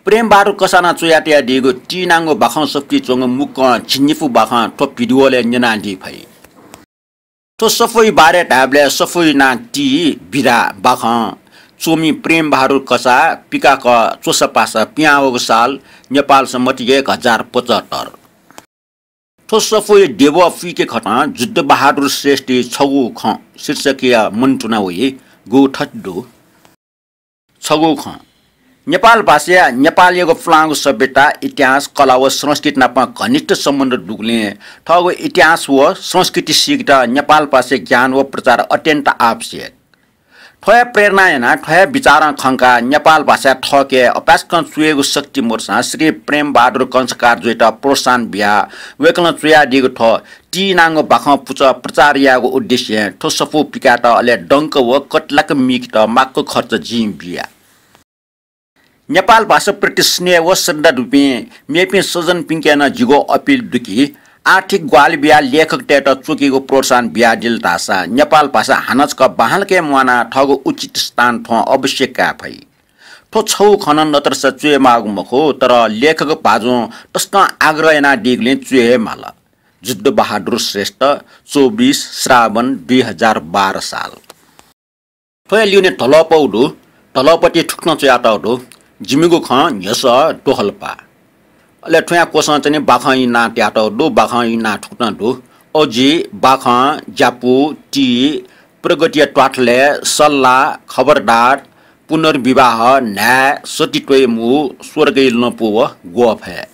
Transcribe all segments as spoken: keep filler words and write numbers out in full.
प्रेमबहादुर कसां च्वयातयादीगु टीनांगु बाखं सफुतिइ च्वंगु मुक्कं झिंनिपु बाखं थ्व भिडियोलय् न्यनादी फइ। थ्व सफूया बारे धायेबलय् सफूया नां टी, बिदा, बाखं, च्वमि प्रेमबहादुर कसां पिकाक च्वसापासा, पिहां वःगु साल नेपाल सम्बत एक हजार पचहत्तर। थ्व सफूया देबः पुइके खतं जुद्धबहादुर श्रेष्ठया छगू खँ शीर्षकया मन्तुना वइगु थथे दु। छगू खँ। नेपाल भाषाया नेपालयागु पुलांगु सभ्यता, इतिहास, कला व संस्कृति नाप घनिष्ठ सम्बन्ध दुगुलिं थःगु इतिहास व संस्कृति सीकेत नेपाल भाषाया ज्ञान व प्रचार अत्यन्त आवश्यक। थ्व हे प्रेरणा यानाः, थ्व हे विचारं खंकाः नेपाल भाषाय् थःके अपाय्सकं च्वयेगु शक्ति मदुसां श्री प्रेमबहादुर कंसाकार जुयात प्रोत्साहन बियाः वय्कलं च्वयादीगु थ्व टीनांगु बाखं पुचः प्रचार यायेगु उद्देश्यं थ्व सफू पिकायेत अले दंक व कतिलाक मीकेत माक्व खर्च जिं बिया। नेपाल भाषाप्रति स्नेह व श्रद्धा दुपिं मेपिं सज्जनपिन्के नं जिगु अपिल दु कि आर्थिक ग्वाहालि बियाः लेखकतय्त च्वकेगु प्रोत्साहन बियादिल धाःसा नेपाल भाषा हानं छकः बांलाक हे म्वानाः थःगु उचित स्थान थ्वं अवश्य काये फइ। थ्व छगू खँ नं नतरसा च्वयेमाःगु मखु, तर लेखक भाजुं तसकं आग्रह यानादीगुलिं च्वये हे माल। जुद्धबहादुर श्रेष्ठ, चौबिस श्रावण दुई हजार बाह्र साल। थ्वया लिउने धलःपौ दु, धलःपति थुकथं च्वयातःगु दु, जिमिगु खँ न्ह्यसः दोहलपा। अले थ्वया क्वसं चाहिँ बाखंया नां तयातःगु दु, बाखंया नां थुकथं दु, अजि, बाखं, ज्यापु, टी, प्रगतिया त्वाथलय्, सल्लाह, खबरदार, पुनर्विवाह, न्हाय्, सती त्वय् मू, स्वर्गय् लँपु व ग्वःफय्।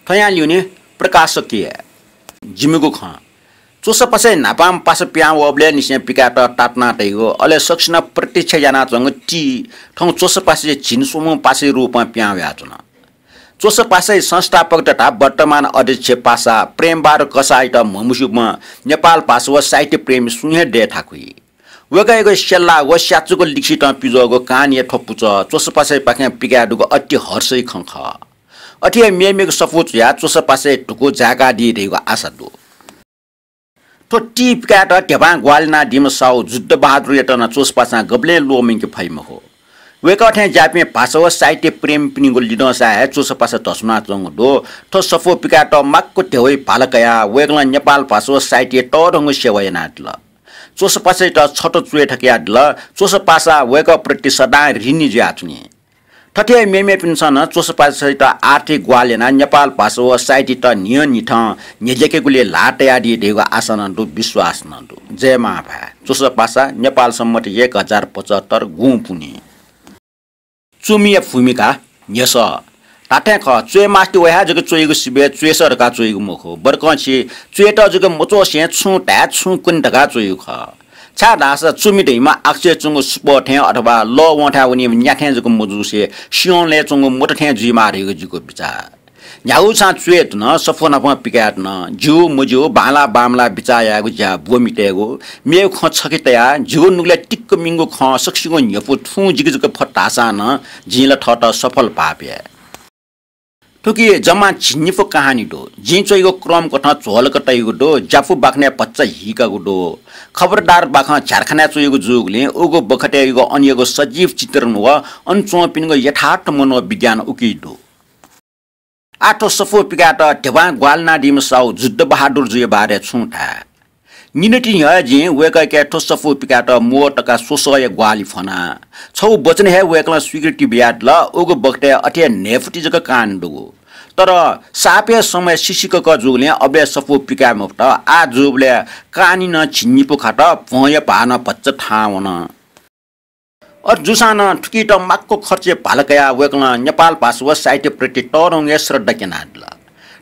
थ्वयां ल्यूने प्रकाशकया जिमिगु खँ। च्वसापासाय् न्हापां पासा पिहां वःबलय् निसें पिकायेत तातुना तइगु, अले सकसिनं प्रतीक्षा यानाच्वंगु टी थौं च्वसापासाया झिंस्वम्ह पासाया रूपं पिहां वयाच्वन। च्वसापासाया संस्थापक तथा वर्तमान अध्यक्ष पासा प्रेमबहादुर कसाःयात म्हमस्यूम्ह नेपाल भाषा व साहित्य प्रेमी सुं हे दये थाकुइ। वय्कःयागु स्यल्ला व स्याचुक लिखितं पिज्वःगु कहानीया थ्व पुचः च्वसापासायापाखें पिकाये दुगु अति हर्षया खँ खः। अथे हे मेमेगु सफू च्वयाः च्वसापासाया धुकू जाय्कादी धइगु आशा दु। थ्व टी पिकायेत ध्यबां ग्वाहालि यानादीम्ह साहु जुद्धबहादुरयात नं च्वसापासां गबलें ल्वःमंके फइ मखु। वय्कः थें ज्याःपिं भाषा व साहित्य प्रेमीपिनिगु लिधंसां हे च्वसापासा धस्वानाच्वंगु दु। थ्व सफू पिकायेत माक्व ध्यबाया भाला कयाः वय्कलं नेपाल भाषा व साहित्यया तःधंगु सेवा यानादिल। च्वसापासायात छता च्वय् थकयादिल। च्वसापासा वय्कःप्रति सदां ऋणी जुयाच्वनी। थथे हे मेमेपिन्सं नं च्वसापासायात आर्थिक ग्वाहालि यानाः नेपाल भाषा व साहित्ययात न्हियान्हिथं न्ह्यज्याकेगुलिइ ल्हाः तयादी धइगु आशा नं दु, विश्वास नं दु। जय मांभाय्। च्वसापासा, नेपाल सम्बत एक हजार पचहत्तर गुंपुन्हि। च्वमिया भूमिका न्ह्यसः। धात्थें खः, च्वय् मास्ति वयाः जक च्वइगु सिबय् च्वय् सः धकाः च्वइगु मखु, बरकं छि च्वय्त जक मच्वसें छुं धाये छुं कने धकाः च्वइगु खः। छाय्धाःसा च्वमि धइम्ह आकाशय् च्वंगु सुपः थें अथवा लः वंथाय् वनीम्ह न्या थें जक मजूसे सिंहलय् च्वंगु मत थें जुइमाः धइगु जिगु बिचाः। न्ह्यागु छां च्वय् धुन, सफू नापं पिकाये धुन, ज्यू मज्यू, बांलाः बांमलाः बिचाः यायेगु ज्या ब्वमितयेगु, मेगु खँ छखे तयाः जिगु नुगलय् तिक्क मिंगु खँ सकसिगु न्ह्यपु थुं जिके जक फत धाःसां नं जिं ला थःत सफल भाःपे। थुकी जम्मा झिंनिपु कहानी दु। जिं च्वइगु क्रम कथं झ्वलक तइगु दु, ज्यापु बाखनय् भचा हीकागु दु। खबरदार बाखं झ्यालखानाय् च्वइगु जूगुलिं उगु बखतय् इगु अन इगु सजीव चित्रण व अन च्वंपिनिगु यथार्थ मनोविज्ञान उकी दु। आः थ्व सफू पिकायेत ध्यबां ग्वाहालि यानादीम्ह साहु जुद्धबहादुर जुया बारे छुं धाये। निन्हु तिन्हु हे जिं वय्कःके थ्व सफू पिकायेत म्वः तका स्वसःया ग्वाहालि फ्वना। छगू वचन हे वय्कलं स्वीकृति बियादिल। उगु बखतय् अथे हे न्हय्पति जक कहानी दुगु। तर सापय् समय सिसिकक जूगुलिं अबलय् सफू पिकाये मफुत। आः जूबलय् कहानी नं झिंनिपु खात, भ्वंया भाः नं भचा थाहां वन। अथे जूसां नं थुकित माक्व खर्चया भाला कयाः वय्कलं नेपाल भाषा व साहित्यप्रति तःधंगु हे श्रद्धा क्यनादिल।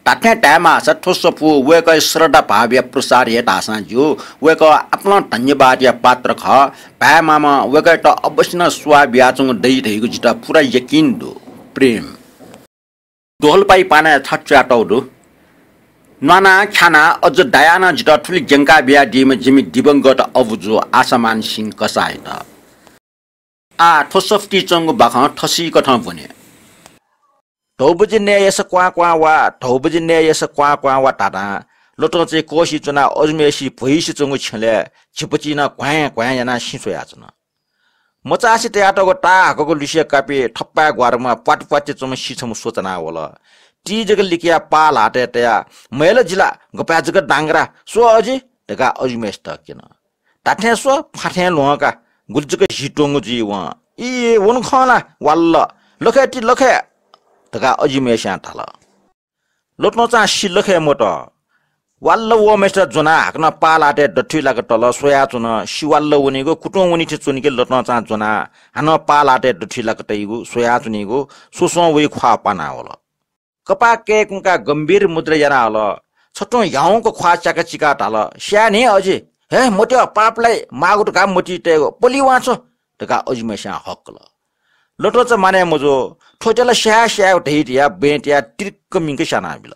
धात्थें धायेमाःसा थ्व सफू वय्कःया श्रद्धा भावया प्रसार हे धाःसां ज्यू, वय्कः आपालं धन्यवादया पात्र खः। भाय् मामं वय्कःयात अवश्य नं स्वाः बियाच्वंगु दइ धइगु जितः पूरा यकिन दु। प्रेम। दोहलपाया पानाय् थथे च्वयातःगु दु। न्वानाः ख्यानाः अझ दायाः नं जितः थुलि ज्यंका बियादीम्ह जिमि दिवंगत अबुजु आशामान सिंह कसाःयात। आः थ्व सफुतिइ च्वंगु बाखं थसिकथं ब्वने। धौ बजे नयेस क्वां क्वां वा, धौ बजे नयेस क्वां क्वां वा धाधां लतंचय् कःसि च्वनाः अजूम्हेसि भ्वइसि च्वंगु छ्यलय् झिपचिं नं घ्वाँय् घ्वाँय् यानाः सिँ स्वयाच्वन। मचासे तयातःगु ताहाकःगु लुसिया कापि थप्पाय् ग्वारामा प्वाति प्वाति च्वंम्ह सी छम्ह स्वचाना वल। ति जक लिकया पाः ल्हातय् तयाः, "मय् ला जि ला, गपाय् जक दांग्रा, स्व अजि" धकाः अजिम्हय्‌सित क्यन। "धात्थें स्व, फाथें ल्ह्वं का, गुलि जक हि त्वंगु जुइ वं। ई, वन खं ला, वाल्ल, लखय् ति लखय्" धकाः अजिम्हय्‌स्यां धाल। लतंचां सी लखय् मत। वाल्ल वःम्हय्‌सित ज्वनाः हाकनं पाः ल्हातय् दथुइ लाक तल, स्वयाच्वन। सी वाल्ल वनीगु, कुतुं वनी थें च्वनीगु लतंचां ज्वनाः हानं पाः ल्हातय् दथुइ लाक तइगु, स्वयाच्वनीगु, स्वस्वं वइ ख्वाः पाना वल। कपाः कय्‌कुंकाः गम्भीर मुद्रा याना हल। छथुं ह्याउँक ख्वाः च्याका चिकाः धाल, "स्याये नि अजि, हे मत्यः पाप लाइ, माःगु धकाः मतिइ तयेगु, पलिवां छ्व" धकाः अजिम्हय्‌स्यां हक्कल। लतंचा मानय् मजू, थ्वयात ला स्याये स्यायेगु धइ धयाः बँय् तयाः तिरिक्क मिंक स्यानाबिल।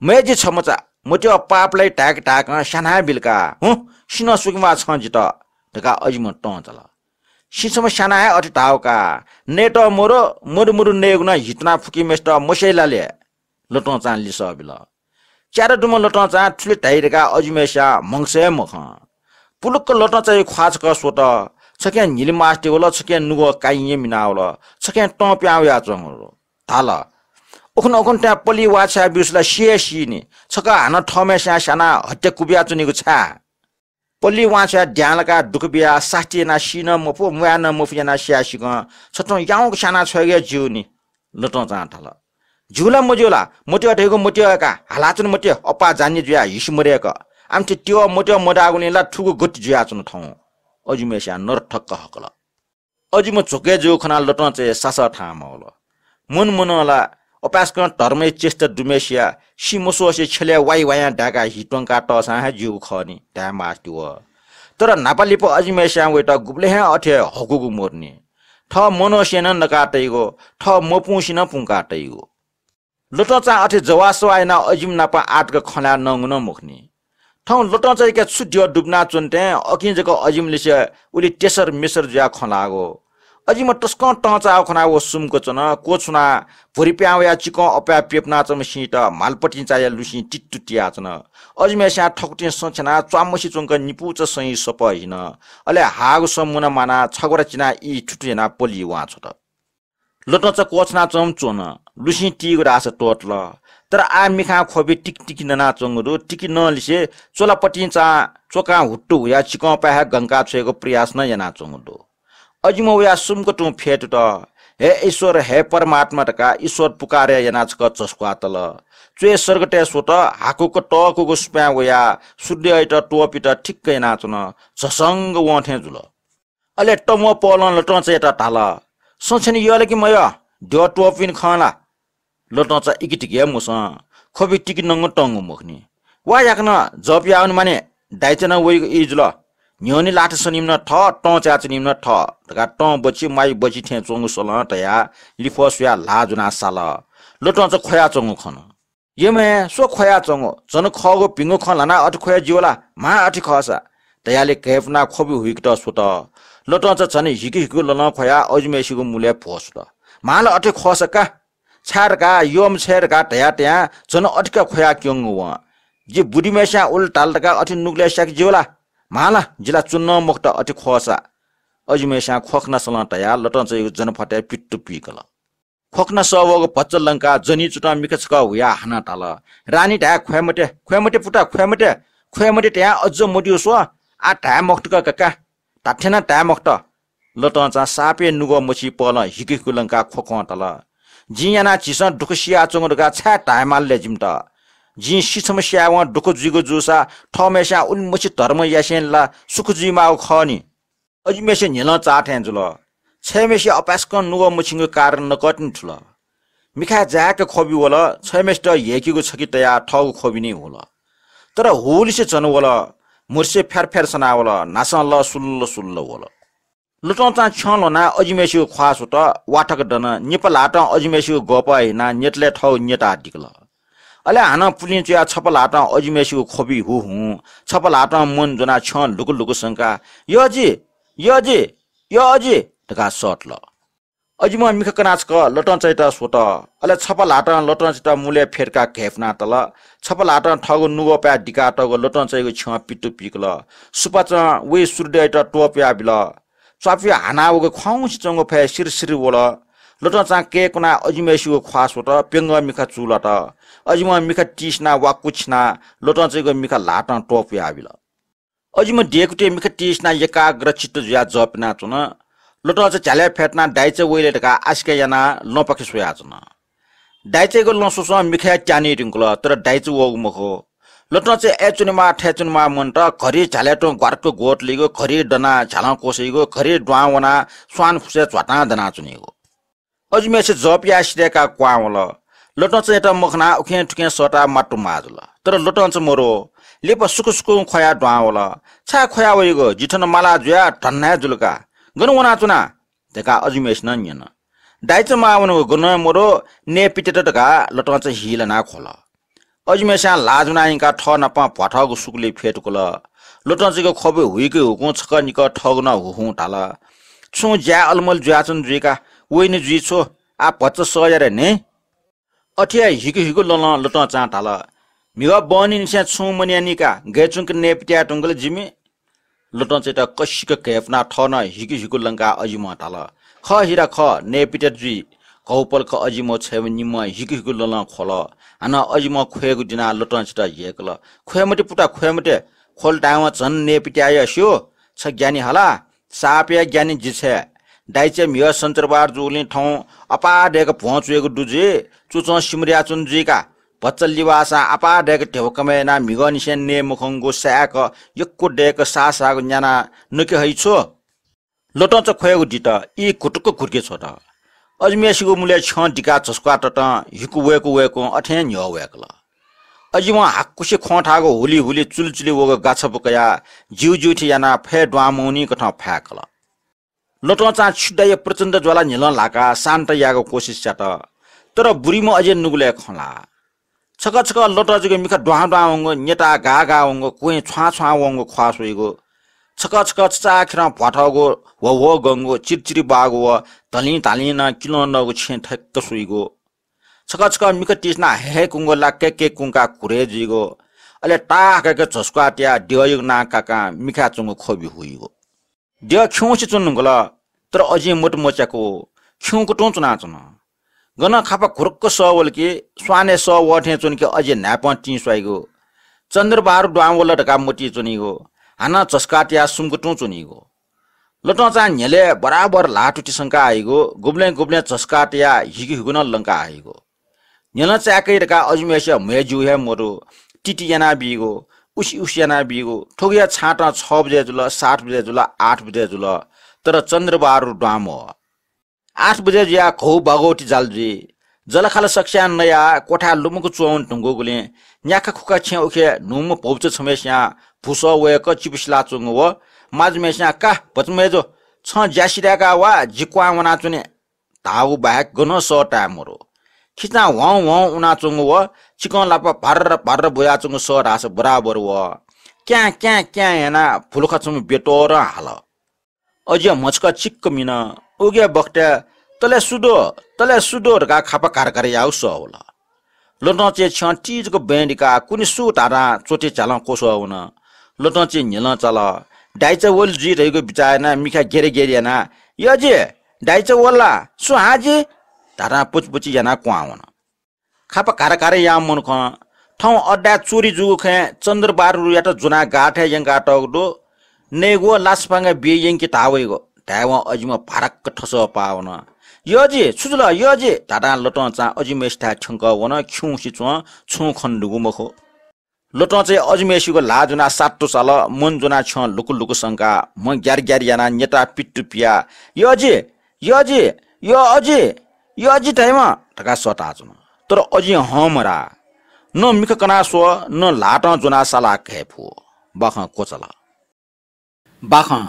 "मय् जि छमचा, मत्यः पाप लाइ धाय्‌क धाय्‌कं स्यानाबिल का, हुँ, सिनं स्वकिं वा छं जितः" धकाः अजिम्ह तं चाल। "सी छम्ह स्यानाः हे अथे धाःगु का, नयेत मरु, मरु मरु नयेगु नं हि त्वना फुकीम्हय्‌सित मस्याइ ला ले?" लतंचां लिसः बिल। च्यादँ दुम्ह लतंचां थुलि धाइ धकाः अजिम्हय्‌स्यां म्हगसय् मखं। पुलुक्क लतंचाया ख्वाः छकः स्वत। छखें न्हिलिमास्ति वल, छखें नुगः काइँया मिना वल, छखें तं पिहां वयाच्वंगु धाल। "उखुन्हु उखुन्हु थें पलिवां छ्वया ब्यूसा ला सी हे सीनि। छकः हानं थःम्हय्‌स्यां स्यानाः हत्या कुबियाच्वनीगु छाय्? पलिवां छ्वयाः द्यां लाकाः दुःख बियाः सास्ती यानाः सी नं मफु, म्वाये नं मफु यानाः स्याये सिकं छथुं याउँक स्यानाः छ्वयेगु हे ज्यू नि।" लतंचां धाल। "ज्यू ला मज्यू ला? मत्यः धइगु मत्यः का, हालाच्वन मत्यः, अप्पा जान्ने जुयाः हिसि मदय्‌क। आमथे त्यः मत्यः मदाःगुलिं ला थुगु गति जुयाच्वन थौं।" अजिम्हय्‌स्यां नरथक्क हकल। अजिम्ह झ्वकय् जूगु खनाः लतंचाया सासः थाहां मवल। मन मनं ला अपाय्‌सकं धर्मया चेष्टा दुम्हय्‌सिया सी मस्वसे छ्यलय् वाइ वायां दाय्‌काः हि त्वंकाः तःसां हे ज्यूगु खः नि धायेमास्ति वः। तर न्हापा लिपा अजिम्हय्‌स्यां वयात गुबलें हे अथे हकूगु मदुनि। थः मनंसे नं नका तइगु, थः मपुंसे नं पुंका तइगु। लतंचां अथे जवाःसवाः यानाः अजिम्ह नाप आःतक खँ ल्हाये नंगु नं मखुनि। थौं लतंचायाके छु द्यः दुबिनाच्वन थें अकिं जक अजिम्ह लिसे उलि तेसर मेसर जुयाः खँ ल्हाःगु। अजिम्ह तसकं तंचाःगु खनाः व सुम्क च्वन। क्वछुनाः भुरि पिहां वयाः चिकं अप्वयाः प्यपुनाच्वंम्ह सिंइत म्हालपतिंचाया लुसिं तित्तु तियाच्वन। अजिम्हय्‌स्यां थकुतिं सँ छ्यानाः च्वाम्हसि च्वंक निपूचा सं सपः हिन। अले हाःगु सँ मुना मानाः छग्वरा चिनाः ई थुथु यानाः पलिवां छ्वत। लतंचा क्वछुनाच्वंम्ह च्वन। लुसिं तीगु धाःसा त्वःतल। तर आः मिखां ख्वबि तिकि तिकि ननाच्वंगु दु। तिकि नंलिसे च्वलापतिंचां च्वकां हुत्तु हुयाः चिकंपाय् हे गंका छ्वयेगु प्रयास नं यानाच्वंगु दु। अजिम्ह वयाः सुम्क तुं फ्यतुत। "हे ईश्वर, हे परमात्मा" धकाः ईश्वर पुकारय् यानाः छकः झस्वातल। च्वय् सर्गतय् स्वत। हाकुक तःकुगु सुपाँय् वयाः सूर्ययात त्वःपित ठिक्क यानाच्वन। झसंग वं थें जुल। अले तमु पौलं लतंचायात धाल, "सँ छ्यने यः ला कि मयः? द्यः त्वःपिनि खं ला?" लतंचा इकितिकि हे मसं। ख्वबि तिकि नंगु तंगु मखुनि। "वा, याकनं जप याःगुनि माने, दाइचा नं वइगु ई जुल। न्ह्यःने लात सनीम्ह नं थः, तं चाय् च्वनीम्ह नं थः" धकाः तं बच्छि म्वाइ बच्छि थें च्वंगु सलं तयाः लिफः स्वयाः ल्हाः ज्वनाः साल। लतंचा ख्वयाच्वंगु खन। "यम्हय्, स्व ख्वयाच्वंगु, झन खःगु भिंगु खँ ल्हानाः अथे ख्वये ज्यू ला? म्हां अथे खःसा" धयाले घय्पुनाः ख्वबि हुइकेत स्वत। लतंचा झन हिकु हिकु ललं ख्वयाः अजिम्हय्‌सिगु मुलय् भ्वसुत। "म्हां ला अथे खःसा का, छाय् धकाः यःम्ह छय् धकाः धया तयां झन अथे का ख्वयाः क्यंगु वं। जि बुदिम्हय्‌स्यां उलि धाल धकाः अथे नुगलय् स्याके ज्यू ला? म्हां ला, जि ला च्वन्हु मखुत अथे खःसा" अजिम्हय्‌स्यां ख्वखना सलं तयाः लतंचायागु जनफतय् पित्तु पिकल। ख्वखना सः वःगु भचा लंकाः जनी चुतं मिखा छकः हुयाः हानं धाल, "रानी धाये ख्वये मते, ख्वये मते पुता, ख्वये मते, ख्वये मते धयां अज्ज मद्यू स्व, आः धाये मखुत का काका, धात्थें नं धाये मखुत।" लतंचां सापय् नुगः मछिं पहलं हिकु हिकु लंकाः ख्वख्वं धाल, "जिं यानाः झीसं दुःख सियाच्वंगु धकाः छाय् धायेमाल ले जिमित? जिं सी छम्ह स्यायेवं दुःख जुइगु जूसा थःम्हय्‌स्यां उलिमछि धर्म यासेंलि ला सुख जुइमाःगु खः नि।" अजिम्हय्‌सिया न्ह्यलं चाः थें जुल। छय्‌म्हय्‌सिया अपाय्‌सकं नुगः मछिंगु कारण नकतिनि थुल। मिखाय् जाय्‌क ख्वबि वल, छय्‌म्हय्‌सित ह्यय्‌केगु छकि तयाः थःगु ख्वबि निं हुल। तर हुलिसे झन वल, म्हुतुसे फ्यार फ्यार सनावल, न्हासं लः सुल्ल सुल्ल वल। लतंचां छ्यं ल्ह्वनाः अजिम्हय्‌सिगु ख्वाः स्वत, वाथक दन, निपा ल्हातं अजिम्हय्‌सिगु गःपः हिनाः न्यतलय् थःगु न्यताः दिकल। अले हानं पुलिं च्वयाः छपा ल्हातं अजिम्हय्‌सिगु ख्वबि हुहुं, छपा ल्हातं मन ज्वनाः छ्यं लुकु लुकु संकाः, "यःजि, यःजि, यःजि" धकाः सःतल। अजिम्हं मिखा कनाः छकः लतंचायात स्वत। अले छपा ल्हातं लतंचायात मुलय् फ्यतुकाः घय्पुनातल। छपा ल्हातं थःगु नुगःपाय् दिकातःगु लतंचायागु छ्यं पित्तु पिकल। सुपाँचं वइ सूर्ययात त्वपुयाबिल। स्वापया हाना वःगु ख्वाउँसे च्वंगु फय् सिरसिर वल। लोटंचां कय्कुनाः अजिम्हय्सिगु ख्वाः स्वत, प्यंगः मिखा चूलात। अजिम्हं मिखा तिसिनाः वाक्कु छिनाः लोटंचायागु मिखा ल्हातं त्वपुयाबिल। अजिम्ह देकुतिइ मिखा तिसिनाः एकाग्र चित्त जुयाः जप यानाच्वन। लोटंचा झ्यालय् फ्यतुनाः दाइचा वइ ले धकाः आशिका यानाः लँपाखे स्वयाच्वन। दाइचायागु लँ स्वस्वं मिखाया त्याने धुंकल, तर दाइचा वःगु मखु। लोटंचा अय् च्वनेमाः थय् च्वनेमाः मन्त, घरि झ्यालय् तुं ग्वारक्क ग्वतलीगु, घरि दनाः झ्यालं क्वसइगु, घरि दुहां वनाः स्वान फुसय् झ्वातां दनाच्वनीगु। अजिम्हय्सित जप याये सिधय्काः क्वहां वल। लोटंचायात मखनाः उखें थुखें सःताः मातुमाः जुल। तर लोटंचा मरु। लिपा सुकुसुकुं ख्वयाः दुहां वल। छाय् ख्वया वइगु? जि थन माला जुयाः धन्दा हे जुल का। गन वनाच्वना? धकाः अजिम्हय्सिनं न्यन। दाइचा माः वनेगु गनं मरु, नयेपित्यात धकाः लोटंचा हिलानाः ख्वल। अजिम्हय्सिं ल्हाः ज्वनाः यंकाः थः नाप भ्वाथःगु सुकुली फ्यतुकल। लोटंचायागु ख्वबि हुइके हुकुं छकः निकः थःगु नं हुहुं धाल। छुं ज्याय् अलमल जुयाच्वन जुइ का, वइनि जुइ छु, आः भचा सः या रे न्हय्। अथे हे हिकु हिकु ललं लोटंचां धाल, म्हिगः बहनीनिसें छुं मन्यानी का, गय् च्वंक नयेपित्याये धुंकल जिमि। लोटंचायात कसिक घय्पुनाः थः नं हिकु हिकु लंकाः अजिम्हं धाल, खः हिरा खः, नयेपित्यात जुइ। घौपलख अजिम्ह छ्वयेम्ह निम्हं हिकु हिकु ललं ख्वल। हानं अजिम्हं ख्वयेगु दिनाः लोटंचायात यय्कल। ख्वये मते पुता, ख्वये मते। ख्वल धायेवं झन नयेपित्याये स्यू। छ ज्ञानी हला। सापया ज्ञानी जि छय्। दाइचाय् म्हिगः सञ्चरबार जूगुलिं थौं अपाः दय्क भ्वं च्वयेगु दु जुइ, चुचं सिमधयाच्वन जुइ का। भचा लिबाःसां अपाः दय्क ध्यबा कमय् यानाः म्हिगःनिसें नये मखंगु साय्क यक्व दय्क साःसाःगु न्यानाः नके हइ छु। लोटंचा ख्वयेगु दित, ई घुटुक्क घुटुके छ्वत। अजिम्हय्सिगु मुलय् छ्यं दिकाः झसुकाः ततं हिकु वय्कू वय्कूं अथें न्ह्यः वय्कल। अजिम्हं हाकुसे ख्वं थाःगु हुलिहुलि चुलिचुलि वःगु गाछपु कयाः ज्यूज्यू थें यानाः फय् दुहां मवनीकथं फाय्कल। लोटंचां छु दइ प्रचण्ड ज्वाला न्ह्यलं ल्हाकाः शान्त यायेगु कोसिस यात, तर बुरिम्ह अजिं नुगलय् खँ ल्हाः। छकः छकः लोटंचायागु मिखा दुहां दुहां वंगु, न्यताः गाः गाः वंगु, क्वँय् छ्वां छ्वां वंगु ख्वाः स्वइगु। छकः छकः छचाःखेरं भ्वाथःगु, ह्वःह्वः गंगु, चिरिचिरि बाःगु व धलिं धालिं नं किलं नःगु छेँ थ्यक्क स्वइगु। छकः छकः मिखा तिसिनाः हय्‌हय्‌कुंगु ला कय्‌कय्‌कुंकाः कुरय् जुइगु। अले ताः कय्‌कय् झसुकाः तयाः द्यःयागु नां काकां मिखाय् च्वंगु ख्वबि हुइगु। द्यः खिउँसे च्वने धुंकल, तर अजिं मत मच्याकू, खिउँक तुं च्वनाच्वन। गनं खापा घुरुक्क सः वल कि, स्वानय् सः वः थें च्वन कि अजिं न्हाय्पं तिं स्वाइगु। चन्द्रबहादुर दुहां वल धकाः मतिइ च्वनीगु, हानं झसुकाः तयाः सुम्क तुं च्वनीगु। लोटंचां न्ह्यलय् बराबर ल्हाः तुति संका हइगु, गुबलें गुबलें झसुकाः तयाः हिकु हिकु नं लंका हइगु। न्ह्यलं चाय्‌कइ धकाः अजिम्हय्‌सिया म्हय् ज्यू हे मदु, तिति यानाबीगु, उसि उसि यानाबीगु। थुगुया छाँटं छ बजे जुल, सात बजे जुल, आठ बजे जुल, तर चन्द्रबहादुर दुहां मवः। आठ बजे जुयाः घौ बाघौति जाल जुइ। जलखाल सकस्यां नयाः क्वथाय् लुमंक च्वं वने धुंकूगुलिं न्याखा खुखा छेँ उखे न्हूम्ह भौचा छम्हय्‌सियां भुसः वय्क चिपु सिलाच्वंगु व माजुम्हय्‌सियां का भचा मय्जु, छं ज्या सिधय्काः वा, जि क्वहां वनाच्वने धाःगु बाहेक गनं सः ताये मदु। खिचां ह्वाउँ ह्वाउँ उनाच्वंगु व चिकं लापा भार्र भार्र बुयाच्वंगु सः धाःसा बराबर वः। क्याँ क्याँ क्याँ यानाः भुलुखा छम्ह ब्यतोरं हाल। अजिं म्हचुका चिक्क मिन। उगु बखतय् तले सु दु, तले सु दु धकाः खापा घार घार याःगु सः वल। लोटंचाया छ्यं ति जक बँय् दिकाः कुने सु धाधां च्वथि झ्यालं क्वसः वन। लोटंचाया न्ह्यलं चाल। दाइचा वल जुइ धइगु बिचाः यानाः मिखा गेरे गेरे यानाः, यः अजि, दाइचा वल ला? सु हां जि? धाधां पुचि पुचि यानाः क्वहां वन। खापा घार घार याःम्ह मनुखं थौं अड्डाय् चोरी जूगु खँय् चन्द्रबहादुरयात ज्वनाः गाःथाय् यंकातःगु दु। नयेगु व लासापांगय् बिये यंके धाः वइगु धायेवं अजिम्ह भाराक्क थसः पाः वन। यः अजि, छु जुल यः अजि? धाधां लोटंचां अजिम्हय्सिथाय् थ्यंकः वन। खिउँसे च्वं, छुं खने दुगु मखु। लोटंचाया अजिम्हय्सिगु ल्हाः ज्वनाः सात्तु चाल, मन ज्वनाः छ्यं लुकु लुकु संकाः, म्ह ग्यार ग्यार यानाः न्यताः पित्तु पियाः, यः अजि, यः अजि, यः अजि, यः अजि धायेमाः धकाः सःताच्वन। तर अजिं हं मधाः। न मिखा कनाः स्व, न ल्हातं ज्वनाः सालाः घय् फु। बाखं क्वचाल। बाखं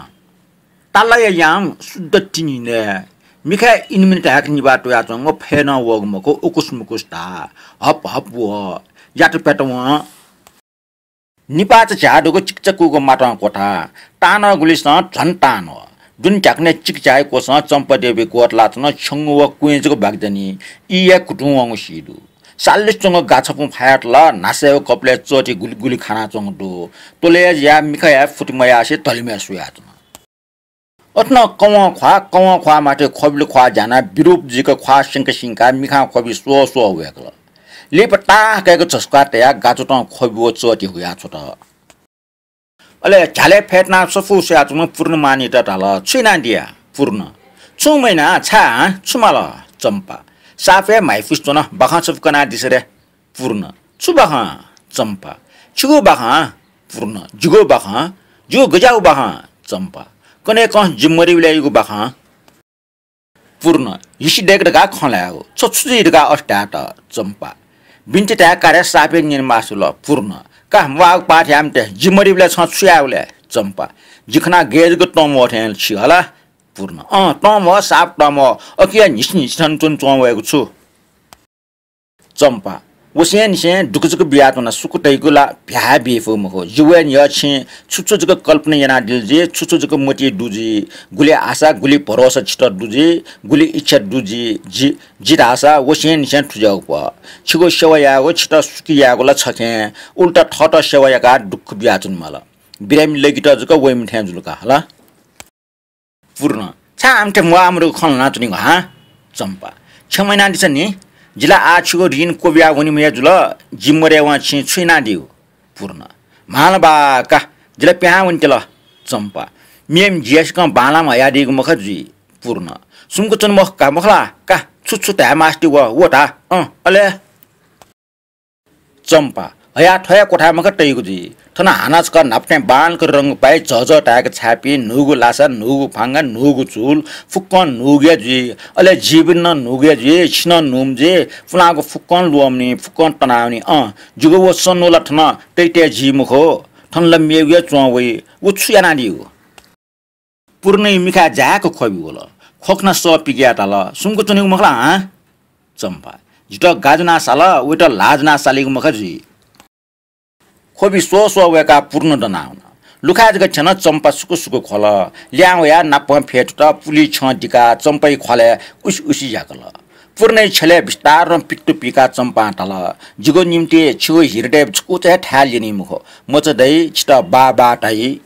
तालया यां शुद्ध तिनि नये। मिखाय् इनिमिनि धाय्क निभाः त्वयाच्वंगु फय् नं वःगु मखु, उकुस मुकुस धाः। हप हप वः। यात प्यात वं। निपाःचा झ्याः दुगु चिकिचा कूगु मातं क्वथा। तांन्वः गुलिसं झन तांन्वः। दुने ध्याखुनय् चिकिचाया क्वसं चम्पादेवी ग्वतलाच्वन। छ्यंगु व क्वँय् जक बाकि दनि। ई हे कुतुं वंगु सी दु। सालिस च्वंगु गाछापुं फायात ला न्हासय् व कपालय् चःति गुलि गुलि खानाच्वंगु दु। त्वलय् जुयाः मिखाय् फुति मयासें धलिमय् स्वयाच्वन। अथे नं कवं ख्वाः, कवं ख्वाः माथय् ख्वबिल ख्वाः ज्यानाः बिरूप जुइक ख्वाः सिंक सिंकाः मिखां ख्वबि स्वः स्वः वय्कल। लिपा तां कय्क झसुकाः तयाः गाच्वतं ख्वबि व चःति हुयाः छ्वत। अले झ्यालय् फय्तनाः सफू स्वयाच्वंम्ह पूर्णमानित धाल, "छु यानादिया?" पूर्ण, "छुं मयाना, छाय् हां, छु माल?" चम्पा, "सापय् म्हाइपुसे च्वन, बाखं छपु कनादिसँ रे।" पूर्ण, "छु बाखं?" चम्पा, "छिगु बाखं।" पूर्ण, "जिगु बाखं? जिगु गज्याःगु बाखं?" चम्पा, "कन्हय्कं जि मदय्‌बलय् याइगु बाखं।" पूर्ण, "हिसि दय्क धकाः खँ ल्हायेगु, छ छु जुइ धकाः अथे धायेत?" चम्पा, "बिन्ति धाये का रे, सापय् न्यने मास्ति वल।" पूर्ण, "का, म्वाःगु पाः थ्याये मते, जि मदय्‌बलय् छं छु यायेगु ले?" चम्पा, "जि खनाः गय् जक तंम्वः थें छि हला।" पूर्ण, "अँ, तंम्वः, साप तंम्वः, अकिया न्हिसि न्हिसि थन च्वने च्वं वयेगु छु?" चम्पा, "वसेंनिसें दुःख जक बियाच्वना, सुख धइगु ला भ्याः बी फु मखु। जि वये न्ह्यः छिं छु छु जक कल्पना यानादिल जुइ, छु छु जक मतिइ दु जुइ, गुलि आशा, गुलि भरोसा छितः दु जुइ, गुलि इच्छा दु जुइ, जि, जि धाःसा वसेंनिसें थुज्याःगु पः। छिगु सेवा यायेगु, छितः सुखी यायेगु ला छखें, उल्टा थःत सेवा याकाः दुःख बियाच्वने माल। बिरामी लगित जक वइम्ह थें जुल का हला।" पूर्ण, "छाय् आमथे म्वाःमदुगु खँ ल्हानाच्वनीगु हां?" चम्पा, "क्षमा यानादिसँ नि, जि ला आः छिगु ऋण क्वबिया वनेम्ह हे जुल, जि मदयेवं छिं छु यानादीगु?" पूर्ण, "म्हाल बा का, जि ला पिहां वनेत्यल।" चम्पा, "मेम्ह जियासिकं बांलाम्ह हयादीगु मखा जुइ।" पूर्ण, "सुम्क च्वने मखु का, मखु ला? का, छु छु धाये मास्ति वः, व धा, अँ, अले?" चम्पा, "हया थ्व हे क्वथाय् मखा तइगु जुइ। थन हानं छकः न्हापा थें बांलाक रंग पाइ, झःझः धाय्क छाय्पिं, न्हूगु लासा, न्हूगु फांगा, न्हूगु चूल, फुक्कं न्हूगु हे जुइ। अले जीवन नं न्हूगु हे जुइ, छि नं न्हूम्ह जुइ, पुलांगु फुक्कं ल्वःमनी, फुक्कं तनावनी। अँ, जिगु व सन्नु ला थन तइतय् जुइ मखु, थन ला मेगु हे च्वं वइ। व छु यानादीगु?" पूर्णया मिखाय् जाय्क ख्वबि वल। ख्वखनाः सः पिकयाः धाल, "सुम्क च्वनीगु मखु ला हँ?" चम्पा, "जितः गा ज्वनाः साल, वइत ल्हाः ज्वनाः सालीगु मखा जुइ।" ख्वबि स्वः स्वः वय्काः पूर्ण दनावन। लुखाय् जक थ्यन। चम्पा सुकु सुकु ख्वल। ल्याहां वयाः नापं फ्यतुत, पुलिइ छ्यं दिकाः चम्पाया ख्वालय् उसि उसि याकल। पूर्णया छ्यलय् बिस्तारं पित्तु पिकाः चम्पां धाल, "जिगु निंतिं छिगु हृदय छकूचा हे थाय् ल्यनी मखु। मचा दइ, छितः बाः बाः धाइ।"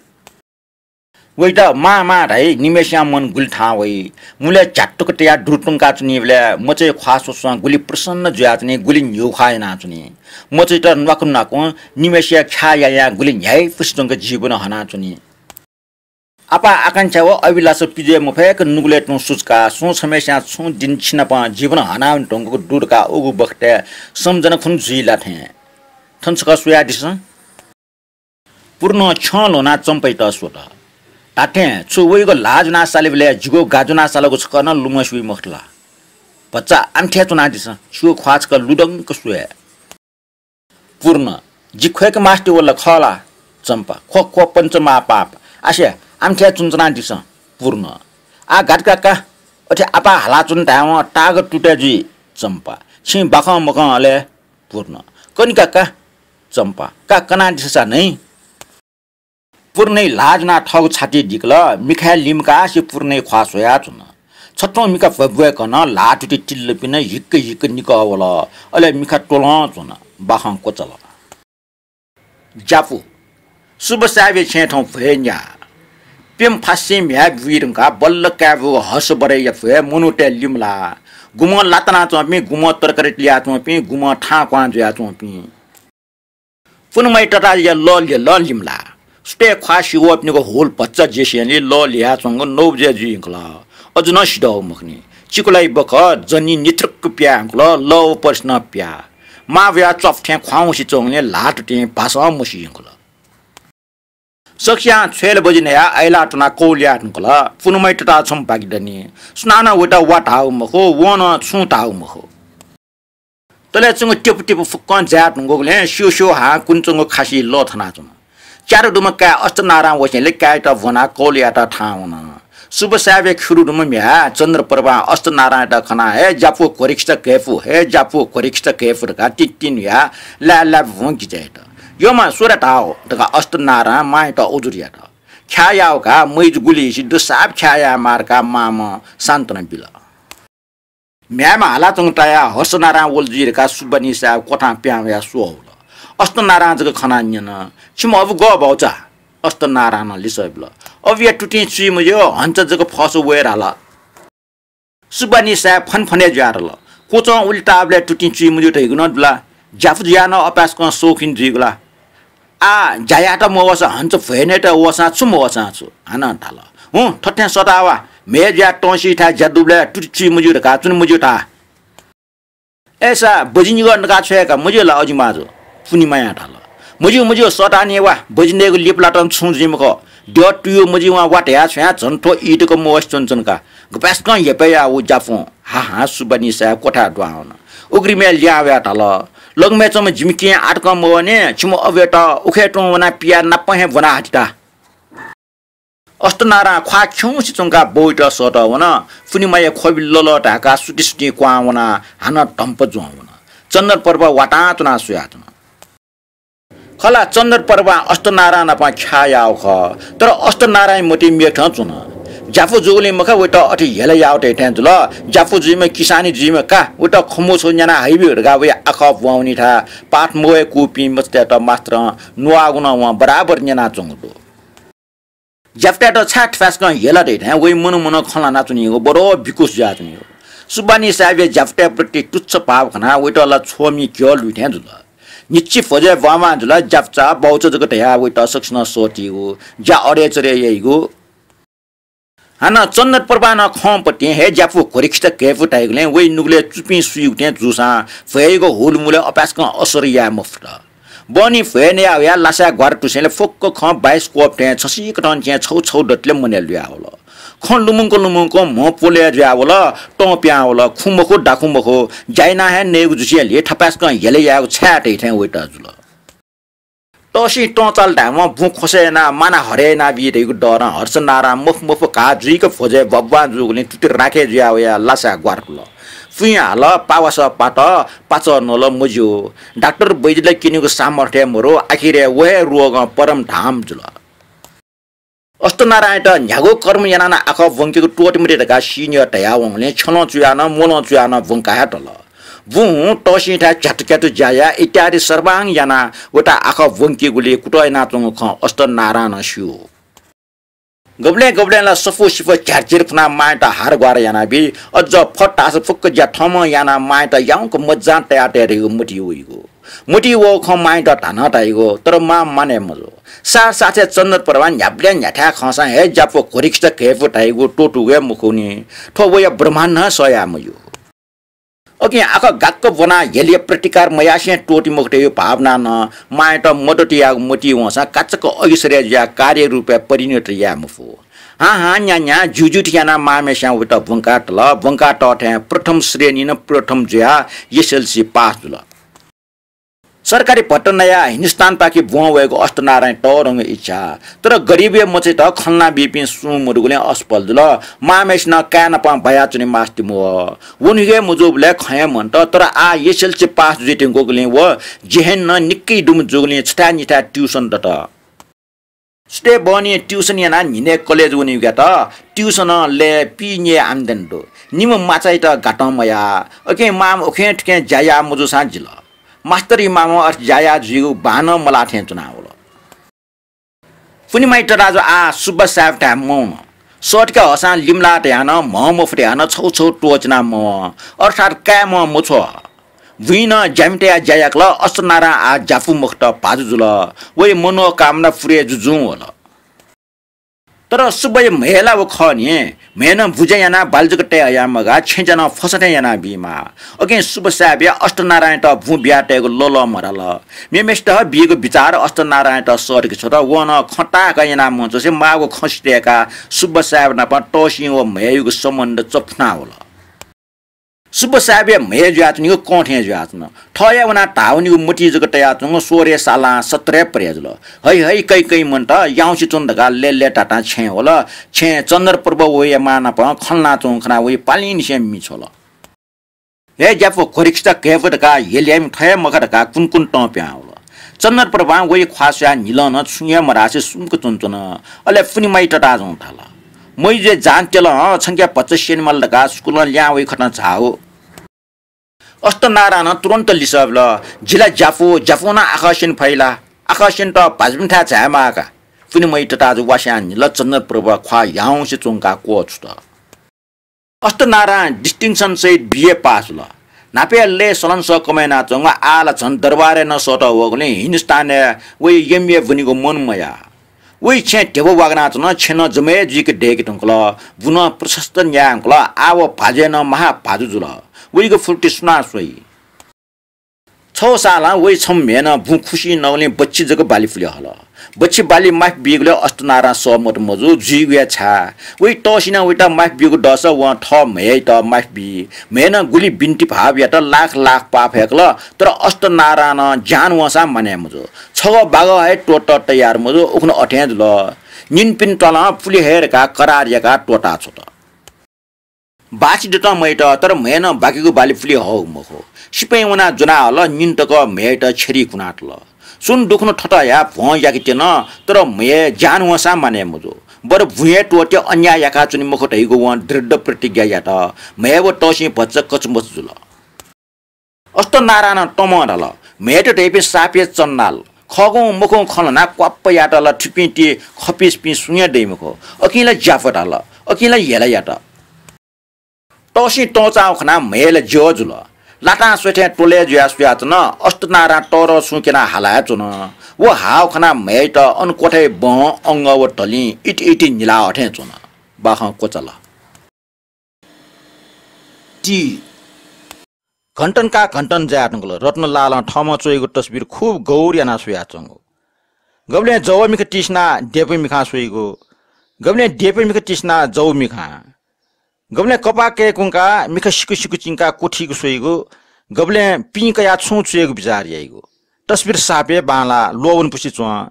वइत मां मां धाइ, निम्हय्सिया मन गुलि थाहां वइ। मुलय् झ्यात्तुक तयाः दुरु तुंकाच्वनीबलय् मचाया ख्वाः स्वस्वं गुलि प्रसन्न जुयाच्वनी, गुलि न्ह्यू ख्वाः यानाच्वनी। मचायात न्वाकु न्वाकुं निम्हय्सिया ख्याः यायां गुलि न्ह्याइपुसे च्वंक जीवन हनाच्वनी। आपाः आकांक्षा व अभिलाषा पिज्वये मफय्क नुगलय् तुं सुचुकाः सुं छम्हय्सियां छुं दिं छिनाप जीवन हनावने धुंकूगु दु धकाः उगु बखतय् सम्झना खुन्हु जुइ ला थें। थन छकः स्वयादिसँ। पूर्णं छ्यं ल्ह्वनाः चम्पायात स्वत। धात्थें छु वइगु ल्हाः ज्वनाः सालीबलय् जिगु गा ज्वनाः सालःगु छकः नं लुमंसे वइ मखुत ला? भचा आमथे च्वनादिसँ, छिगु ख्वाः छकः लुधंक स्वये। पूर्ण, जि ख्वय्के मास्ति वल खः ला? चम्पा, ख्व ख्व पञ्चमहापाप। आसे, आमथे च्वनाच्वनादिसँ। पूर्ण, आः गात का का, अथे आपाः हालाच्वन धायेवं ताःगः तुतय् जुइ। चम्पा, छिं बाखं मकं अले? पूर्ण, कनि का का। चम्पा, का कनादिसँ सा नै। पूर्णया ल्हाः ज्वनाः थःगु छातिइ दिकल, मिखाय् लिमकासे पूर्णया ख्वाः स्वयाच्वन। छथुं मिखा भ्वय्भ्वय् कन, ल्हाः तुति तिल्ल पिन, हिक्क हिक्क निकः वल। अले मिखा त्वलं च्वन, बाखं क्वचाल। ज्यापु। सुब्बा साहेबया छेँय् थौं भ्वय् न्याः। प्यम्ह फास्सें म्ह्याय् बुइ धुंकाः बल्ल काय् बूगु हर्ष बडैया भ्वय् मनूतय् लिमलाः। गुम्हं ला तनाच्वंपिं, गुम्हं तरकारी लियाच्वंपिं, गुम्हं थां क्वहां जुयाच्वंपिं। पुनमय् तताःया लः ल्यलं लिमलाः। सुथय् ख्वाः सिवःपिनिगु हुल भचा जेसेंलि लः ल्ययाच्वंगु नौ बजे जुइ यंकल। अझ नं सिधःगु मखुनि। चिकुलाया बखः जनी निथ्रुक्क पिहां यंकल, लः व पर्सि नं पिहां। मां वयाः च्वापु थें ख्वाउँसे च्वंगुलिं ल्हाः तुतिं भासं मसी यंकल। सकसियां छ्वय् बजि नयाः अय्लाः त्वनाः कौलाया धुंकल। पुनमय् तताः छम्ह बाकि दनि। सुनानं वयात वा धाःगु मखु, वं नं छुं धाःगु मखु। तलय् च्वंगु टिपु टिपु फुक्कं जाये धुंकूगुलिं स्यू स्यू हां कुने च्वंगु खासिइ लः थनाच्वन। च्यादँ दुम्ह काय् अष्टनारायण वसेंलि काय्‌यात ब्वनाः कौलायात थाहां वन। सुब्बा साहेबया खिरु दुम्ह म्ह्याय् चन्द्रप्रभां अष्टनारायणयात खनाः, "हे ज्यापु घ्वरिखिचा घय्‌पु, हे ज्यापु घ्वरिखिचा घय्‌पु" धकाः तिंतिं न्हुयाः लाय्‌लाय् भुं गिचय् यात। "यःम्ह, स्वरे धाः" धकाः अष्टनारायणं मांयात उजुर यात। "ख्याः याः का, मय्जु गुलिसित दु, साप ख्याः यायेमाः" धकाः मांम्हं सान्त्वना बिल। म्ह्याय्‌म्ह हालाच्वंगु तायाः हर्षनारायण वल जुइ धकाः सुब्बानिसाया क्वथां पिहां वयाः स्वः हुल। अष्टनारायणं जक खनाः न्यन, "छिम्ह अबु गः भाउचा?" अष्टनारायणं लिसः बिल, अबया तुतिं चुइ मज्यू, हन्च जक फःसा वये धाल। सुब्बानीसाय् फनफने जुयातल। क्वचं उलि ताःबलय् तुतिं चुइ मज्यू धइगु नं दु ला? ज्यापु जुयाः नं अपाय्सकं सौखिन जुइगु ला? आः ज्या यायेत मवःसा हन्च भ्वय् नयेत वःसां छु मवःसां छु? हानं धाल, हुँ, थथें सःता वा, म्हय् जुयाः तंसिथाय् ज्या दुबलय् तुति चुइ मज्यू धकाः च्वने मज्यू धा। अय्सा बजि निगः नका छ्वये का, मज्यू ला अजिमाजु? पुनिमायां धाल, मज्यू, मज्यू, सःताः नि वा, बजि नयेगु लिपा लातं छुं जुइ मखु। द्यः तुयु मजिं वा वा धया छ्वयां झन थ्व ई तक मवसे च्वनच्वन का। गपाय्सकं हेपय् याः व ज्यापुं। हा हा, सुब्बानीसाय् क्वथाय् दुहां वन। उघ्रिमय् लिहां वयाः धाल, लग्मय् च्वंम्ह जिमि केहेँ आः तकं मवने, छिम्ह अबुयात उखे तुं वनाः पियाः नापं हे ब्वना हतिता। अष्टनारायण ख्वाः खिउँसे च्वंकाः बौइत सःतः वन। पुनिमाया ख्वबि ललः धाय्काः सुतिसुतिं क्वहां वनाः हानं धम्प जुहां वन। चन्द्रप्रभा वातां च्वनाः स्वयाच्वन। खला, चन्द्रप्रभां अष्टनारायण नाप ख्याः याःगु खः, तर अष्टनारायण मतिइ मेगु थें च्वन। ज्यापु जूगुलिं मखा, वइत अथे हेला याःगु धइथें जुल। ज्यापु जुइम्ह, किसानी जुइम्ह का, वइत खँ मछिउ न्याना हइब्यु धकाः वया आखः ब्वंवनीथाय् पाठ मवय्कूपिं मचातय्त मास्तरं नुवाःगु नं वं बराबर न्यनाच्वंगु दु। ज्यापुतय्त छाय् थपाय्सकं हेला धइथें वइ मनू मनं खँ ल्हानाच्वनीगु बडो बिकुस जुयाच्वनीगु। सुब्बानीसाय्‌बया ज्यापुतय् प्रति तुच्छ भाव खनाः वइत ला छ्वमि घ्यः लुइथें जुल। न्हिच्छि भ्वजय् ब्वांब्वां जुल, ज्यापुचा, बाउचा जक धयाः वइत सकसिनं सःतीगु, ज्या अडय्‌चडय् याइगु। हानं चन्द्रप्रभां नं खंपतिं हे ज्यापु घ्वरिखिचा घय्‌पु धाइगुलिं वइ नुगलय् चुपिं सुइगु थें जूसां भ्वय्‌यागु हुलमुलय् अपाय्सकं असर याये मफुत। बहनी भ्वय् नया वयाः लासाय् ग्वारा तुसेंलि फुक्क खँ बायोस्कोप थें छसिकथं थें छौ छौ दतले मनय् लुयावल। खँ लुमंक लुमंक म्ह प्वलय् जुयावल, तं पिहां वल, खुँ मखु, दाखुँ मखु, ज्या यानाः हे नयेगु जुसेंलि थपाय्सकं हेला यायेगु छाय् धइथें वइत जुल। तःसिं तं चाल धायेवं बुँ ख्वसय् यानाः माना हरय् यानाबी धइगु डरं हर्षनारायण मफु मफु घाः जुइक भ्वजय् ब्वाब्वां जूगुलिं तुति राखे जुया वयाः लासाय् ग्वारा तुल। फुइँ हाल, पावासः पात, पाचः नल, मज्यू। डाक्टर वैद्यला क्यनेगु सामर्थ्य मरु, आखिरय् व हे रोगं परमधाम जुल। अष्टनारायणयात न्ह्यागु कर्म यानाः नं आखः ब्वंकेगु त्वःते मते धकाः सिनियर धयावंगुलिं छ्यलं चुयाः नं, म्वलं चुयाः नं ब्वंका हे तल। बुँ तःसिंथाय् झ्यातुक्यातु ज्या याये इत्यादि सर्वाङ्ग यानाः वइत आखः ब्वंकेगुली कुतः यानाच्वंगु खँ अष्टनारायणं स्यू। गबलें गबलें ला सफू सिफः झ्यारझिर फुनाः मांयात हारग्वारा यानाबी, अझ फत धाःसा फुक्क ज्या थःम्हं यानाः मांयात याउँक मज्जां तयातये धइगु मतिइ वइगु। मतिइ वःगु खँ मांयात धानं धाइगु, तर मां माने मजू। साथ साथय् चन्द्रप्रभां न्ह्याबलें न्ह्याथाय् खंसां हे ज्यापु घ्वरिखिचा घय्‌पु धाइगु त्वःतूगु हे मखुनि। थ्व वया ब्रह्माण्डं सह याये मज्यू। अकिं आखः गाक्क ब्वनाः हेलया प्रतिकार मयासें त्वःते मखु धइगु भावनां नं मांयात मद्दत यायेगु मतिइ वंसां काचाक्क अगिसरय् जुयाः कार्य रूपय् परिणत याये मफु। हां हां न्या न्या ज्यू ज्यू थें यानाः मांम्हेस्यां वइत ब्वंका तल। ब्वंका तःथें प्रथम श्रेणीं नं प्रथम जुयाः एसएलसी पास जुल। सरकारी भत्ता नयाः हिन्दुस्तानपाखे ब्वं वयेगु अष्टनारायण तःधंगु इच्छा। तर गरिबया मचायात खँ ल्हानाबीपिं सुं मदुगुलिं असफल जुल। मांम्हेसिनं काय् नाप बायाच्वने मास्ति मवः। व नुगः मजूबलय् खँ हे मन्त, तर आः एसएलसी पास जुइत्यंगुगुलिं व जेहेन नं निक्कै दुम्ह जूगुलिं छथाय् निथाय् ट्युसन दत। सुथय् बहनी ट्युसन यानाः न्हिनय् कलेज वनीगुयात ट्युसनं लय् पीन्यय् आम्दानी दु। निम्ह माचायात गातं मयाः। अकिं मांम्ह उखें थुखें ज्या याः मजूसां जिल। मास्तर इमामं अथे ज्या याः जुइगु बांनं मलाः थें च्वनावल। पुनिमाया तताजु आः सुब्बा साहेबथाय् मवन। सःतके हःसां लिमलाः धयाः नं, म्ह मफु धयाः नं छौ छौ त्वःचिना मवन, अर्थात् काय् म्ह मछ्वः। बुँइ नं ज्यामितया ज्या याकल। अष्टनारायण आः ज्यापु मखुत, भाजु जुल। वइ मनोकामना पुरे जुजुं वल। तर सुब्बाया म्हय् ला व खः नि। म्हय् नं बुँज्या यानाः बाली जक तये हयाः मगाः, छेँज्या नं फसं थें यानाबीमाः। अकिं सुब्बा साहेबया अष्टनारायणयात बुँ बियातयेगु लःल्हाः मधाल। मेम्हेसित बीगु बिचाः अष्टनारायणयात सःतके छ्वत। वं नं खँ ताःहाकः यानाः मवंच्वंसे माःगु खँ सिधयेकाः सुब्बा साहेब नाप तःसिं व म्हय्‌यागु सम्बन्ध चफुनावल। सुब्बा साहेबया म्हय् जुयाच्वनीगु कं थें जुयाच्वन। थःया वनाः धाः वनीगु मतिइ जक तयाच्वंगु सोह्रय् सालां सत्रय् परे जुल। है है, कै कै मन्त, याउँसे च्वन धकाः लय्‌लय्‌तातां छेँय् वल। छेँय् चन्द्रप्रभा व वया मां नाप खँ ल्हानाच्वंगु खनाः वइ पालिंनिसें मि छ्वल। हे ज्यापु, घ्वरिखिचा घय्‌पु धकाः हेल याइम्ह थ्व हे मखु धकाः कुन्कुन तं पिहां वल। चन्द्रप्रभां वइ ख्वाः स्वयाः न्हिलं नं छुं हे मधासे सुम्क च्वनाच्वन। अले पुनिमाया तताजं धाल, मय्‌जुया जान तेल हं, छंके भचा स्यने माल धकाः स्कुलं ल्याहां वइ खतं झाः। अष्टनारायणं तुरन्त लिसः बिल, जि ला ज्यापु, ज्यापुं नं आखः स्यने फइ ला? आखः स्यनेत भाजुपिन्थाय् झायेमाः का। पुनिमयी तताजु वास्यां न्हिल। चन्द्रप्रभा ख्वाः ह्याउँसे च्वंकाः क्वःछुत। अष्टनारां distinction सहित B A pass जुल। न्हापया लय् सलंसः कमय् यानाच्वंगु, आः ला झन दरबारय् नं सःतः वःगुलिं हिन्दुस्तानय् वइ M A ब्वनीगु मन मयाः। वइ छेँ ध्यबा वागनाच्वन, छेँ नं जमय् जुइक दय्के धुंकल, बुँ नं प्रशस्त न्याये धुंकल, आः व भाजुया नं महाभाजु जुल। वइगु फुर्ति सुनां स्वइ? छगू सालं वइ छम्ह म्ह्याय्‌नं बुँ खुसि नःगुलिं बच्छि जक बाली पुले हल। बच्छि बाली माफी बीगुलिं अष्टनारां सहमत मजू, जुइगु हे छाय्। वइ तःसिनं वइत माफी बीगु दःसा वं थः म्ह्याय्‌यात माफी बी। म्ह्याय्‌नं गुलि बिन्ति भाव यात, लाख लाख पाः फय्‌कल, तर अष्टनारां नं ज्यान वंसां मानय् मजू। छगः बागः हे त्वःतः तयार मजू, उखुन्हु अथें जुल। निन्हु पिन्हु त्वालं पुले हे धकाः करार याकाः त्वःताछ्वत। बाछि दतं मयात, तर म्ह्याय्‌नं बाकीगु बाली पुले हःगु मखु। सिपाइँ वनाः ज्वना हल, निन्हु तक म्ह्याय्‌यात छ्यरी कुनातल। सुं दुखुन्हु थथःया भ्वं याके त्यन, तर म्ह्याय् ज्यान वंसां मानय् मजू। बरु बुँया त्वःते अन्याय याकाच्वने मखु धइगु वं दृढ प्रतिज्ञा यात। म्ह्याय् व तःसिं भचा कचमच जुल। अष्टनारां नं तमं धाल, म्ह्याय्‌यात धइपिं साप हे चण्डाल। खःगुं मखुगुं खँ ल्हानाः क्वाप्प यात ला, थुपिं ति खपिस्पिं सुं हे दइ मखु। अकिं ला ज्यापु धाल, अकिं ला हेला यात। तःसिं तंचाःगु खनाः म्ह्याय् ला ज्यः जुल। लातां स्वये थें त्वलय् जुयाः स्वयाच्वन। अष्टनारां तःधं सुं क्यनाः हाला हे च्वन। व हाःगु खनाः म्ह्याय्‌यात अन क्वथाय् बहं, अंगः व धलिं इति इति न्हिलाः अथें च्वन। बाखं क्वचाल। ति। घन्टन का घन्टन जाये धुंकल। रत्नलालं थःम्हं च्वइगु तस्बिर खुब गौर यानाः स्वयाच्वंगु। गबलें जव मिखा तिसिनाः देपा मिखां स्वइगु, गबलें देपा मिखा तिसिनाः जव मिखां, गबलें कपाः कय्‌कुंकाः मिखा सिकु सिकु चिंकाः क्वथीक स्वइगु, गबलें पिं कयाः छुं च्वयेगु बिचाः याइगु। तस्बिर साप हे बांलाः ल्वःवनेपुसे च्वं।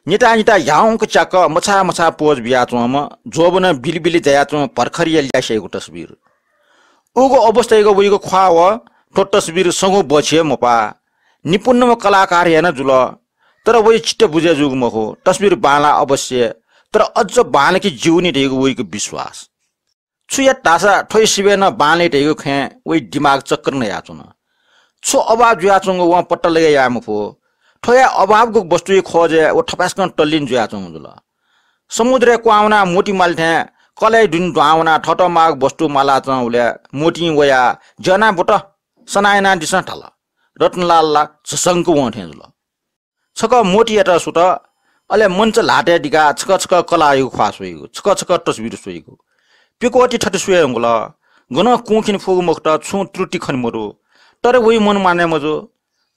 निता निता ह्याउँक च्याक्क मछाः मछाः पोज बियाच्वंम्ह, ज्वःबनं बिलिबिलि जायाच्वंम्ह भर्खरया ल्यासेयागु तस्बिर। उगु अवस्थायागु वइगु ख्वाः व थ्व तस्बिर संगु बछि हे मपाः। निपुणम्ह कलाकार हे नं जुल, तर वइ चित्त बुझे जूगु मखु। तस्बिर बांलाः अवश्य, तर अझ बांलाके ज्यू नि धइगु वइगु विश्वास। छु यात धाःसा थ्वइ सिबय् नं बांलाइ धइगु खँय् वइ दिमाग चक्कर नयाच्वन। छु अभाव जुयाच्वंगु वं पत्ता लगे याये मफु। थ्वया अभावगु वस्तुया खोजय् व थपाय्‌सकं तल्लीन जुयाच्वंगु जुल। समुद्रय् क्वहां वनाः मोती माले थें कलय् दुने दुहां वनाः थःत माःगु वस्तु मालाच्वंबलय् मोतीं वयाः ज्यना बुत, सना यानादिसँ धाल। रत्नलाल ला झसंक वं थें जुल। छकः मोतीयात सुत, अले मञ्च ल्हातय् दिकाः छकः छकः कलाःयागु ख्वाः स्वइगु, छकः छकः तस्बिर स्वइगु। पिकवति थथे स्वये धुंकल, गनं कुंखिने फुगु मखुत, छुं त्रुटि खने मदु। तर वइ मन मानय् मजू।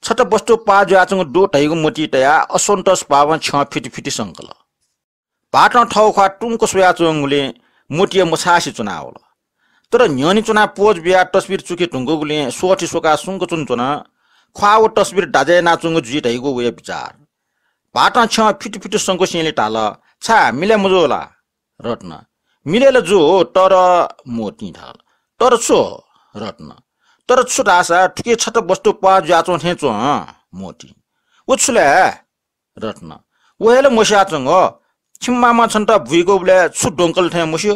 छता वस्तु पाः जुयाच्वंगु दु धइगु मोती तयाः असन्तोष भावं छ्यं फिति फिति संकल। भाःतं थःगु ख्वाः तुंक स्वयाच्वंगुलिं मोतीया मछासे च्वनावल। तर न्ह्यःने च्वनाः पोज बियाः तस्बिर चुके धुंकूगुलिं स्वःथि स्वकाः सुंक च्वनाच्वन। ख्वाः व तस्बिर दाज्या यानाच्वंगु जुइ धइगु वया बिचाः। भाःतं छ्यं फिति फिति संकुसेंलि धाल, छाय्, मिले मजू ला? रत्न, मिले ला जू, तर, मोतीं धाल, तर छु? रत्न, तर छु धाःसा थुकी छता वस्तु पाः जुयाच्वं थें च्वं। मोतीं, व छु ले? रत्न, व हे ला मस्याच्वंगु। छिमि मामां छन्त बुइकूबलय् छु द्वंकल थें मस्यू।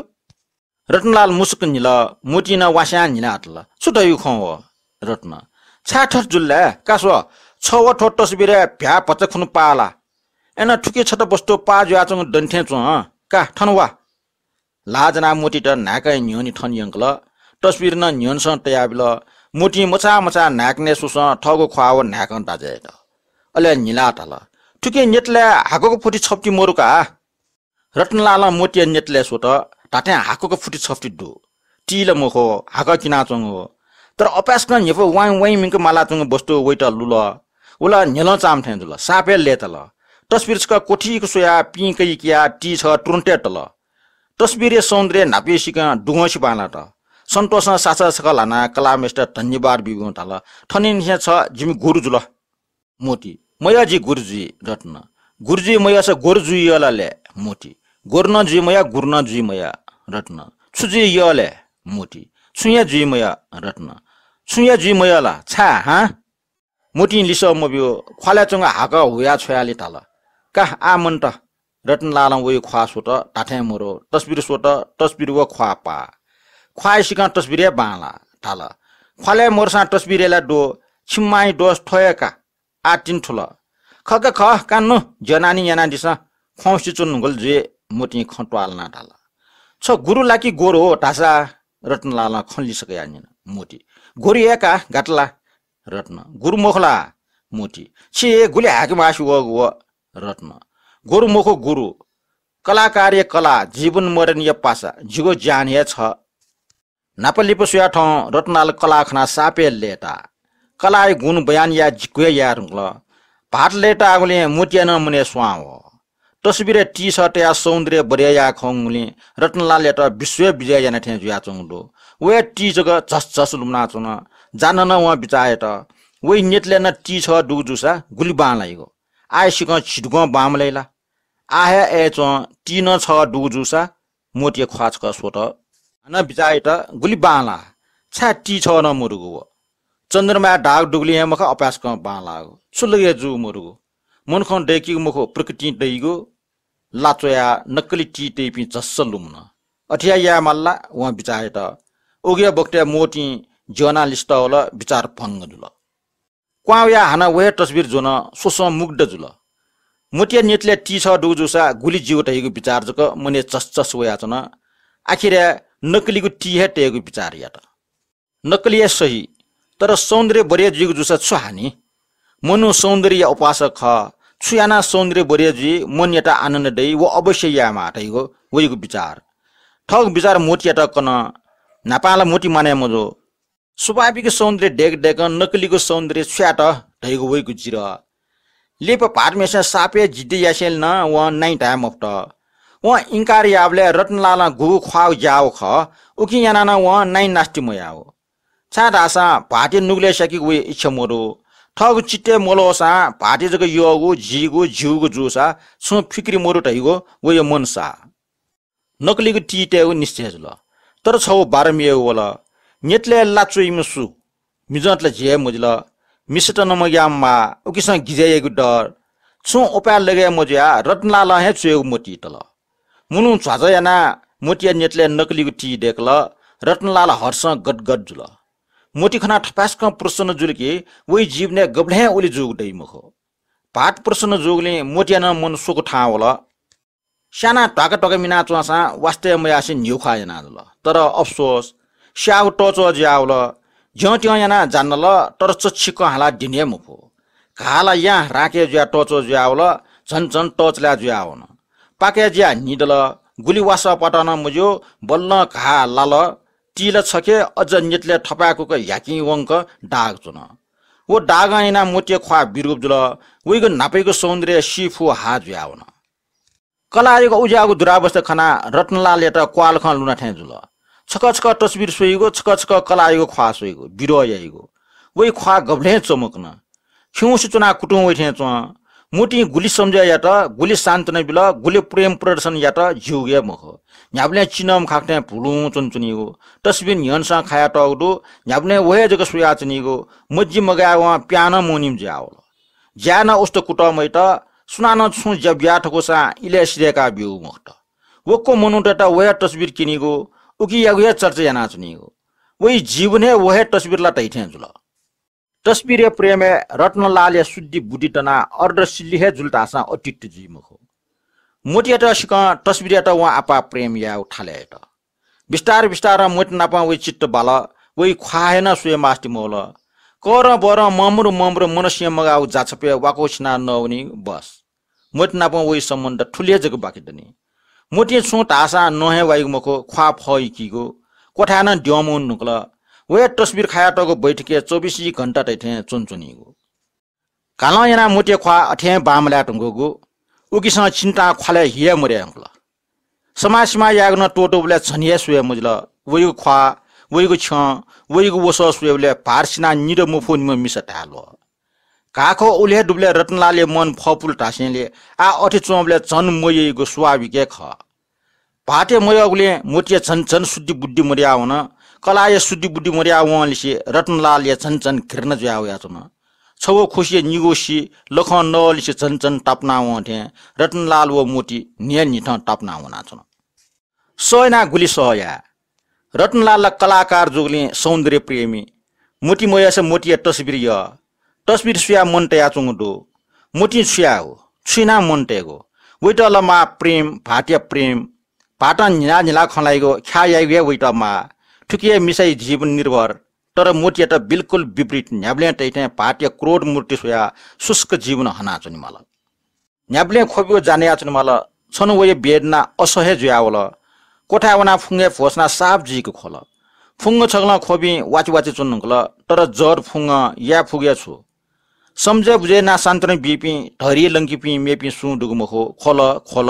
रत्नलाल मुसुक्क न्हिल, मोतीं नं वास्यां न्हिलातल। छु धइगु खँ व? रत्न, छाय् थथे जुल ले? का स्व, छ व थ्व तस्बिरय् भ्याः भचा खुन्हु पाः ला? अय्नं थुकी छता वस्तु पाः जुयाच्वंगु दनि थें च्वं। का, थन वा। ल्हाः ज्वनाः मोतीत न्हाय्कं न्ह्यःने थन यंकल। तस्बिर नं न्ह्यःनेसं तयाबिल। मोतीं मछाः मछाः न्हाय्कनय् स्वसं थःगु ख्वाः व न्हाय्कं दाज्या यात। अले न्हिलाः धाल, थुकी न्यतलय् हाकःगु फुति छप्ति मरु का। रत्नलालं मोतीया न्यतलय् स्वत, धात्थें हाकःगु फुति छप्ति दु। ति ला मखु, हाकः किनाच्वंगु। तर अपाय्सकं न्ह्यइपुसे वाइँ वाइँ मिंक मालाच्वंगु वस्तु वइत लुल। व ला न्ह्यलं चाःम्ह थें जुल, साप हे लय्ताल। तस्बिर छकः क्वथीक स्वयाः पिं कइकियाः ति छकः तुरुन्त हे तल। तस्बिरया सौन्दर्य न्हापांनिसें दुगंसि बांलात। सन्तोषं सासः छकः ल्हानाः कलाःम्हय्सित धन्यवाद बिबिं धाल, थनिंनिसें छ जिमि गुरु जुल। मोती, मयः जि गुरु जुइ। रत्न, गुरु जुइ मयःसा गुरु जुइ यः ला ले? मोती, गुरु नं जुइ मयः, गुरु नं जुइ मयः। रत्न, छु जुइ यः ले? मोती, छुं हे जुइ मयः। रत्न, छुं हे जुइ मयः ला? छाय् हां? मोतीं लिसः मब्यू, ख्वालय् च्वंगु हाकः हुयाः छ्वयालि धाल, का, आः मन्त। रत्नलालं वइ ख्वाः स्वत, धात्थें मरु। तस्बिर स्वत, तस्बिर व ख्वाः पाः। ख्वाःया सिकं तस्बिर हे बांलाः। धाल, ख्वालय् मरुसां तस्बिरय् ला दु, छिमि मांया दोष थ्व हे का। आः तिनि थुल। खः का खः, का नु, ज्या नानी यानादिसँ। ख्वाउँसे च्वंगुलिं जुइ मोतीं खँ त्वालनाः धाल, "छ गुरु ला कि गोरु हो?" धाःसा रतनलालं खँ लिसकया न्यन मोती, "गोरु हे का, गात ला?" रत्न, "गुरु मखु ला?" मोती, "छि गुलि हाय्के मास्ति वःगु व?" रत्न, "गोरु मखु गुरु, कलाकारया कला, जीवन मरणया पासा, जिगु ज्यान हे छ।" न्हापा लिपा स्वया थौं रतनलाल कलाः खनाः साप हे लय्ताः। कलाःया गुण बयान याये जिक्व हे याये धुंकल। भाःत लय्ताःगुलिं मोतीया नं मनय् स्वां वः। तस्वीरय् टी छः तयाः सौन्दर्य बढे याये खंगुलिं रतनलालयात विश्व हे विजय याना थें जुयाच्वंगु दु। व हे टी जक झसझस लुमनाच्वन। जान्हं नं वं बिचाः यात, वइ न्यतलय् नं टी छः दुगु जूसा गुलि बांलाइगु। आः हे सिकं झिदुगं बांमलाइ ला? आः हे अय्च्वं टी नं छः दुगु जूसा मोतीया ख्वाः छकः स्वत। हानं बिचाः यात, गुलि बांलाः, छाय् टी छः नं मदुगु व। चन्द्रमाय् दाग दुगुलिं हे मखा अपाय्सकं बांलाःगु। छु लगे जूगु मदुगु। मनुखं दय्कीगु मखु, प्रकृतिं दइगु। ला च्वयाः नक्कली टी तइपिं झसझस लुमन। अथे हे याये माल ला? वं बिचाः यात। उगु हे बखतय् मोतीं ज्यना लिसत वल, बिचाः भंग जुल। क्वां वयाः हानं व हे तस्वीर ज्वन, स्वस्वं मुग्ध जुल। मोतीया न्यतलय् टी छः दुगु जूसा गुलि ज्यू धइगु बिचाः जक मनय् चसचस वयाच्वन। आखिरय् नक्कलीगु टी हे तयेगु बिचाः यात। नक्कली हे सही, तर सौन्दर्य बढे जुइगु जूसा छु हानि? मनू सौन्दर्यया उपासक खः। छु यानाः सौन्दर्य बढे जुइ, मनयात आनन्द दइ, व अवश्य यायेमाः धइगु वइगु बिचाः। थःगु बिचाः मोतीयात कन। न्हापां ला मोती मानय् मजू। स्वाभाविक सौन्दर्य दय्क दय्कं नक्कलीगु सौन्दर्य छु यात धइगु वइगु जिरह। लिपा भाःतम्हेसिनं साप हे जिद्दी यासेंलि नं वं नाइँ धाये मफुत। वं इन्कार याःबलय् रतनलालं गुगु ख्वाःगु ज्याःगु खः, उकिं यानाः नं वं नाइँ नास्ति मयाःगु। छाय्धाःसा भाःतया नुगलय् स्याकेगु वया इच्छा मदु। थःगु चित्तय् मल्वःसां भाःतया जक यःगु, जीगु, ज्यूगु जूसा छुं फिक्री मदु धइगु वया मनसाः। नक्कलीगु टी तयेगु निश्चय जुल। तर छगू बाधा मेगु वल। न्यतलय् ला च्वइम्ह सु? मिजंत ला ज्या हे मजिल। मिसात नं मग्याःम्ह माः, उकिसं गिजय् याइगु डर। छुं उपाय लगे मजुयाः रतनलालं हे च्वयेगु मोती तल। मुलुं झ्वाझ्व यानाः मोतीया न्यतलय् नक्कलीगु टी दय्कल। रतनलाल हर्षं गदगद जुल। मोती खनाः थपाय्सकं प्रसन्न जुल कि वइ जीवनय् गबलें उलि जूगु दइ मखु। भाःत प्रसन्न जूगुलिं मोतीया नं मन स्वकू थाहां वल। स्यानाः ध्वाका ध्वाका मिनाच्वंसां वास्ता मयासें न्ह्यू ख्वाः याना जुल। तर अफसोस, स्याःगु तःच्वः जुयावल। ज्यंत्यं यानाः जान्दल, तर चच्छि कं हालाः द्यने हे मफु। घाः ला यां राँके जुयाः तःच्वः जुयावल, झन झन तःचलाय् जुयावन। पाकय् जुयाः न्हिदल, गुलि वासः पात नं मज्यू, बल्लं घाः लाल। टी ला छखे, अझ न्यतलय् थपाय्कुक ह्याकिं वंक दाग च्वन। व दागं यानाः मोतीया ख्वाः बिरूप जुल, वइगु न्हापायागु सौन्दर्य सी फुहाः जुयावन। कलाःयागु उज्याःगु दुरावस्था खनाः रतनलालयात क्वाःलखं लुना थें जुल। छकः छकः तस्वीर स्वइगु, छकः छकः कलाःयागु ख्वाः स्वइगु, बिरोध याइगु। वइ ख्वाः गबलें चमकन। खिउँसे च्वनाः कुतुं वइ थें च्वं। मोतीं गुलि सम्झः यात, गुलि सान्त्वना बिल, गुलि प्रेम प्रदर्शन यात, ज्यूगु हे मखु। न्ह्याबलें चिनंम्ह खाख थें भुलुं च्वनाच्वनीगु। तस्वीर न्ह्यःनेसं खायातःगु दु, न्ह्याबलें व हे जक स्वयाच्वनीगु। मज्जी मगाय्वं प्यां नं मवनीम्ह जुयावल। ज्याय् नं उस्त कुतः मयात, सुनानं छुं ज्या बिया धकूसां इलय् सिधय्का ब्यूगु मखुत। वक्व मनूतय्त व हे तस्वीर क्यनीगु, उकियागु हे चर्चा यानाच्वनीगु। वइ जीवन हे व हे तस्वीर ला धइथें जुल। तस्वीरया प्रेमय् रतनलालया शुद्धि बुद्धि दनाः अर्धसिल्लि हे जुल धाःसां अत्युक्त जुइ मखु। मोतीयात सिकं तस्वीरयात वं आपाः प्रेम यायेगु थालय् यात। बिस्तार बिस्तारं मोती नाप वइ चित्त बाल, वइ ख्वाः हे नं स्वये मास्ति मवल। करं बरं ममरु ममरु मनसें मगाःगु जाछापय् वाकःछिनाः नवनीगु बस। मोती नाप वइ सम्बन्ध थुलि हे जक बाकि दनि। मोतीं छुं धाःसां नं हे वाइगु मखु, ख्वाः फः यकीगु। क्वथाय् नं द्यं मवने धुंकल। व हे तस्वीर खायातःगु बैठकय् चौबिसै घण्टा धइथें च्वनाच्वनीगु। कालं यानाः मोतीया ख्वाः अथें बांमलाये धुंकूगु। उकिसं चिन्तां ख्वालय् हि हे मदये धुंकल। समाः सिमाः यायेगु नं त्वःतूबलय् झन हे स्वये मजिल। वइगु ख्वाः, वइगु छ्यं, वइगु वसः स्वयेबलय् भाःत सिनाः निदँ मफुनिम्ह मिसा धाये ल्वः। घाःखः उलि हे दुबलय् रतनलालया मन फःपुल धासेंलि आः अथे च्वंबलय् झन मयइगु स्वाभाविक हे खः। भाःतया मयःगुलिं मोतीया झन झन शुद्धि बुद्धि मदयावन। कलाःया शुद्धि बुद्धि मदयावंलिसे रतनलालया झन झन घृणा जुया वयाच्वन। छगू खुसिया निगू सि लखं नवलिसे झन झन तापाना वं थें रतनलाल व मोती न्हियान्हिथं तापाना वनाच्वन। सह यानाः गुलि सह याये। रतनलाल ला कलाकार जूगुलिं सौन्दर्य प्रेमी। मोती मयःसा मोतीया तस्वीर यः। तस्वीर स्वयाः मन तयाच्वंगु दु। मोतीं छु यायेगु? छु यानाः मन तयेगु? वइत ला माः प्रेम, भाःतया प्रेम। भाःतं न्हिला न्हिला खँ ल्हाइगु, ख्याः याइगु हे वइत माः। थुकी हे मिसाया जीवन निर्भर। तर मोतीयात बिल्कुल विपरीत, न्ह्याबलें तइथें भाःतया क्रोध मूर्ति स्वयाः शुष्क जीवन हनाच्वनेमाल। न्ह्याबलें ख्वबिया जा नयाच्वनेमाल। छन्हु वया वेदना असह्य जुयावल। क्वथाय् वनाः फुंगय् भ्वसुनाः साप जुइक ख्वल। फुंग छकलं ख्वबिं वाचे वाचे च्वने धुंकल, तर जड फुंगं याये फुगु हे छु? समझय् बुझय् यानाः सान्त्वना बीपिं, धैर्य लंकीपिं मेपिं सुं दुगु मखु। ख्वल, ख्वल,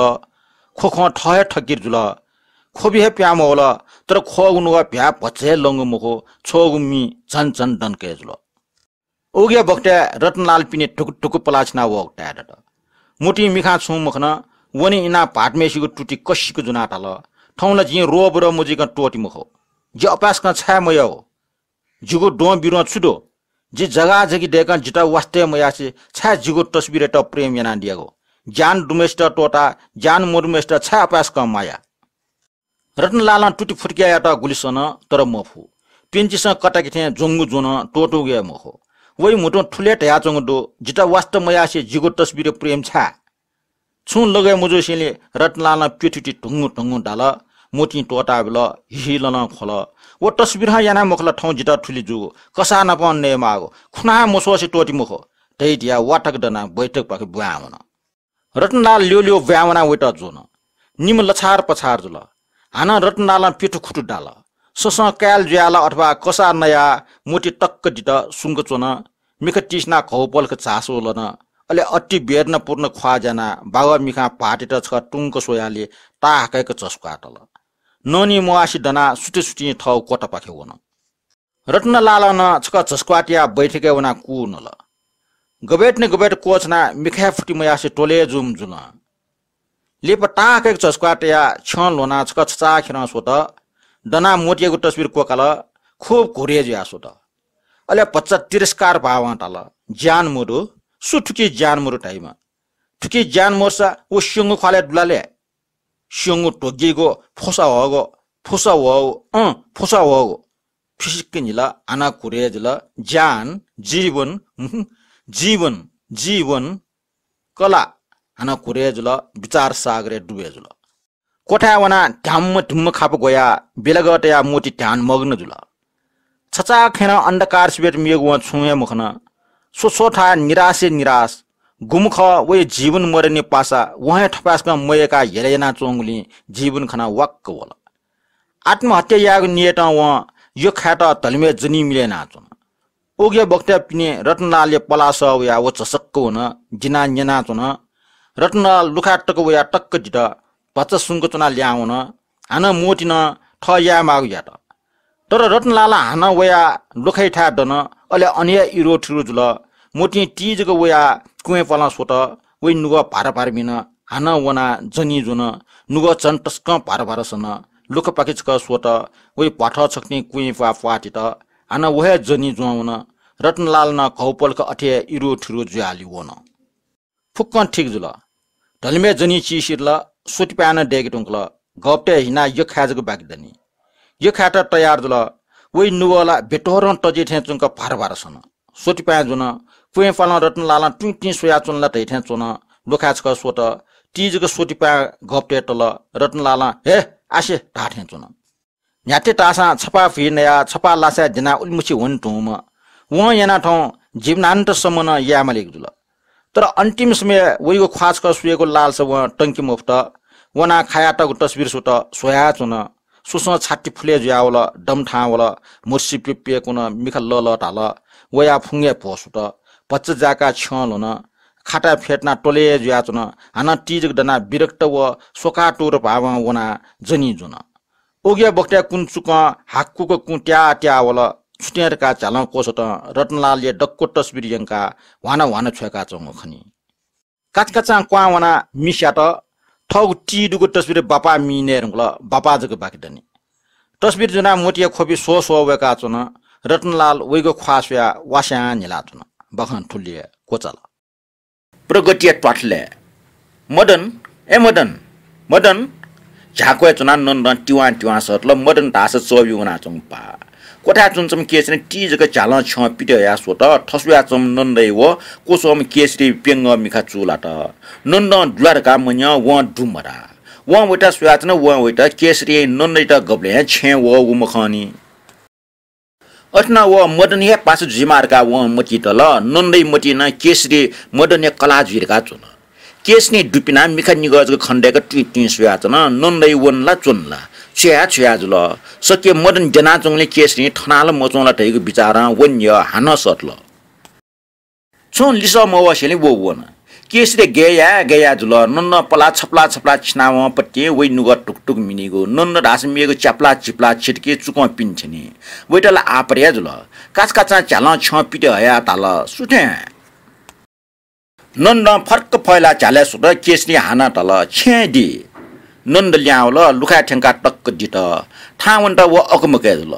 ख्वख्वं थः हे थकित जुल। ख्वबि हे प्याहां मवल, तर ख्वःगु नुगः भ्याः भचा हे लंगु मखु, छ्वःगु मि झन झन दंके जुल। उकिया बखतय् रतनलाल पिने धुकु धुकु पलाः छिना वःगु ताये दत। मोतीं मिखां छुं मखन, वने इनाः भाःतम्हय्‌सिगु तुति कसिक ज्वनाः धाल, थौं ला जिं रोबरः मजुइकं त्वःते मखु। जि अपाय्‌सकं छाय् मयःगु? जिगु द्वं बिद्वं छु दु? जि जगाजगि दय्‌कं जितः वास्ता मयासें छाय् जिगु तस्बिरयात प्रेम यानादियागु? ज्ञान दुम्हय्‌सित त्वःताः ज्ञान मदुम्हय्‌सित छाय् अपाय्‌सकं माया? रतनलालं तुति फुतुक्याः यात गुलि सन, तर मफु। प्यन्चिसं कताके थें ज्वंगु ज्वं त्वःतूगु हे मखु। वइ म्हुतुं थुलि हे धयाच्वंगु दु, जितः वास्ता मयासें जिगु तस्बिरय् प्रेम छाय्? छुं लगय् मजूसेंलि रतनलालं प्यथुति धुंगु धुंगु दाल। मोतीं त्वःताबिल, हिहिललं ख्वल। व तस्बिरं यानाः मखु ला थौं जितः थुलि जूगु, कसाः नापं नयेमाःगु, खुनाः मस्वःसे त्वःते मखु धइ धयाः वातक दनाः बैठकपाखे ब्वाँय् वन। रतनलाल ल्यू ल्यू ब्वाँय् वनाः वइत ज्वन। निम्ह लछार पछार जुल। हानं रतनलालं प्यथु खुतु दाल। ससं काय्‌ल जुयाः ला अथवा कसाः नयाः मोती तक्क दित सुंक च्वन। मिखा तिसिनाः घौपलख झासु लन। अले अति वेदनापूर्ण ख्वाः ज्यानाः बागः मिखां भाःतयात छकः तुंक स्वयालि ताहाकय्‌क झसुकाः तल। ननी म्वाःसे दनाः सुति सुतिं थःगु क्वतापाखे वन। रतनलालं नं छकः झसुकाः तयाः बैठकय् वनाः कू नल। गबय् तिनि गबय् क्वःछनाः मिखाय् फुति मयासें त्वले जुइम्ह जुल। लिपा ताहाकय्‌क झसुकाः तयाः छ्यं ल्ह्वनाः छकः छचाःखेरं स्वत। दनाः मोतीयागु तस्बिर क्वकाल। खुब घुरे जुयाः स्वत। अले भचा तिरस्कार भावं धाल, ज्ञान मदु, सु थुकी ज्ञान मदु धाइम्ह? थुकी ज्ञान मदुसा व स्यंगु ख्वालय् दुलाले। स्यंगु ध्वगिगु फुसा वःगु, फुसा वःगु, अँ, फुसा वःगु। फिसिक्क न्हिल, हानं घुरे जुल। ज्ञान, जीवन, हुँ, जीवन, जीवन, कला, हानं घुरे जुल, विचार सागरय् डुबे जुल। क्वथाय् वनाः ध्याम्म धुम्म खापा ग्वयाः बिलगः तयाः मोती ध्यानमग्न जुल। छचाःखेरं अन्धकार सिबेत मेगु वं छुं हे मखन। स्व स्व थाय् निराशे निराश। गुम्ह खः वया जीवन मदनि पासा वं हे थपाय्‌सकं मयय्‌काः हेला यानाच्वंगुलिं जीवन खनाः वाक्क वल। आत्महत्या यायेगु नियतं वं यःखाय्‌त धल्मय् जनी मिले यानाच्वन। उकिया बखतय् पिने रतनलालया पलाः सः वयाः व झसक्क वन, दिनाः न्यनाच्वन। रतनलाल लुखाय् तक वयाः तक्क दित। भचा सुंक च्वनाः ल्याहां वन। हानं मोतीं नं थः यायेमाःगु यात। तर रतनलाल हानं वयाः लुखायाथाय् दन। अले अन हे इरो थिरो जुल। मोतीं ति जक वयाः क्वँय् पालं स्वत। वइ नुगः भार भार मिन। हानं वनाः जनी ज्वन। नुगः झन तसकं भार भार सन। लुखापाखे छकः स्वत। वइ भ्वाथः छकथिं क्वँय् प्वाः प्वाः तित। हानं व हे जनी ज्वं वन। रतनलाल नं घौपलख अथे हे इरो थिरो जुयालि वन। फुक्कं ठीक जुल। धल्मय् जनी चिसिधल। स्वतिपाँय् नं दय्‌के धुंकल। गःपतय् हिनाः यःखाय् जक बाकि दनि। यःखाय्‌त तयार जुल। वइ नुगः ला बेतोरं तजे थें च्वंक भार भार सन। स्वतिपाँय् ज्वन। क्वँय् पालं रतनलालं तुइँतिं स्वयाच्वन ला धइथें च्वन। लुखाय् छकः स्वत। ति जक स्वतिपाँय् गःपतय् तल। रतनलालं हे आसे धाःथें च्वन। न्ह्याथे धाःसां छपाः भुइ नयाः छपाः लासाय् द्यनाः उलिमछि वने धुंम्ह। वं यानाः थौं जीवनान्तसम्म नं याये मालीगु जुल। तर अन्तिम समयय् वइगु ख्वाः छकः स्वयेगु लालसा वं तंके मफुत। वनाः खायातःगु तस्बिर स्वत, स्वयाच्वन। स्वसं छाति फुले जुयावल, दम थाहां वल, म्हुर्सी प्यप्यकुन, मिखा लःलः धाल। वयाः फुंगय् भ्वसुत। भचा जाय्‌काः छ्यं ल्ह्वन। खाताय् फ्यतुनाः त्वलय् जुयाच्वन। हानं ति जक दनाः विरक्त व स्वकातुर भावं वनाः जनी ज्वन। उकिया बखतय् कुन्चुकं हाकुक कुँ त्याः त्याः वल। छुतें धकाः झ्यालं क्वसतं रतनलालया दक्व तस्बिर यंकाः ह्वाना ह्वाना छ्वय्‌काच्वंगु खनी। काचाकाचां क्वहां वनाः मि स्यात। थःगु ति दुगु तस्बिर बापाः मिइ नये धुंकल, बापाः जक बाकि दनि। तस्बिर ज्वनाः मोतीया ख्वबि स्वः स्वः वय्‌काच्वन। रतनलाल वइगु ख्वाः स्वयाः वास्यां न्हिलाच्वन। बाखं थुलि हे क्वचाल। प्रगतिया त्वाथलय् मदन, ए मदन, मदन, झ्याक्वय् च्वनाः नन्दं तिवां तिवां सःतल। मदन धाःसा चःबि वनाच्वंगु पाः। क्वथाय् च्वनाच्वंम्ह केसरीं ति जक झ्यालं छ्यं पित हयाः स्वत। थस्वयाच्वंम्ह नन्दया व क्वस्वःम्ह केसरीया प्यंगः मिखा चूलात। नन्दं दु ला धकाः मन्यं वं दु मधाः। वं वयात स्वयाच्वन, वं वयात केसरीं नन्दयात गबलें छेँय् वःगु मखंनि। अथे नं व मदन हे पासा जुइमाः धकाः वं मतिइ तल। नन्दया मतिइ नं केसरी मदनया कलाः जुइ धकाः च्वन। केसरीं दु पिनाः मिखा निगः जक खनेदय्क तुं तुं स्वयाच्वन। नन्दया वन ला च्वन ला, छु याये छु याये जुल। सकसिया मदन द्यनाच्वंगुलिं केसरीं थनाः ला मच्वं ला धइगु बिचारं वनया हानं सःतल। छुं लिसः मवसेंलि व वन। केसरी गय् याये गय् याये जुल। नन्दं पलाः छपलाः छपलाः छिनावंपतिं वइ नुगः टुक टुक मिनीगु। नन्द धाःसा मेगु च्यापलाः चिपलाः छितकी चुकं पिने थ्यनी। वइत ला आपत हे जुल। काचाकाचां झ्यालं छ्यं पित हयाः धाल, सु थें? नन्दं फर्क फयलाः झ्यालय् स्वत। केसरीं हानं धाल, छेँय् दि। नन्द लिहां वल, लुखाय् थ्यंकाः तक्क दित। थाहां वनेत व अकमकय् जुल।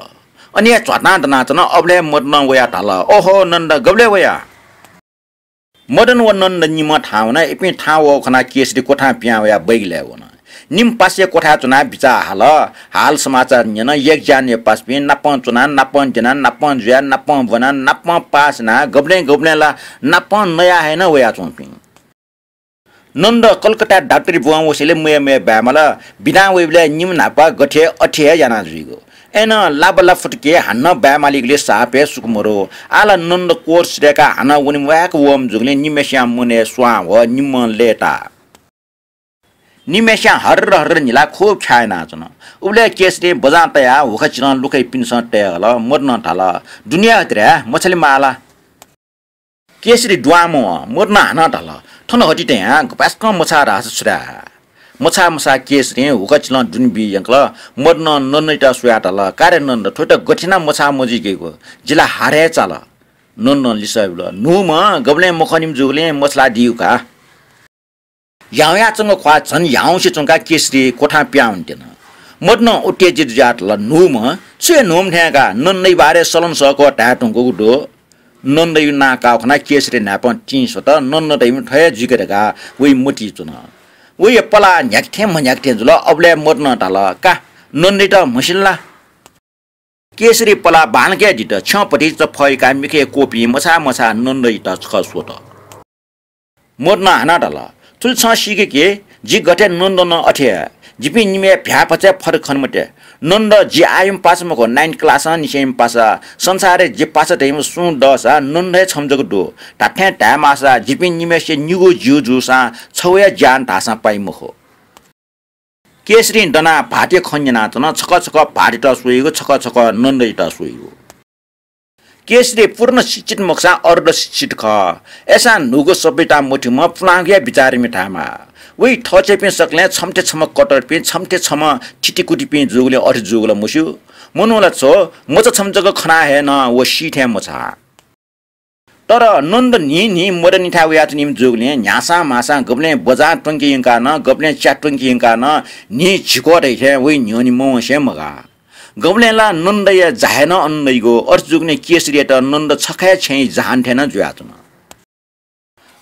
अन हे झ्वातां दनाच्वन। अबलय् मदनं वयाः धाल, ओहो नन्द, गबलय् वया? मदन व नन्द निम्हं थाहां वन। इपिं थाहां वःगु खनाः केसरी क्वथां पिहां वयाः बैगलय् वन। निम्ह पासाया क्वथाय् च्वनाः बिचाः हाल। हालसमाचार न्यन। यज्ञयानया पासापिं नापं च्वनाः, नापं द्यनाः, नापं जुयाः, नापं ब्वनाः, नापं पास यानाः, गबलें गबलें ला नापं नयाः हे नं वयाच्वंपिं। नन्द कलकत्ताय् डाक्टरी ब्वं वसेंलि मयः मयः बाय् माल। बिदां वइबलय् निम्ह न्हापा गथे अथे हे याना जुइगु। अय्नं लाबा ला फुतुके हानं बाय् मालीगुलिं साप हे सुख मदु। आः ला नन्द कोट सिधय्काः हानं वने म्वाय्क वःम्ह जूगुलिं निम्हय्सियां मनय् स्वां ह्वः, निम्हं लय्ताः। निम्हय्सियां हर्र हर्र न्हिलाः खुब ख्याः यानाच्वन। उबलय् केसरीं बजां तयाः हुखाचिलं लुखय् पिनेसं तये हल। मदनं धाल, दुने हतिराय् मछाले माः ला? केसरी दुहां मवं। मदनं हानं धाल, थन हति तयां गपाय्सकं मछाः धाःसा छु धाये? मछाः मछाः केसरीं हुखाचिलं दुने बी यंकल। मदनं नन्दयात स्वयाः धाल, का रे नन्द, थ्वयात गथे यानाः मछाः मजुइकेगु? जि ला हारय् चाल। नन्दं लिसः बिल, न्हूम्ह गबलें मखनीम्ह जूगुलिं मछालादीगु का। ह्याउँयाच्वंगु ख्वाः झन ह्याउँसे च्वंकाः केसरी क्वथां पिहां वनेत्यन। मदनं उत्तेजित जुयाः धाल, न्हूम्ह? छु हे न्हूम्ह थें का, नन्दया बारे सलं सःकः धाये धुंकूगु दु। नन्दया नां काःगु खनाः केसरी न्हाय्पं तिं स्वत। नन्द धइम्ह थ्व हे जुइका धकाः वइ मतिइ च्वन। वया पलाः न्ह्याके थें म्हन्ह्याके थें जुल। अबलय् मदनं धाल, का, नन्दयात म्हसिल ला? केसरी पलाः बांलाक हे दित। छ्यं भतिचा फय्काः मिखा क्वःपिं मछाः मछाः नन्दयात छकः स्वत। मदनं हानं धाल, थुलि छं सीके कि, जि गथे नन्द नं अथे हे। जिपिं निम्हय् भ्याःभचा हे फरक खने मते। नन्द जि आःयाम्ह पासा मखु, नाइन क्लासं निसेंयाम्ह पासा। संसारय् जि पासा धइम्ह सुं दःसा नन्द हे छम्ह जक दु। धात्थें धायेमाःसा जिपिं निम्हय्सिया निगू ज्यू जूसां छगू हे ज्यान धाःसां पाइ मखु। केसरीं दनाः भाःतया खँ न्यनाच्वन। छकः छकः भाःतयात स्वइगु, छकः छकः नन्दयात स्वइगु। केसरी पूर्ण शिक्षित मखुसां अर्ध शिक्षित खः। अय्सां न्हूगु सभ्यता मथूम्ह पुलांगु हे विचारमि धायेमाः। वइ थःछेँपिं सकलें छम्हथें छम्ह कट्टरपिं, छम्हथें छम्ह थितिकुतिपिं जूगुलिं अथे जूगु ला मस्यू। मनू ला छ्व, मचा छम्ह जक खनाः हे नं व सी थें मछाः। तर नन्द न्हिं न्हिं मदनयाथाय् वयाच्वनीम्ह जूगुलिं न्ह्यासां म्हासां गबलें बजां त्वंके यंकाः नं, गबलें च्या त्वंके यंकाः नं न्हिं झिक्वः धइथें वइ न्ह्यःने मवंसे मगाः। गबलें ला नन्दया जा हे नं अन दइगु। अथे जूगुलिं केसरीयात नन्द छखा हे छेँया जहान थें नं जुयाच्वन।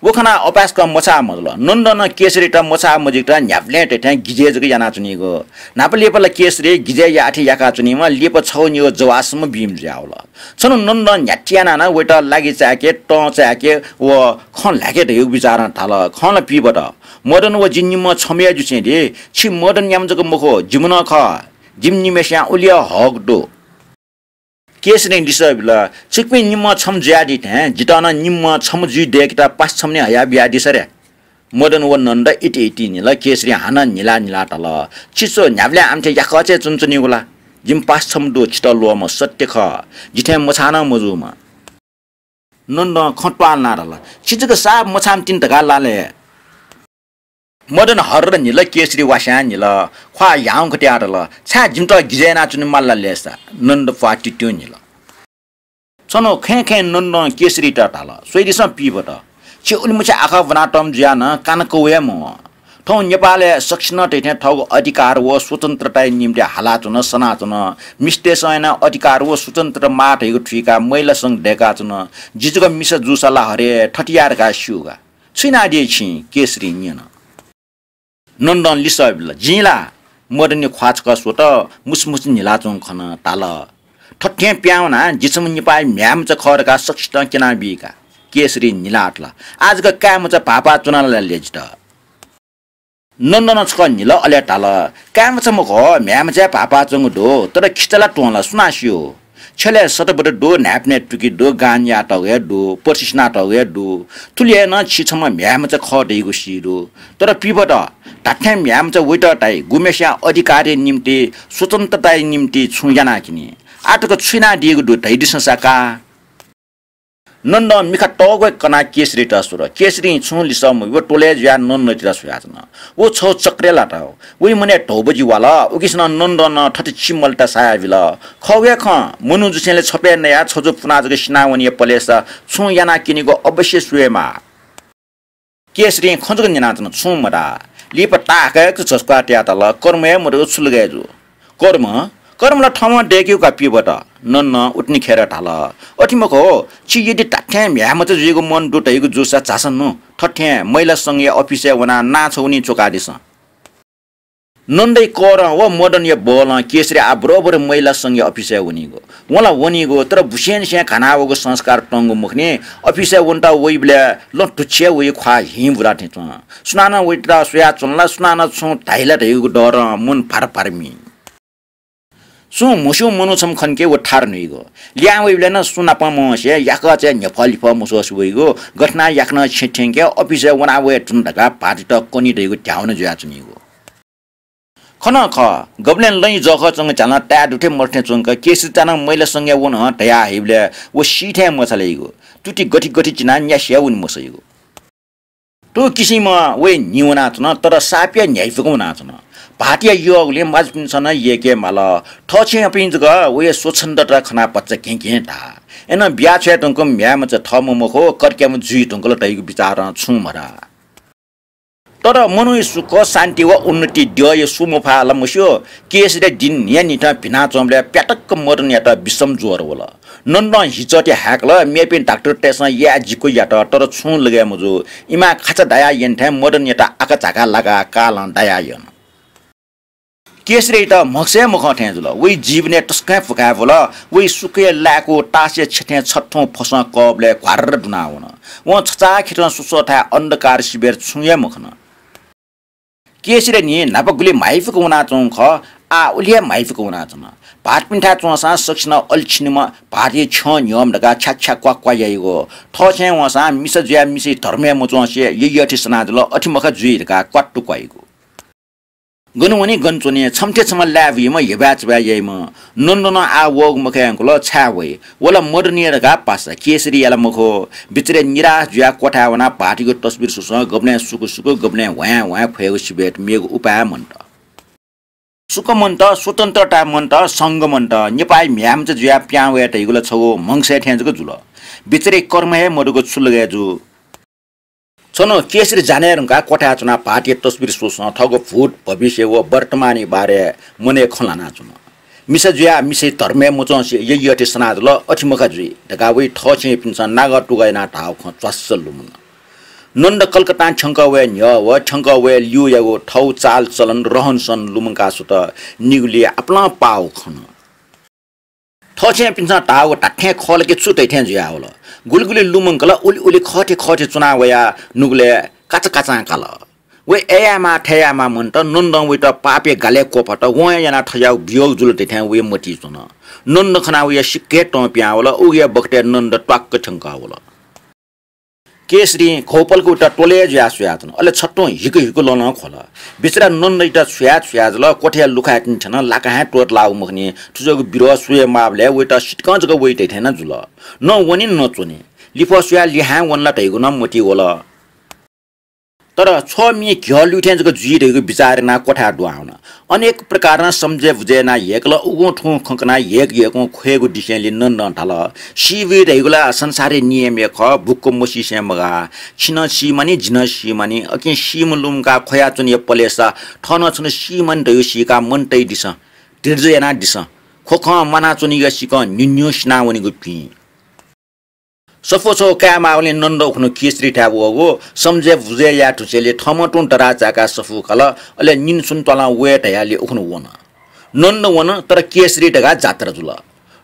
व खनाः अपाय्सकं मछाः मजुल। नन्दं नं केसरीयात मछाः मजुइकेत न्ह्याबलें धइथें गिजय् जक यानाच्वनीगु। न्हापा लिपा ला केसरी गिजय् याःथें याकाच्वनीम्ह, लिपा छगू निगू जवाःसम्म बीम्ह जुयावल। छन्हु नन्दं न्ह्याथे यानाः नं वयात लागि चाय्के, तं चाय्के व खँ ल्हाय्के धयागु बिचारं धाल, खँ ला पीबत। मदन व जि निम्हं छम्ह हे जुसें दि। छि मदनयाम्ह जक मखु, जिम्ह नं खः। जिमि निम्हय्सियां उलि हे हक दु। केसरीं लिसः बिल, छिकपिं निम्हं छम्ह जुयादी थें जितः नं निम्हं छम्ह जुइ दय्केत पासा छम्ह निं हया बियादिसँ रे। मदन व नन्द इति इति न्हिल। केसरीं हानं न्हिला न्हिला धाल, छि छु न्ह्याबलें आमथे याकःचे च्वनाच्वनीगु ला? जिमि पासा छम्ह दु, छितः ल्वःम्ह सत्य खः, जिथें मछाः नं मजूम्ह। नन्दं खँ त्वालनाः धाल, छि जक साप मछाःम्ह तिनि धकाः ला ले। मदन हर्र न्हिल, केसरी वास्यां न्हिल। ख्वाः ह्याउँक त्याः धाल, छाय् जिमित गिजय् यानाच्वने माल ला लय्सा? नन्द प्वाः तित्युं न्हिल। छन्हु खँय् खँय् नन्दं केसरीयात धाल, स्वयादिसँ पीबत, छि उलिमछि आखः ब्वनातःम्ह जुयाः नं काना कौया मवं। थौं नेपालय् सकसिनं धइथें थःगु अधिकार व स्वतन्त्रताया निम्ति हालाच्वन, सनाच्वन। मिस्तय्सं यानाः अधिकार व स्वतन्त्रता माः धइगु थुइकाः महिला संघ दय्काच्वन। जि जक मिसा जूसा ला हरे थथे याये धकाः स्यू का। छु यानादी छिं? केसरीं न्यन। नन्दं लिसः बिल, जिं ला? मदनया ख्वाः छकः स्वत, मुसुमुसु न्हिलाच्वंगु खन, धाल, थथे प्यां वनाः जि छम्ह निपाःया म्ह्याय्मचा खः धकाः सकसितं क्यनाबी का। केसरी न्हिलातल। आः जक काय्मचा भाःपाः च्वना ला ले जितः। नन्दनं छकः न्हिल, अले धाल, काय्मचा मखु, म्ह्याय्मचाय् भाःपाः च्वंगु दु, तर खिचा ला त्वं ला सुनां स्यू? छ्यलय् सतबत दु, न्हाय्पनय् तुकि दु, गान याःतःगु हे दु, पर्सि सिनातःगु हे दु। थुलि हे नं छि छम्ह म्ह्याय्मचा खः धइगु सी दु। तर पिबत, धात्थें म्ह्याय्मचा वइत धाइ, गुम्हेस्यां अधिकारया निम्ति, स्वतन्त्रताया निम्ति छुं यानाः क्यनी। आः तक छु यानादीगु दु धयादिसँ सा का। नन्दं मिखा तःग्वय् कनाः केसरीत स्वल। केसरीं छुं लिसः मब्यूगु त्वलय् जुयाः नन्दयात स्वयाच्वन। व छगू चक्रय् लात। वइ मनय् धौबजि वाल। उकिसनं नन्दं नं थथे चिमलता सायाबिल। खः हे खँ, मनू जुसेंलि छप्यय् नयाः छजु पुनाः जक सिनावनीगु पलेसा छुं यानाः क्यनीगु अवश्य स्वयेमाः। केसरीं खँ जक न्यनाच्वन, छुं मधाः। लिपा ताःहाकय् झस्क्वाः तयाः धाल, कर्म हे मदुगु छु लगय् जू? कर्म? कर्म ला थःम्हं दय्केगु का पिबत। नन्दं उतिनि खेर धाल, अथे मखु, छि यदि धात्थें म्ह्याय्मचा जुइगु मन दु धइगु जूसा झासँ नु, थथें महिला संघया अफिसय् वनाः नां छगू निं च्वकादिसँ। नन्दया करं व मदनया बलं केसरी आः बरोबर महिला संघया अफिसय् वनीगु। वं ला वनीगु, तर बुसेंनिसें घानावःगु संस्कार तंगु मखुनि। अफिसय् वनेत वइबलय् लँ धुच्छिया वइ, ख्वाः हिं बुरा थें च्वं। सुनानं वइत स्वयाच्वन ला, सुनानं छुं धाइ ला धइगु डरं मन भार भार मी। सुं म्हस्यूम्ह मनू छम्ह खंके व थारु न्हुइगु। लिहां वइबलय् नं सुं नाप मवंसे याकःचाय् न्ह्यफः लिफः मस्वसे वइगु, गथे यानाः याकनं छेँ थ्यंके अफिसय् वना वये धुन धकाः भाःतयात कनी धइगु ध्याउन जुयाच्वनीगु। खः नं खः, गबलें लँय् जःखः च्वंगु झ्यालं ताये दु थें मदु थें च्वंक केसरी चानं महिला संघय् वन धया हइबलय् व सी थें मछालाइगु। तुति गथि गथि चिनाः न्यासि हे वने मसइगु। थ्व किसिमं वइ न्हि वनाच्वन, तर साप हे न्ह्याइपुक वनाच्वन। भाःतया यःगुलिं मजुपिन्सं नं यय्के माल। थःछेँपिं जक वइ स्वच्छन्दता खनाः भचा घें घें धाः। अय्नं बिया छ्वये धुंकूम्ह म्ह्याय्मचा थःम्ह मखु, कर्क्याम्ह जुइ धुंकल धइगु बिचारं छुं मधाः। तर मनूया सुख, शान्ति व उन्नति द्यःया सु मफाः ला मस्यू, केसरीया दिं न्हियान्हिथं भिनाच्वंबलय् प्यातक्क मदनयात विषम ज्वर वल। नन्दं हिचःति हाय्कल, मेपिं डाक्टरतय्सं याये जिक्व यात, तर छुं लगय् मजू। इमां खाचा दायाः यने थें मदनयात आकाझाकाः लाकाः कालं दायाः यन। केसरीयात म्हगसय् मखं थें जुल। वइ जीवनय् तसकं फुकाय् वल। वइ सुखय् लाय्कू तासया छेँ थें छथुं फसं कःबलय् घ्वार्र दुनावन। वं छचाःखेतं स्वस्वथाय् अन्धकार सिबय् छुं हे मखन। केसरीया न्हि न्हापा गुलि म्हाइपुक वनाच्वंगु खः, आः उलि हे म्हाइपुक वनाच्वन। भाःतपिन्थाय् च्वंसां सकसिनं अले छिनिम्ह, भाःतया छ्यं न्ह्यःम्ह धकाः छ्याक्छ्याक् क्वाक् क्वाः याइगु। थःछेँय् वंसां मिसा जुयाः मिसय् धर्मय् मच्वंसे यय्यःथें सना जुल, अथे मखा जुइ धकाः क्वात्तु क्वाइगु। गन वनी गन च्वनी, छम्हथें छम्ह लाय् बुइम्ह, हेबाय् चबाय् याइम्ह। नन्दनं आः वःगु मखय् धुंकल, छाय् वइ? व ला मदनया धकाः पासा, केसरीया ला मखु। बिचारय् निराश जुयाः क्वथाय् वनाः भाःतयागु तस्बिर स्वस्वं गबलें सुकु सुकु, गबलें ह्वाँय् ह्वाँय् ख्वयेगु सिबय् मेगु उपाय मन्त। सुख मन्त, स्वतन्त्रता मन्त, संघ मन्त, नेपाःया म्ह्याय्मचा जुयाः पिहां वये धइगु ला छगू म्हगसय् थें जक जुल। बिचारय् कर्म हे मदुगु छु लगय् जू? छन्हु केसरी जाने धुंकाः क्वथाय् च्वनाः भाःतया तस्बिर स्वस्वं थःगु भूत, भविष्य व वर्तमानया बारे मनय् खँ ल्हानाच्वन। मिसा जुयाः मिसय् धर्मय् मच्वंसे यय्यःथें सना जुल, अथे मखा जुइ धकाः वइ थःछेँपिन्सं नागः तुगः यानाः धाःगु खँ च्वास्स लुमंगु। नन्द कलकत्तां थ्यंकः वये न्ह्यः व थ्यंकः वये ल्यूयागु थःगु चालचलन रहनसहन लुमंकाः सुत निगुलिइ आपालं पाःगु खन। थःछेँपिन्सं धाःगु धात्थें खः ला कि छु धइथें जुयावल। गुलि गुलि लुमंकल, उलि उलि खःथें खःथें च्वना वयाः नुगलय् काचाकाचां काल। वइ अय् यायेमाः थय् यायेमाः मन्त, नन्दं वइत पापया गालय् क्वफात, वं हे यानाः थज्याःगु वियोग जुल धइथें वइ मतिइ च्वन। नन्द खनाः वया सिक्क हे तं पिहां वल, उगु हे बखतय् नन्द त्वाक्क थ्यंकः वल। केसरीं घौपलक वइत त्वलय् जुयाः स्वयाच्वन। अले छथुं हिकु हिकु लँ नं ख्वल। बिचरा नन्दयात छुया छुया जुल, क्वथाया लुखाय् तिनि थ्यन, लाकाहां त्वःतलाःगु मखुनि, थुजःगु बिरोध स्वये माःबलय् वइत सितिकं जक वइ धइथें नं जुल। न वनी न च्वनी। लिफः स्वयाः लिहां वन ला धइगु नं मतिइ वल। तर छ्वः मि घ्यः लुइथें जक जुइ धइगु बिचार यानाः क्वथाय् दुहां वन। अनेक प्रकारं सम्झे बुझे यानाः ह्यय्कल, उगुं थुगुं खँ कनाः ह्यय्क ह्यय्कुं ख्वयेगु दिसेंलि नन्दं धाल, सी बुइ धइगु ला संसारया नियम हे खः, बुक्क मसीसें मगाः। छि नं सी मानि, जि नं सी मानि। अकिं सीम्ह लुमंकाः ख्वयाच्वनेया पलेसा थः नं छन्हु सी मानि धइगु सीकाः मन तइदिसँ, धीरज यानादिसँ। ख्वखं म्वानाच्वनीगु सिकं न्हिन्हिं सिनावनीगु भिं। सफू छगू कायेमाःगुलिं नन्द उखुन्हु केसरीथाय् वःगु, सम्झे बुझे याये धुंसेंलि थःम्हं तुं दराः चाय्काः सफू काल, अले निन्हु स्वन्हु त्वालं वये धयालि उखुन्हु वन। नन्द वन, तर केसरी धकाः जात्रा जुल।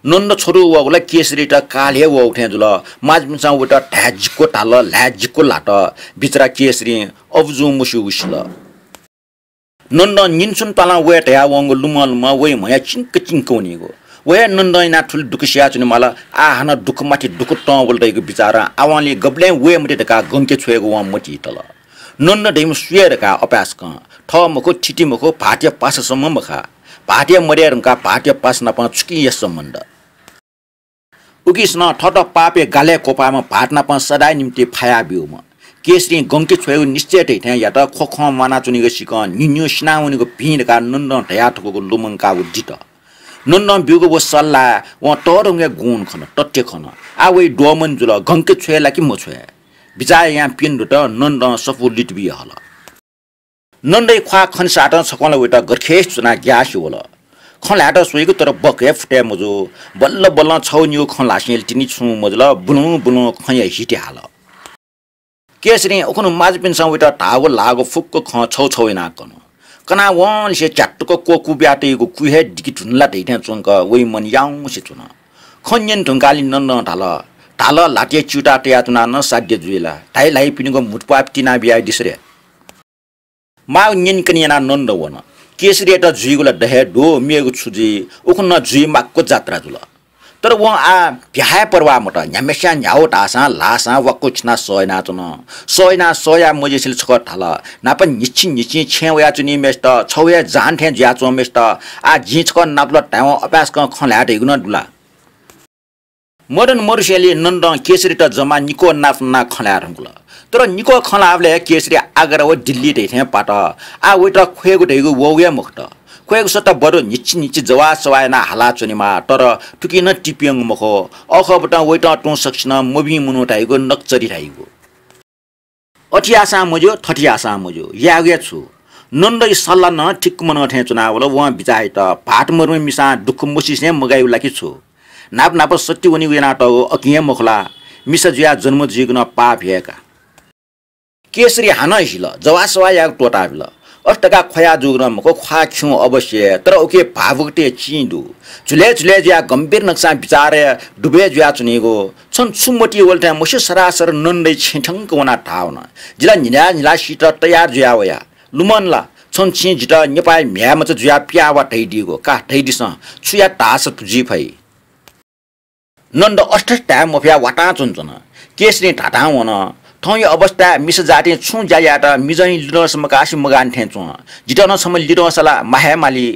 नन्द छथू वःगु ला केसरीत काल हे वःगु थें जुल। माजुपिन्सं वइत धाये जिक्व धाल, ल्हाये जिक्व ल्हात। बिचरा केसरीं अबुजुं मस्यूगु सिल। नन्दं निन्सुन पालां वये धयावंगु लुमं लुमं वइ म्हया चिंक चिंक वनीगु। व हे नन्दं यानाः थुलि दुःख सियाच्वनेमाल। आः हानं दुःख माथि दुःख तं वल धइगु बिचारं आवंलि गबलें वये मते धकाः गंके छ्वयेगु वं मतिइ तल। नन्द धइम्ह सु हे धकाः अपाय्सकं थः मखु, थिति मखु, भाःतया पासासम्म मखा। भाःतया मदय् धुंकाः भाःतया पासा नाप छुकिया सम्बन्ध। उकिसनं थःत पापया गालय् क्वपाःम्ह भाःत नाप सदांया निंतिं फाया ब्यूम्ह। केसरीं गंके छ्वयेगु निश्चय धइथें यात। ख्वख्वं म्वानाच्वनीगु सिकं न्हिन्हिउ सिनावनीगु भिं धकाः नन्दं धयाथकूगु लुमंकाः व दित। नन्दं ब्यूगु व सल्लाह वं तःधंगु हे गुण खन, तथ्य खन। आः वइ द्वःमन जुल, गंके छ्वये ला कि मछ्वये? बिचाः यायां प्यन्हु दुत। नन्दं सफू लित बिया हल। नन्दया ख्वाः खनेसातं छकलं वइत गथेस च्वनाः ग्यासे वल। खँ ल्हायेत स्वइगु तर बक हे फुतय् मजू। बल्ल बल्लं छगू निगू खँ ल्हासेंलि तिनि छुं मजुल, बुलुं बुलुं खँया हिति हाल। केसरीं उखुन्हु माजुपिन्सं वइत धाःगु ल्हाःगु फुक्क खँ छगू छगू यानाः कन। कनावंनिसें झ्यातुक क्वकू बियातइगु कुइ हे दिके धुन ला धइथें च्वंक वइ मन याउँसे च्वन। खँ न्यने धुंकाःलि नन्दं धाल, धाल, ल्हातय् च्यूताः तयाच्वनाः नं साध्य जुइ ला? धाइ ल्हाइपिनिगु म्हुतुप्वाः तिना बियादिसँ रे। माःगु न्यनेकने यानाः नन्द वन। केसरीयात जुइगु ला द हे दु, मेगु छु जुइ, उखुन्हु नं जुइ माक्व जात्रा जुल। तर वं आः भ्याहाय् परवाः मत। न्ह्याम्हस्यां न्ह्याउ धाःसां ल्हाःसां वाक्व छिनाः सह यानाच्वन। सह यानाः सह याये मजिसेंलि छकः धाल, न्हापा न्हिच्छि न्हिच्छि छेँय् वयाच्वनीम्हय्सित, छगू हे जान थें जुयाच्वंम्हय्सित आः जिं छकः नापलात धायेवं अपाय्सकं खँ ल्हाये धइगु नं दु ला? मदन मदुसेंलि नन्दं केसरीत जम्मा निक्वः नाप नानाः खँ ल्हाये धुंकल। तर निक्वः खँ ल्हाःबलय् केसरी आग्रा व दिल्ली धइथें पात। आः वइत ख्वयेगु धइगु वःगु हे मखुत। ख्वयेगु सत्ता बरु न्हिच्छि न्हिच्छि जवाः सवाः यानाः हालाच्वनेमाः, तर थुकिं नं ति प्यंगु मखु। अःखःबतं वइत तुं सकसिनं मभिं मनू धाइगु, नकचरी धाइगु। अथे याःसां मज्यू, थथे याःसां मज्यू, यायेगु हे छु? नन्दया सल्लाह नं ठिक्क मनं थें च्वनावल। वं बिचाः यात, भाःत मदुम्ह मिसां दुःख मसीसें मगाइगु ला कि छु? न्हापा न्हापा सत्य वनीगु यानातःगु अकिं हे मखु ला? मिसा जुयाः जन्म जुइगु नं पाप हे का। केसरी हानं हिल, जवाः सवाः यायेगु त्वःताबिल। अथे धकाः ख्वया जूगु नं मखु, ख्वाः खिउँ अवश्य, तर उकी भावुकतय् चिं दु। झुलय् झुलय् जुयाः गम्भीर नकसां बिचारय् डुबय् जुयाच्वनीगु। छं छु मतिइ वल थें मस्यू सरासर नन्दया छेँ थ्यंक वनाः धाः वन। जि ला न्हिला न्हिला सीत तयार जुया वया। लुमन ला, छं छिं जितः नेपाःया म्ह्याय्मचा जुयाः पिया वा धयादीगु का, धयादिसँ, छु यात धाःसा जुइ फइ? नन्द अथे धाये मफयाः वातां च्वनाच्वन। केसरीं धाधां वन, थौंया अवस्थाय् मिसा जातिं छुं ज्या यायेत मिजंया लिधंसा मकासे मगानि थें च्वं। जितः नं छम्ह लिधंसा ला माः हे माली।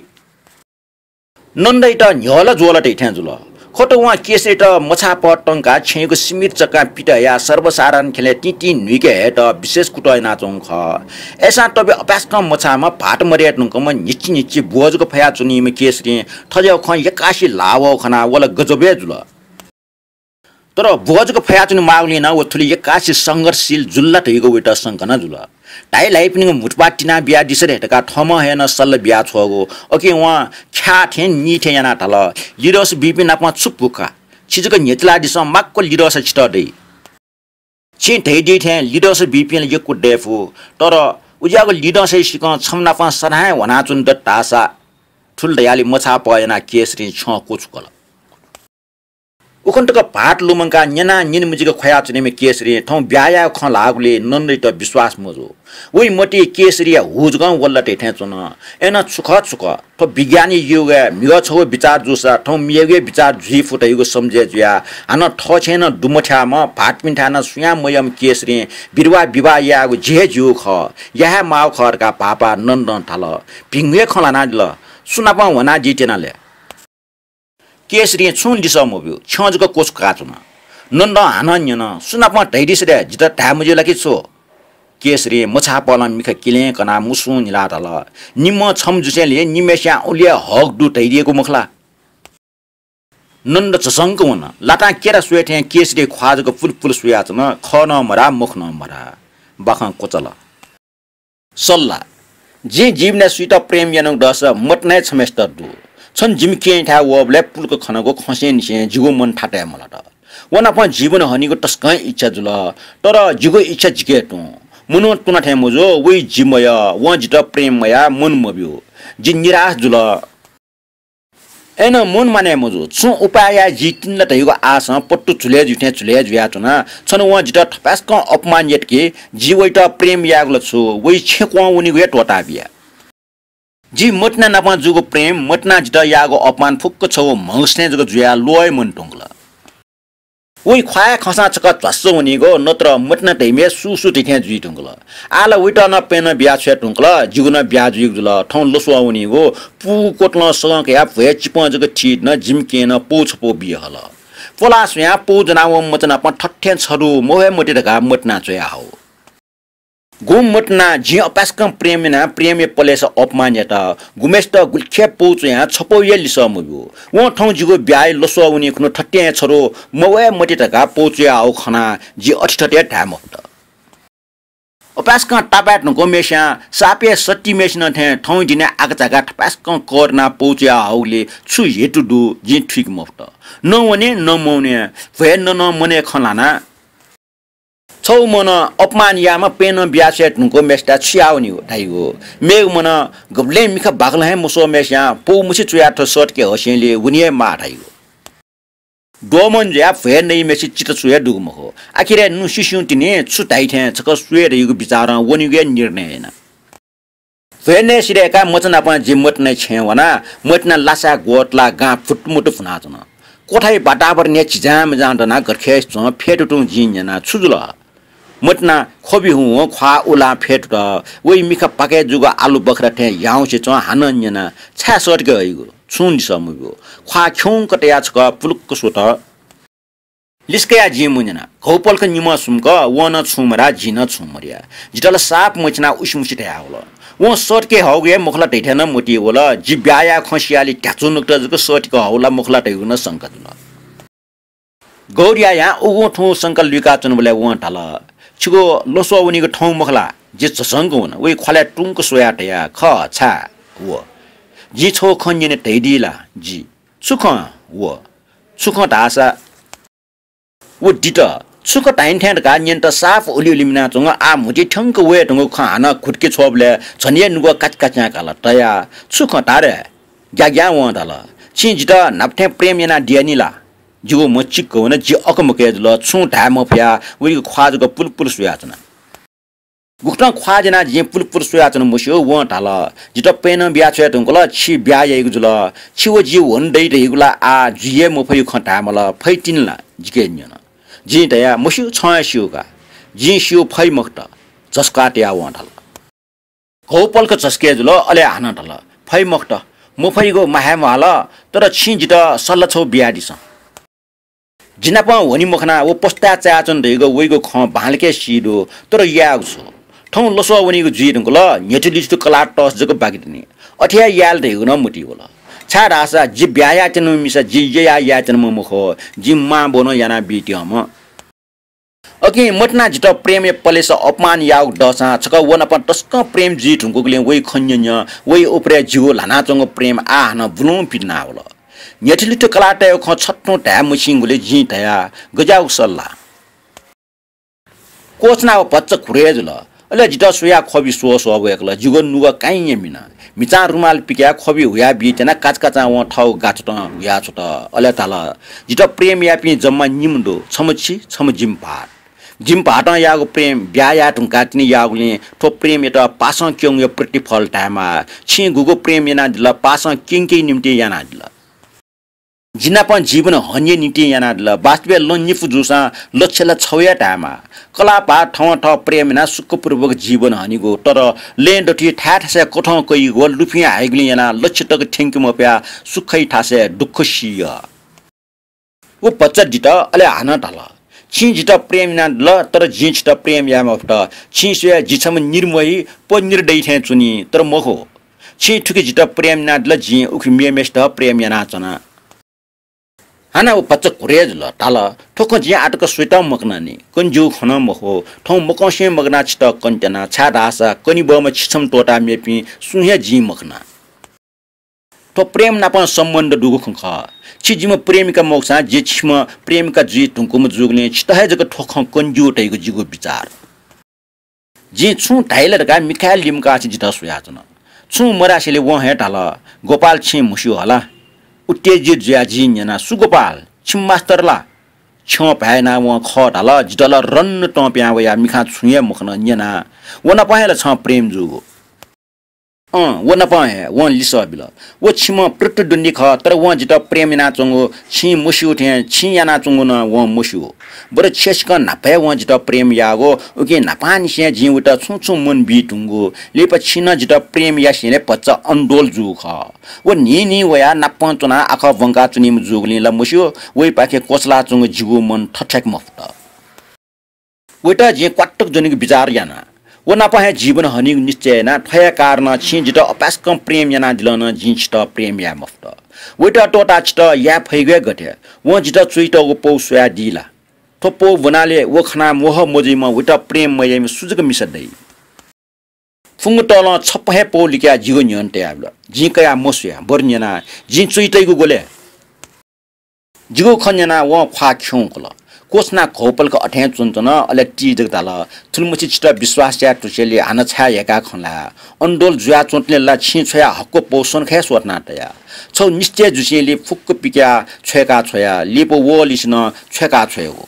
नन्दयात न्ह्यःला ज्वःला धइथें जुल। खः त वं केसरीत मछाः पहः तंकाः छेँयागु सीमित जग्गां पित हयाः सर्वसाधारण ख्यलय् तिंतिं न्हुइके हयेत विशेष कुतः यानाच्वंगु खः। अय्सां तबि अपाय्सकं मछाःम्ह भाःत मदये धुंकूम्ह न्हिच्छि न्हिच्छि ब्वः जक फयाच्वनीम्ह केसरीं थज्याःगु खँ यक्कासे ल्हाः वःगु खनाः व ला गजब हे जुल। तर ब्वः जक फयाच्वने माःगुलिं नं व थुलि यक्कासे संघर्षशील जुल ला धइगु वइत शंका नं जुल। धाइ ल्हाइपिनिगु म्हुतुप्वाः तिना बियादिसँ रे धकाः थःम्हं हे नं सल्लाह बियाछ्वःगु। अकिं वं ख्याः थें नी थें यानाः धाल, लिधंसा बीपिं नाप छु भूखा? छि जक न्ह्यचिलादिसँ, माक्व लिधंसा छितः दइ। छिं धयादी थें लिधंसा बीपिं ला यक्व दये फु, तर उज्याःगु लिधंसाया सिकं छम्ह नाप सदां हे ह्वानाच्वने दत धाःसा, थुलि धयालि मछाः पहः यानाः केसरीं छ्यं क्वछुकल। उखुन्हु तक भाःत लुमंकाः न्यनाः न्यने मजिक ख्वयाच्वनीम्ह केसरीं थौं ब्याहा यायेगु खँ ल्हाःगुलिं नन्दयात विश्वास मजू। वइ मतिइ केसरीया हु जकं वल्ला धइथें च्वन। अय्नं छु खः छु खः, थ्व विज्ञानया युगय् म्हिगः छगू बिचार जूसा थौं मेगु हे बिचार जुइ फु धइगु समझय् जुयाः हानं थःछेँय् नं दुमथ्याःम्ह, भाःतपिन्थाय् नं सुयां मयःम्ह केसरीं विधवा विवाह यायेगु जि हे ज्यूगु खः, या हे माःगु खः धकाः भाःपाः नन्दं धाल। भिंगु हे खँ ल्हानादिल। सु नाप ह्वानादी त्यना ले? केसरीं छुं लिसः मब्यू, छ्यं जक क्वछुकाः च्वन। नन्दं हानं न्यन, सु नाप धयादिसँ ले, जितः धाये मज्यू ला कि छु? केसरीं मछाः पहलं मिखा किलें कनाः मुसुं न्हिलाः धाल, निम्हं छम्ह जुसेंलि निम्हय्सियां उलि हे हक दु धयादीगु मखु ला? नन्द झसंक वन। लातां केरा स्वये थें केसरीया ख्वाः जक पुलपुल स्वयाच्वन। खः नं मधाः, मखु नं मधाः। बाखं क्वचाल। सल्लाह। जिं जीवनय् सुइत प्रेम यानागु दःसा मदनाया छम्हय्सित दु। छन्हु जिमि केहेँथाय् वःबलय् पुलुका खनागु खँसेंनिसें जिगु मन थातय् मलात। व नाप जीवन हनीगु तसकं इच्छा जुल, तर जिगु इच्छा जिके तुं। मनू तुना थें मजू, वइ जि मयः, वं जितः प्रेम मयाः मन मब्यू। जि निराश जुल। अय्‌नं मन मानय् मजू। छुं उपाय याये जिं तिनि ला धइगु आशं पत्तु झुलय् जुइ थें झुलय् जुयाच्वना। छन वं जितः थपाय्‌सकं अपमान यात कि जि वइत प्रेम यायेगु ला छु, वइ छेँ क्वं वनीगु हे त्वःता बिया। जि मतिना नाप जूगु प्रेम, मतिनां जितः याःगु अपमान फुक्क छगू म्हगसय् जक जुयाः ल्वःया मन तुंकल। वइ ख्वाःया खंसां छकः ध्वास्स वनीगु, नत्र मतिना धइम्ह सु सु धइथें जुइ धुंकल। आः ला वइत नं प्यन्हु बिया छ्वये धुंकल, जिगु नं ब्याहा जुइगु जुल। थौं लसुवा वनीगु, पूगु कोतलं सगं कयाः भ्वय् चिपं जक थी नं जिमि केहेँ नं पौ छपौ बी हल। पलाः स्वयां पौ ज्वनावंम्ह मचा नाप थथें छधू मवये मते धकाः मतिनां च्वया हव। गुम्ह मतिनां जिं अपाय्‌सकं प्रेम यानाः प्रेमया पलेसा अपमान यात। गुम्हय्‌सित गुलिखे पौ च्वयां छपौया लिसः मब्यू। वं थौं जिगु ब्याहाया लसुवा वनी खुन्हु थथें हे छधू मवये मते धकाः पौ च्वया हव खनाः जि अथे थथे धाये मफुत। अपाय्‌सकं तापाय् धुंकूम्हय्‌सियां सापय् सत्तिम्हय्‌सिनं थें थौं दिने आकाझाकाः थपाय्‌सकं कःतनाः पौ च्वया हवगुलिं छु हेतु दु जिं थुइके मफुत। न वने न मवने, भ्वय् ननं मनय् खँ ल्हानाः छगू मनं अपमान याःम्ह प्यन्हु बिया छ्वये धुंकूम्हय्‌सित छु याः वनीगु धाइगु। मेगु मनं गबलें मिखा बाकलं हे मस्वःम्हय्‌सियां पौ मछि च्वयाः थ्व सःतके हःसेंलि वने हे माः धाइगु। द्वःमन जुयाः भ्वय् नइम्हय्‌सित चित्त छु हे दुगु मखु। आखिरय् नुसिस्युं तिनि छु धाइ थें छकः स्वये धइगु बिचारं वनेगु हे निर्णय याना। भ्वय् नये सिधय्‌काः मचा नाप जि मतिनाया छेँय् वना। मतिना लासाय् ग्वतलाः गां फुतुमुतु फुनाच्वन। क्वथाया वातावरण हे झिजांमिजां दनाः गथेस च्वं। फ्यतुतुं जिं न्यना, छु जुल? मतिनां ख्वबि हुं ख्वाः उलां फ्यतुत। वइ मिखा पाकय् जूगु आलु बखरा थें याउँसे च्वं। हानं न्यना, छाय् सःतके हइगु? छुं लिसः मब्यू। ख्वाः खिउँक तयाः छकः पुलुक्क स्वत। लिसः कयाः जिं मन्यना। घौपलख निम्ह सुम्क वं नं छुं मधाः, जिं नं छुं मधया। जितः ला साप मछिनाः उसिमुसि धयावल। वं सःतके हःगु हे मखु ला धइथें नं मतिइ वल। जि ब्याहा याये खँ सियालि ध्याचु नुगत जक सःतके हःगु ला मखु ला धइगु नं शंका जुल। गौरियायां उगुं थुगुं शंका लुइकाच्वनाबलय् वं धाल, छिगु लसुवा वनीगु थौं मखु ला? जि झसंक वन। वइ ख्वालय् तुंक स्वयाः धया, खः, छाय्? व। जिं छगू खँ न्यने धयादी ला? जि। छु खँ? व। छु खँ धाःसा? व दित। छु खँ धाइन थें धकाः न्यनेत साप उलि उलि मिनाच्वंगु, आः म्हुतुइ थ्यंक वये धुंगु खँ हानं घुतुके छ्वःबलय् झन हे नुगः काचि काच्यां काल। तया, छु खँ धारे? ग्याग्यां वं धाल, छिं जितः न्हापा थें प्रेम यानादिया नि ला? जिगु म्ह चिक्क वन, जि अकमकय् जुल, छुं धाये मफयाः वइगु ख्वाः जक पुलपुल स्वयाच्वना। गुकथं ख्वाः ज्यनाः जिं पुलपुल स्वयाच्वना मस्यू, वं धाल, जितः प्यन्हु बिया छ्वये धुंकल, छि ब्याहा याइगु जुल। छि व जि वन दइ धइगु ला आः जुइ हे मफइगु खँ धायेमाल, फइ तिनि ला? जिके न्यन। जिं धया, मस्यू, छं हे स्यू का। जिं स्यू, फइ मखुत। झसुकाः तयाः वं धाल। घौपलख झसुके जुल, अले हानं धाल, फइ मखुत, मफइगु म्वाः हे म्वाःल, तर छिं जितः सल्लाह छगू बियादिसँ। जि नाप वने मखनाः व पस्ताय् चायाच्वन धइगु वइगु खँ बांलाक सी दु, तर यायेगु छु? थौं लसुवा वनीगु जुइ धुंकल, न्ह्यथु लिथु कलाः तःसा जक बाकि दनि। अथे हे याये ला धइगु नं मतिइ वल। छाय्धाःसा जि ब्याहा यायेत्यनाम्ह मिसा जि ययाः यायेत्यनाम्ह मखु, जिं मां बौनं यानाः बीत्यंम्ह। अकिं मतिनां जितः प्रेमया पलेसा अपमान याःगु दःसां छकः व नाप तसकं प्रेम जुइ धुंकूगुलिं वइ खँ न्यँ न्यँ, वइ उपरय् जिगु ल्हानाच्वंगु प्रेम आः हानं बुलुं पितिनावल। न्ह्यथु लिथु कलाः तयेगु खँ छथुं धाये मछिंगुलिं जिं धया, गज्याःगु सल्लाह? क्वःछिनाः व भचा घुरय् जुल। अले जितः स्वयाः ख्वबि स्वः स्वः वय्कल। जिगु नुगः काइँया मिन। म्हिचां रुमाल पिकाः ख्वबि हुया बीत्यनाः काचाकाचां वं थःगु गाछुतं हुया छ्वत। अले धाल, जितः प्रेम याःपिं जम्मा निम्ह दु, छम्ह छि, छम्ह जिमि भाःत। जिमि भाःतं याःगु प्रेम ब्याहा याये धुंकाः तिनि याःगुलिं थ्व प्रेमयात पासं क्यंगुया प्रतिफल धायेमाः। छिं गुगु प्रेम यानादिल, पासं क्यंकेया निंतिं यानादिल। जि नाप जीवन हनिया निंतिं यानादिल। वास्तवय् लं निपु जूसां लक्ष्य ला छगू हे धायेमाः। कलाः भाः थवं थः प्रेम यानाः सुखपूर्वक जीवन हनीगु, तर लँय् दथुइ थाय् थासय् कथं कइगु व लुफिं हाइगुलिं यानाः लक्ष्य तक थ्यंके मफयाः सुखया थासय् दुःख सिइ। व भचा दित, अले हानं धाल, छिं जितः प्रेम यानादिल, तर जिं छितः प्रेम याये मफुत। छिं स्वया जि छम्ह निर्मोही, पनिर दइ थें च्वनी, तर मखु। छिं थुकी जितः प्रेम यानादिल, जिं उकी मेम्हय्सित प्रेम यानाच्वना। हानं व भचा घुरय् जुल, धाल, थ्व खँ जिं आःतक स्वयातं मकना नि, कने ज्यूगु खँ नं मखु। थौं मकंसें मगानाः छितः कनेत्यना, छाय्धाःसा कनेबहःम्ह छि छम्ह त्वःताः मेपिं सुं हे जिं मखना। थ्व प्रेम नाप सम्बन्ध दुगु खँ खः। छि जिम्ह प्रेमिका मखुसां जि छिम्ह प्रेमिका जुइ धुंकूम्ह जूगुलिं छितः हे जक थ्व खँ कने ज्यू धइगु जिगु बिचाः। जिं छुं धाइ ला धकाः मिखाय् लिमकाः छि जितः स्वयाच्वन। छुं मधासेंलि वं हे धाल, गोपाल, छिं म्हस्यू हला। उत्तेजित जुयाः जिं न्यना, "सु गोपाल, छिमि मास्तर ला?" छ्यं भाय् यानाः वं खः धाल। जितः ला रन्न तं पिहां वयाः मिखां छुं हे मखन, न्यना, "व नाप हे ला छं प्रेम जूगु?" "अँ, व नाप हे," वं लिसः बिल। "व छिम्ह प्रतिद्वन्द्वी खः, तर वं जितः प्रेम यानाच्वंगु छिं मस्यू थें छिं यानाच्वंगु नं वं मस्यू। बरु छ्यसिकं न्हापा हे वं जितः प्रेम याःगु, उकिं न्हापांनिसें जिं वयात छुं छुं मन बी धुंगु। लिपा छिं नं जितः प्रेम यासेंलि भचा अन्धोल जूगु खः। व न्हिं न्हिं वयाः नापं च्वनाः आखः ब्वंका च्वनीम्ह जूगुलिं ला मस्यू, वइपाखे क्वचलाच्वंगु जिगु मन थथ्याके मफुत। वयात जिं क्वातुक ज्वनेगु बिचाः याना। व नाप हे जीवन हनीगु निश्चय याना। थ्व हे कारणं छिं जितः अपाय्सकं प्रेम यानादिलं नं जिं छितः प्रेम याये मफुत। वयात त्वःताः छितः याये फइगु हे गथे? वं जितः च्वइतःगु पौ स्वयादी ला? थ्व पौ ब्वनाले व खनाः मोह मजुइम्ह, वयात प्रेम मयाइम्ह सु जक मिसा दइ?" फुंगतलं छप्पँ हे पौ लिकयाः जिगु न्ह्यःने तयाबिल। जिं कयाः मस्वया, बरु न्यना, "जिं च्वइतइगु ग्वले?" जिगु खँ न्यनाः वं ख्वाः खिउँकल। क्वछुनाः घौपलक अथें च्वनाच्वन, अले ति जक धाल, "थुलिमछि छितः विश्वास याये धुसेंलि हानं छाय् ह्यय्काः खँ ल्हाये? अन्धोल जुयाच्वंतले ला छिं छ्वया हक्व पौ स्वन्हु खँ हे स्वथना तया। छगू निश्चय जुसेंलि फुक्क पिकयाः छ्वय्का छ्वया, लिपा वःलिसे नं छ्वय्का छ्वयेगु।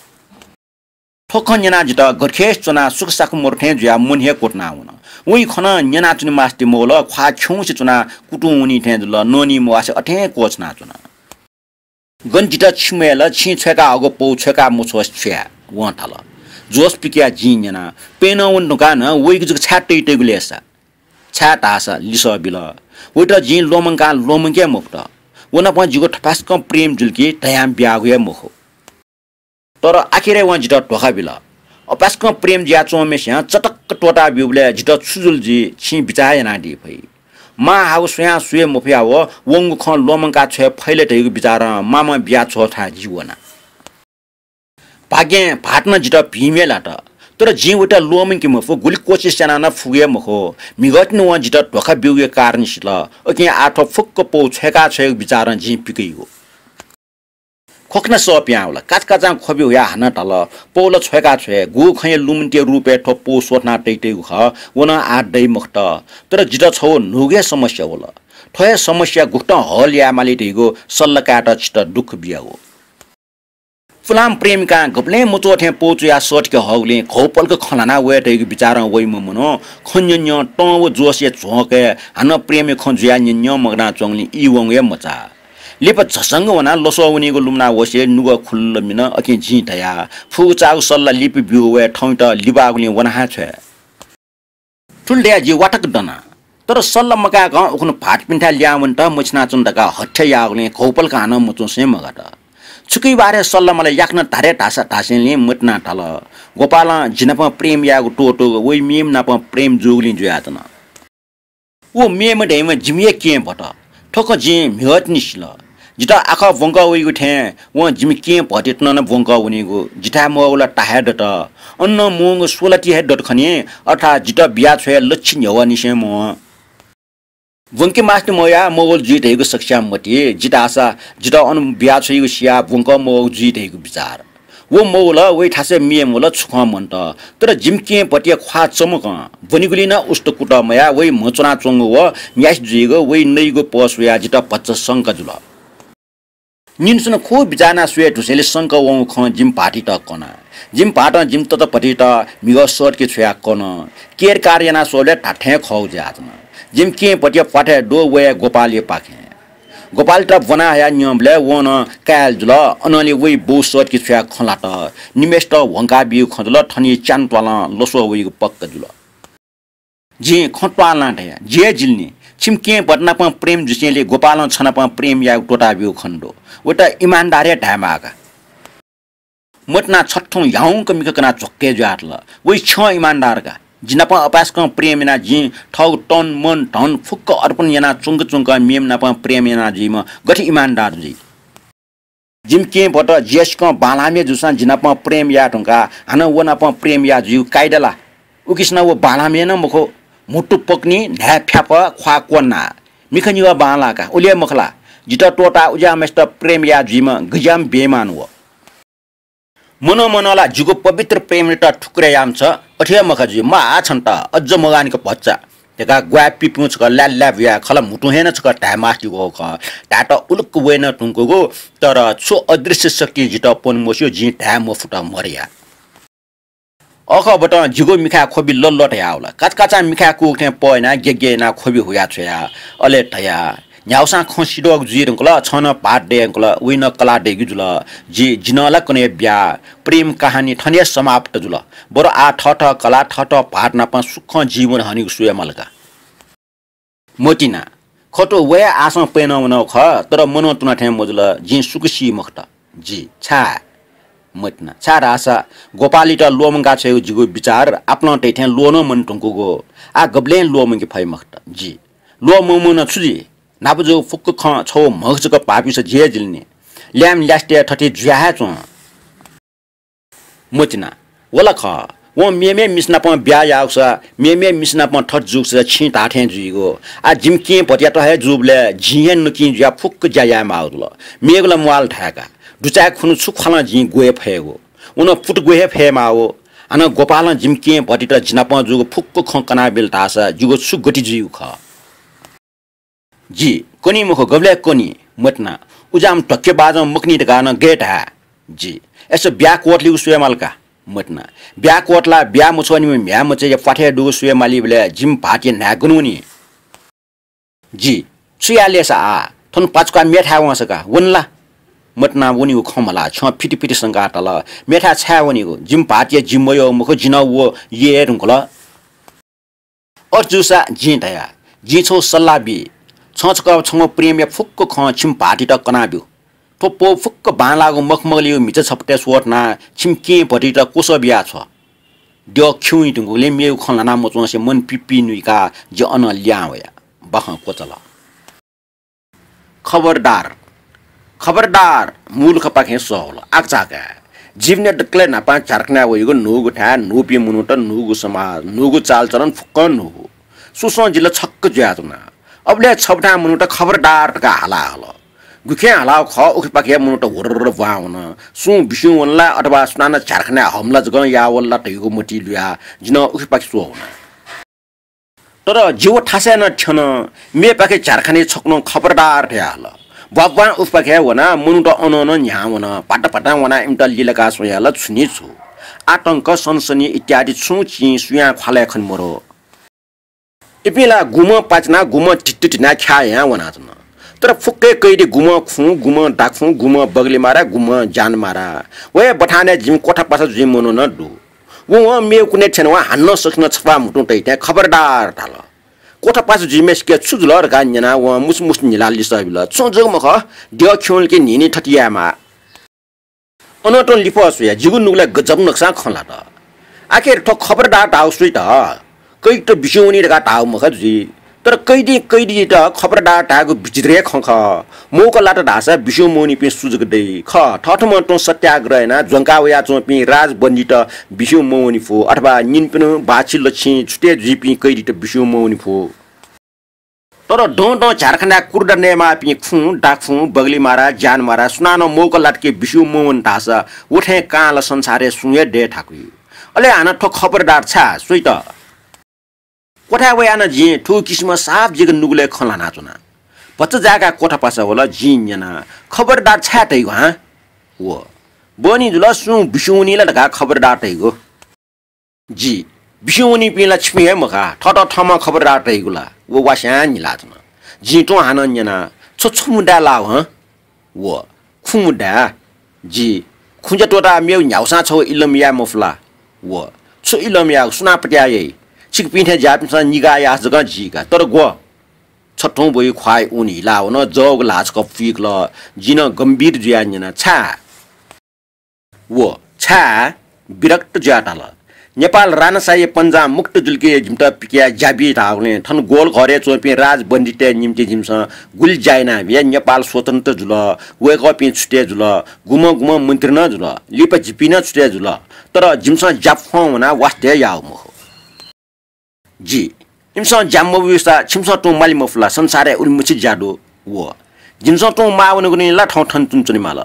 थ्व खँ न्यनाः जितः गथे च्वनाः सुखसाख मरु थें जुयाः मन हे क्वतुना वन।" वइ खँ नं न्यनाच्वने मास्ति मवल, ख्वाः खिउँसे च्वनाः कुतुं वनी थें जुल, ननी मवासे अथें क्वछुनाच्वन। "गन जितः छि मय् ला, छिं छ्वय्का हःगु पौ छ्वय्का मछ्वसे छु याये?" वं धाल। जोश पिकयाः जिं न्यना, "प्यन्हु वने धुंकाः नं वइगु जक छाय् तइतइगु लय्सा?" "छाय् धाःसा?" लिसः बिल। वयात जिं ल्वःमंकाः ल्वःमंके मफुत। व नाप जिगु थपाय्सकं प्रेम जुल कि धयां बियागु हे मखु। तर आखिरय् वं जितः धोखा बिल। अपाय्सकं प्रेम जुयाच्वंम्हस्यां चटक्क त्वःता ब्यूबलय् जितः छु जुल जुइ, छिं बिचाः यानादी फइ। मां हाःगु स्वयां स्वये मफयाः व वंगु खँ ल्वःमंका छ्वये फइ ले धइगु बिचारं मामं बिया छ्वःथाय् जि वना। भाग्यं भाःत नं जितः भिंम्ह लात। तर जिं वयात ल्वःमंके मफु, गुलि कोसिस यानाः नं फुगु हे मखु। म्हिगः तिनि वं जितः धोखा ब्यूगु कारणं सिल। उकिं आः थ्व फुक्क पौ छ्वय्का छ्वयेगु बिचारं जिं पिकइगु। खोकना सः पिहां वल। काचाकाचां ख्वबि हुयाः हानं धाल, "पौ ला छ्वय्का छ्वये, गुगु खँया लुमन्तिया रूपय् थ्व पौ स्वथना तइतइगु खः, व नं आः दइ मखुत। तर जितः छगू न्हूगु हे समस्या वल। थ्व हे समस्या गुकथं हल याये माली धइगु सल्लाह कायेत छितः दुःख बियागु।" पुलांम्ह प्रेमिकां गबलें मच्वः थें पौ च्वयाः सःतके हःगुलिं घौपलक खँ ल्हाना वये धइगु बिचारं वइम्ह मनू खँ न्यं न्यं तं व जोशया झोंकय् हानं प्रेमया खँ जुयाः न्यं न्यं मगानाच्वंगुलिं ई वंगु हे मचाः। लिपा झसंक वनाः लसः वनीगु लुमना वसे नुगः खुल्ल मिन। अकिं जिं धया, "फुगु चाःगु सल्लाह लिपा ब्यू वये, थौंयात लिबाःगुलिं वना हे छ्वये।" थुलि धयाः जि वातक दना। तर सल्लाह मकाय्कं उखुन्हु भाःतपिन्थाय् लिहां वनेत मछिनाच्वन धकाः हत्या याःगुलिं घौपलक हानं मच्वंसे मगात। छुकिया बारे सल्लाह माले याकनं धारे धाःसा धासेंलि मतिनां धाल, "गोपालं जि नाप प्रेम यायेगु त्वःतूगु वइ मेम्ह नाप प्रेम जूगुलिं जुयाच्वन। व मेम्ह धइम्ह जिमि हे केहेँ भत। थ्व खँ जिं म्हिगः तिनि सिल। जितः आखः ब्वंकः वइगु थें वं जिमि केहेँ भतयात नं ब्वंकः वनीगु। जिथाय् मवःगु ला ता हे दत। अन नं मवंगु स्वलाति हे दत खनी, अर्थात् जितः बिया छ्वये लच्छि न्ह्यवःनिसें मवं। ब्वंके मास्ति मवयाः मवल जुइ धइगु सकसियां मति। जि धाःसा जितः अन बिया छ्वइगु सियाः ब्वंकः मवःगु जुइ धइगु बिचार। व मवल, वइ थासय् मेम्ह वल, छु खँ मन्त। तर जिमि केहेँ भतया ख्वाः चमकं ब्वनीगुलिं नं उस्त कुतः मयाः वइ म्ह च्वनाच्वंगु व न्यासि जुइगु वइ नइगु पः स्वयाः जितः भचा संका जुल।" निन्हु स्वन्हु खुब बिचाः यानाः स्वये धुसेंलि संका वंगु खँ जिमि भाःतयात कना। जिमि भाःतं जिमि तताभतियात म्हिगः सःतके छ्वयाः कन। केरकार यानाः स्वःबलय् धात्थें खःगु जुयाच्वन। जिमि केहेँ भतया प्वाथय् दु, वया गोपालया पाखें। गोपालयात ब्वना हयाः न्यंबलय् वं नं काय् जुल। अनंलि वइ बौ सःतके छ्वयाः खँ ल्हात। निम्हेसित ह्वंका बीगु खँ जुल, थनिं च्यान्हु त्वालं लसः वइगु पक्का जुल। जिं खँ त्वालं धया, "जि हे जिल नि। छिमि केहेँ भत नाप प्रेम जुसेंलि गोपालं छ नाप प्रेम यायेगु त्वःता ब्यूगु खने दु। वयात इमानदार हे धायेमाः का।" मतिनां छथुं ह्याउँक मिखा कनाः झ्वक्के जुयातल। वइ छ्यं इमानदार का। जि नाप अपाय्सकं प्रेम यानाः जिं थःगु तन, मन, धन फुक्क अर्पण यानाः च्वंक च्वंक मेम्ह नाप प्रेम याना जुइम्ह गथे इमानदार जुइ? जिमि केहेँ भत जि हे सिकं बांलाःम्ह जूसां जि नाप प्रेम याये धुंकाः हानं व नाप प्रेम याये जुइगु कायदा ला? उकिसनं व बांलाःम्ह नं मखु, म्हुतु पकनी, न्हाय् फ्याफः, ख्वाः क्वन्ना। मिखा निगः बांलाः का, उलि हे मखु ला? जितः त्वःताः उज्याःम्हय्सित प्रेम याये जुइम्ह गज्याःम्ह बेइमान व। मनं मनं ला जिगु पवित्र प्रेमयात ठुक्रे याःम्ह छ, अथे हे मखा जुइ, माः छन्त, अज्ज मगानिक भचा। धकाः ग्वाये पिपिं छकः ल्याः ल्याः बुयाः खला म्हुतुं हे नं छकः धाये मास्तिगु खः। धायेत उलुक्क वये नं धुंकूगु, तर छु अदृश्य शक्तिं जितः प्वने मस्यू, जिं धाये मफुत मरया। अखःबतं जिगु मिखाय् ख्वबि लल्ल धयावल। काचाकाचां मिखाय् कूगु थें पः यानाः गेगे यानाः ख्वबि हुया छ्वया। अले धया, न्ह्यागुसां खँ सिधःगु जुइ धुंकल, छं नं भाःत दये धुंकल, वइ नं कलाः दइगु जुल। जि, जि नं ला कन्हय् ब्याः, प्रेम कहानी थन हे समाप्त जुल। बरु आः थःथः कलाः, थःथः भाःत नाप सुखं जीवन हनेगु स्वये माल का। मतिना, खँ थ्व वया आशं पय्नं वनागु खः, तर मनं तुना थें मजुल, जिं सुक सी मखुत। जि, छाय्? मतिना, छाय् धाःसा गोपालीत ल्वःमंका छ्वयेगु जिगु बिचार आपालं तइ थें ल्वः नं मने धुंकूगु। आः गबलें ल्वःमंके फइ मखुत। जि, ल्वः ममन छु जुइ? न्हापा जूगु फुक्क खँ छगू म्हगः जक भाःपिन्सं झी हे जिल नि। ल्याय्म्ह ल्यासेतय् थथे जुया हे च्वं। मतिना, व ला खः। वं मेमेम्ह मिसा नाप ब्याहा याःगुसा, मेमेम्ह मिसा नाप थथे जूगुसा छिं धाःथें जुइगु। आः जिमि केहेँ भतियात हे जूबलय् जिं हे नकिं जुयाः फुक्क ज्या याये माःगु जुल। मेगु ला म्वाःल धाय्का। दुचाय् खुन्हु छु ख्वालं जिं ग्वये फयेगु। व नं पुत ग्वये हे फये माःगु। हानं गोपालं जिमि केहेँ भतियात जि नाप जूगु फुक्क खँ कनाबिल धाःसा जिगु छु गति जुइगु खः? जि, कनी मखु, गबलय् कनी? मतिना, उज्याःम्ह धक्केबाजं मखनी धकाः नं गय् धाये? जि, अय्सा ब्याहा क्वतलीगु स्वये माल का? मतिना, ब्याहा क्वतलाः ब्याहा मछ्वःनिम्ह म्ह्याय्मचाया प्वाथय् दुगु स्वये मालीबलय् जिमि भाःतया न्हाय् गन वनी? जि, छु याये लय्सा आः? थन पाचुकाः मेथाय् वंसा का, वन ला? मतिनां वनीगु खँ मल्हाः छ्यं फितिफिति संकाः धाल, मेथाय् छाय् वनीगु? जिमि भाःतया जि मयः मखु, जि नं व यय् धुंकल। अथे जूसा जिं धया, जिं छगू सल्लाह बी। छं छकः छंगु प्रेमया फुक्क खँ छिमि भाःतयात कनाब्यु। थ्व पौ फुक्क बांलाःगु मखमलयागु म्हिचा छपतय् स्वथनाः छिमि केहेँ भतियात क्वसः बियाछ्व। द्यः खिउँइ धुंकूगुलिं मेगु खँ ल्हाना मच्वंसे मन पिप्पी नुइकाः जि अनं लिहां वया। बाखं क्वचाल। खबरदार, खबरदार, मुलुखपाखें सः वल। आकाझाकाय्। जीवनया दकलय् न्हापां झ्यालखानाय् वइगु न्हूगु थाय्, न्हूपिं मनूत, न्हूगु समाज, न्हूगु चालचलन, फुक्कं न्हूगु। सुसं जिल्ला छक्क जुयाच्वना। अबलय् छबथाय् मनूत खबरदार धकाः हाला हल। गुखें हालागु खः, उखेपाखे मनूत हुर्र ब्वां वन। सुं बिस्युं वन ला अथवा सुनानं झ्यालखानाय् हमला जकं याः वल ला धइगु मतिइ लुयाः जिं उखेपाखे स्वः वना। तर जि व थासय् नं थ्यन, मेपाखे झ्यालखानाय् छकुनं खबरदार धयाहल। ब्वाब्वां उखेपाखे वनाः मनूत अनं नं न्ह्याः वन। भाताभातां वनाः इमित लिलाकाः स्वयाहल, छु नि छु। आतंक, सनसनी इत्यादि छुं चिं सुयां ख्वालय् खने मरु। इपिं ला गुम्हं पाचिनाः गुम्हं धित्तुधिनाः ख्याः यां वनाच्वन। तर फुक्कय् कैदी गुम्हं खुँ, गुम्हं दाखुँ, गुम्हं बगलिमारा, गुम्हं ज्यानमारा। व हे बथानय् जिमि क्वथापासा जुइम्ह मनू नं दु। वं मेगु कुनय् थ्यनाः हानं सकसिनं छपाः म्हुतुं तइथें खबरदार धाल। क्वथापासा जुइम्हय्सिके छु जुल धकाः न्यनाः वं मुसु मुसु न्हिलाः लिसः बिल। छुं जक मखु, द्यः खिउँलिके न्हिं न्हिं थथे यायेमाः। अनं तुं लिफः स्वयाः जिगु नुगलय् गजब नकसां खँ ल्हात। आखिर थ्व खबरदार धाःगु सुइत? कैदीत बिस्युं वनी धकाः धाःगु मखु जुइ। तर कैदीं कैदीत खबरदार धाःगु विचित्र हे खँ खः। मौका लात धाःसा बिस्युं मवनीपिं सु जक दइ। खः, थःथम्हं तुं सत्याग्रह यानाः ज्वंका वयाच्वंपिं राजबन्दीत बिस्युं मवनी फु, अथवा निन्पिन्हु बाछि लछिं छुटे जुइपिं कैदीत बिस्युं मवनी फु। तर दँ दँ झ्यालखानाय् कुर्दा नयेमाःपिं खुँ, दाखुँ, बगलिमारा, ज्यानमारा सुनानं मौका लातके बिस्युं मवन धाःसा व थें कांला संसारय् सुं हे दये थाकुइ। अले हानं थ्व खबरदार छाय् सुइत? क्वथाय् वयाः नं जिं थुगु किसिमं साफ जिगु नुगलय् खँ ल्हानाच्वना। भचा जाय्काः क्वथापासा वल, जिं न्यना, खबरदार छाय् तइगु हँ? व, बहनी जुल, सुं बिस्युं वनी ला धकाः खबरदार तइगु। जि, बिस्युं वनीपिं ला छिपिं हे मखु, थःत थःम्हं खबरदार तइगु ला? व वास्यां न्हिलाच्वन। जिं तुं हानं न्यना, छ छु मुद्दाय् लाःगु हँ? व, खुँ मुद्दाय्। जि, खुँज्या त्वःताः मेगु न्ह्यागुसां छगू इलम याये मफु ला? व, छु इलम यायेगु, सुनां पत्याः याइ? छिकपिं थें ज्याःपिन्सं निगाः याःसा जकं जीका, तर ग्व। छ तुं ब्वइ ख्वाः ऊन हिलावन, जःगु ल्हाः छकः पुइकल। जिं नं गम्भीर जुयाः न्यना, छाय्? व छाय् विरक्त जुयाः धाल, नेपाल राणाशाही पन्जां मुक्त जुलिके जिमित पिकयाः ज्या बी धाःगुलिं थन गोलघरय् च्वंपिं राजबन्दीतय् निम्तिं जिमिसं गुलि ज्या यानाबिया। नेपाल स्वतन्त्र जुल, वय्कःपिं छुटे जुल, गुम्हं गुम्हं मन्त्री नं जुल, लिपा जिपिं नं छुटे जुल। तर जिमिसं ज्या फं वनाः वास्ते याःगु मखु। जि, इमिसं ज्या मब्यूसा छिमिसं तुं माले मफु ला? संसारय् उलिमछि ज्या दु। व, जिमिसं तुं माः वनेगुलिं ला थौं थन तुं च्वनेमाल।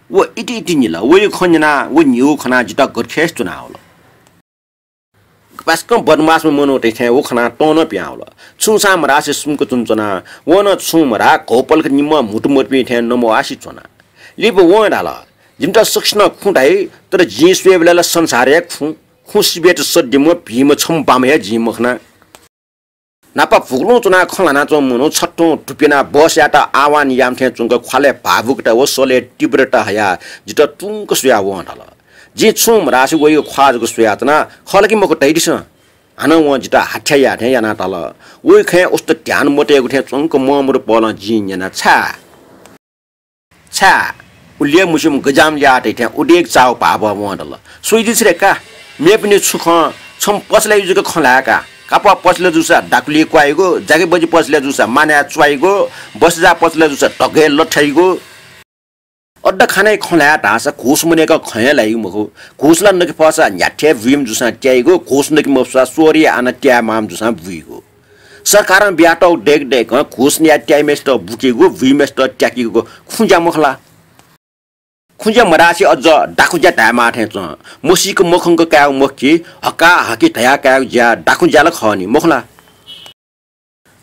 व इति इति न्हिल। वया खँ न्यनाः व न्हिगु खनाः जितः गथे च्वनावल। कपासकं बदमासम्ह मनूतय् थें व खनाः तं नं पिहां वल। छुं सां मधासे सुम्क च्वनाच्वना। वं नं छुं मधाः घौपलक निम्ह म्हुतुमतुपिं थें नमवासे च्वना। लिपा वं धाल, जिमित सकसिनं खुँ धाइ, तर जिं स्वयेबलय् ला संसारय् खुँ, खुँ सिबय् सःतेम्ह भिंम्ह छम्ह बाम्ह हे जिं मखना। न्हापा भुगुलुं च्वनाः खँ ल्हानाच्वंम्ह मनू छथुं धुप्यनाः बसयात आह्वान याःम्ह थें च्वंक ख्वालय् भावुकता व सलय् तीव्रता हयाः जितः तुंक स्वयाः वं धाल, जिं छुं मधासे वइगु ख्वाः जक स्वयाच्वना, खः ला कि मखु धयादिसँ। हानं वं जितः हाथ्या याः थें यानाः धाल। वइ खँय् उस्त ध्यान मतयेगु थें च्वंक मं मदु पहलं जिं न्यना, छाय्? छाय्? उलिया मुसिम्ह गजाम ल्याः तइ थें उदेक चाःगु भावं वं धाल, स्वयादिसँ रे का, मेपिनि छु खँ, छम्ह पसलय् जक खँ ल्हाये का। कापः पसलय् जूसा दाखुली क्वाइगु, जागिर बजि पसलय् जूसा मानय् च्वाइगु, बसजा पसलय् जूसा धगय् लथ्याइगु। अड्डा खानाय् खँ ल्हाये धाःसा घुस मदय्कं खँ हे ल्हाइगु मखु। घुस ला नके फःसा न्ह्याथे बुइम्ह जूसां त्याइगु, घुस नके मफुसा स्वःरी आनाः त्याये माःम्ह जूसां बुइगु। सरकारं बियातःगु दय्क दय्कं घुस नयाः त्याइम्हय्सित बुकेगु, बुइम्हय्सित त्याकेगु खुँज्या मखु ला? खुँज्या मधासे अझ दाखुँज्या धायेमाः थें च्वं। मसीक मखंक कायेगु मखु कि, हकाहकि धयाः कायेगु ज्या दाखुँज्या ला खः नि, मखु ला?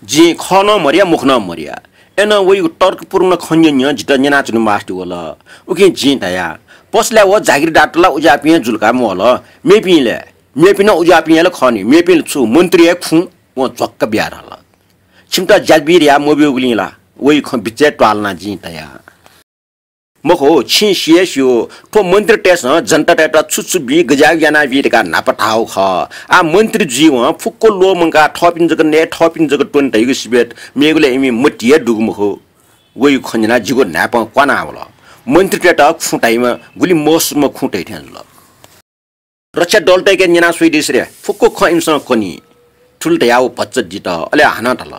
जिं खः नं मधया, मखु नं मधया। अय्नं वइगु तर्कपूर्ण खँ न्यँ न्यँ जितः न्यनाच्वने मास्ति वल। उकिं जिं धया, पसलय् व जागिरदारत ला उज्याःपिं हे जुल का, मवल। मेपिं ले? मेपिं नं उज्याःपिं हे ला खः नि, मेपिं ला छु मन्त्री हे खुँ? वं झ्वक्क बियाः धाल। छिमित ज्या बी धयाः मब्यूगुलिं ला? वइ खँ बिचय् त्वालनाः जिं धया। मखु, छिं सि हे स्यू, थ्व मन्त्रीतय्सं जनतातय्त छु छु बी, गज्याःगु यानाबी धकाः न्हापा धाःगु खः। आः मन्त्री जुइवं फुक्क ल्वःमंकाः थःपिं जक नये, थःपिं जक त्वने धइगु सिबय् मेगु ला इमि मतिइ हे दुगु मखु। वइगु खँ न्यनाः जिगु न्हाय्पं क्वाना वल। मन्त्रीतय्त खुँ धाइम्ह गुलि मसुम्ह खुँ धइ थें जुल। रक्षा दलतय्के न्यना स्वयादिसँ रे, फुक्क खँ इमिसं कनी। थुलि धयाः व भचा दित, अले हानं धाल,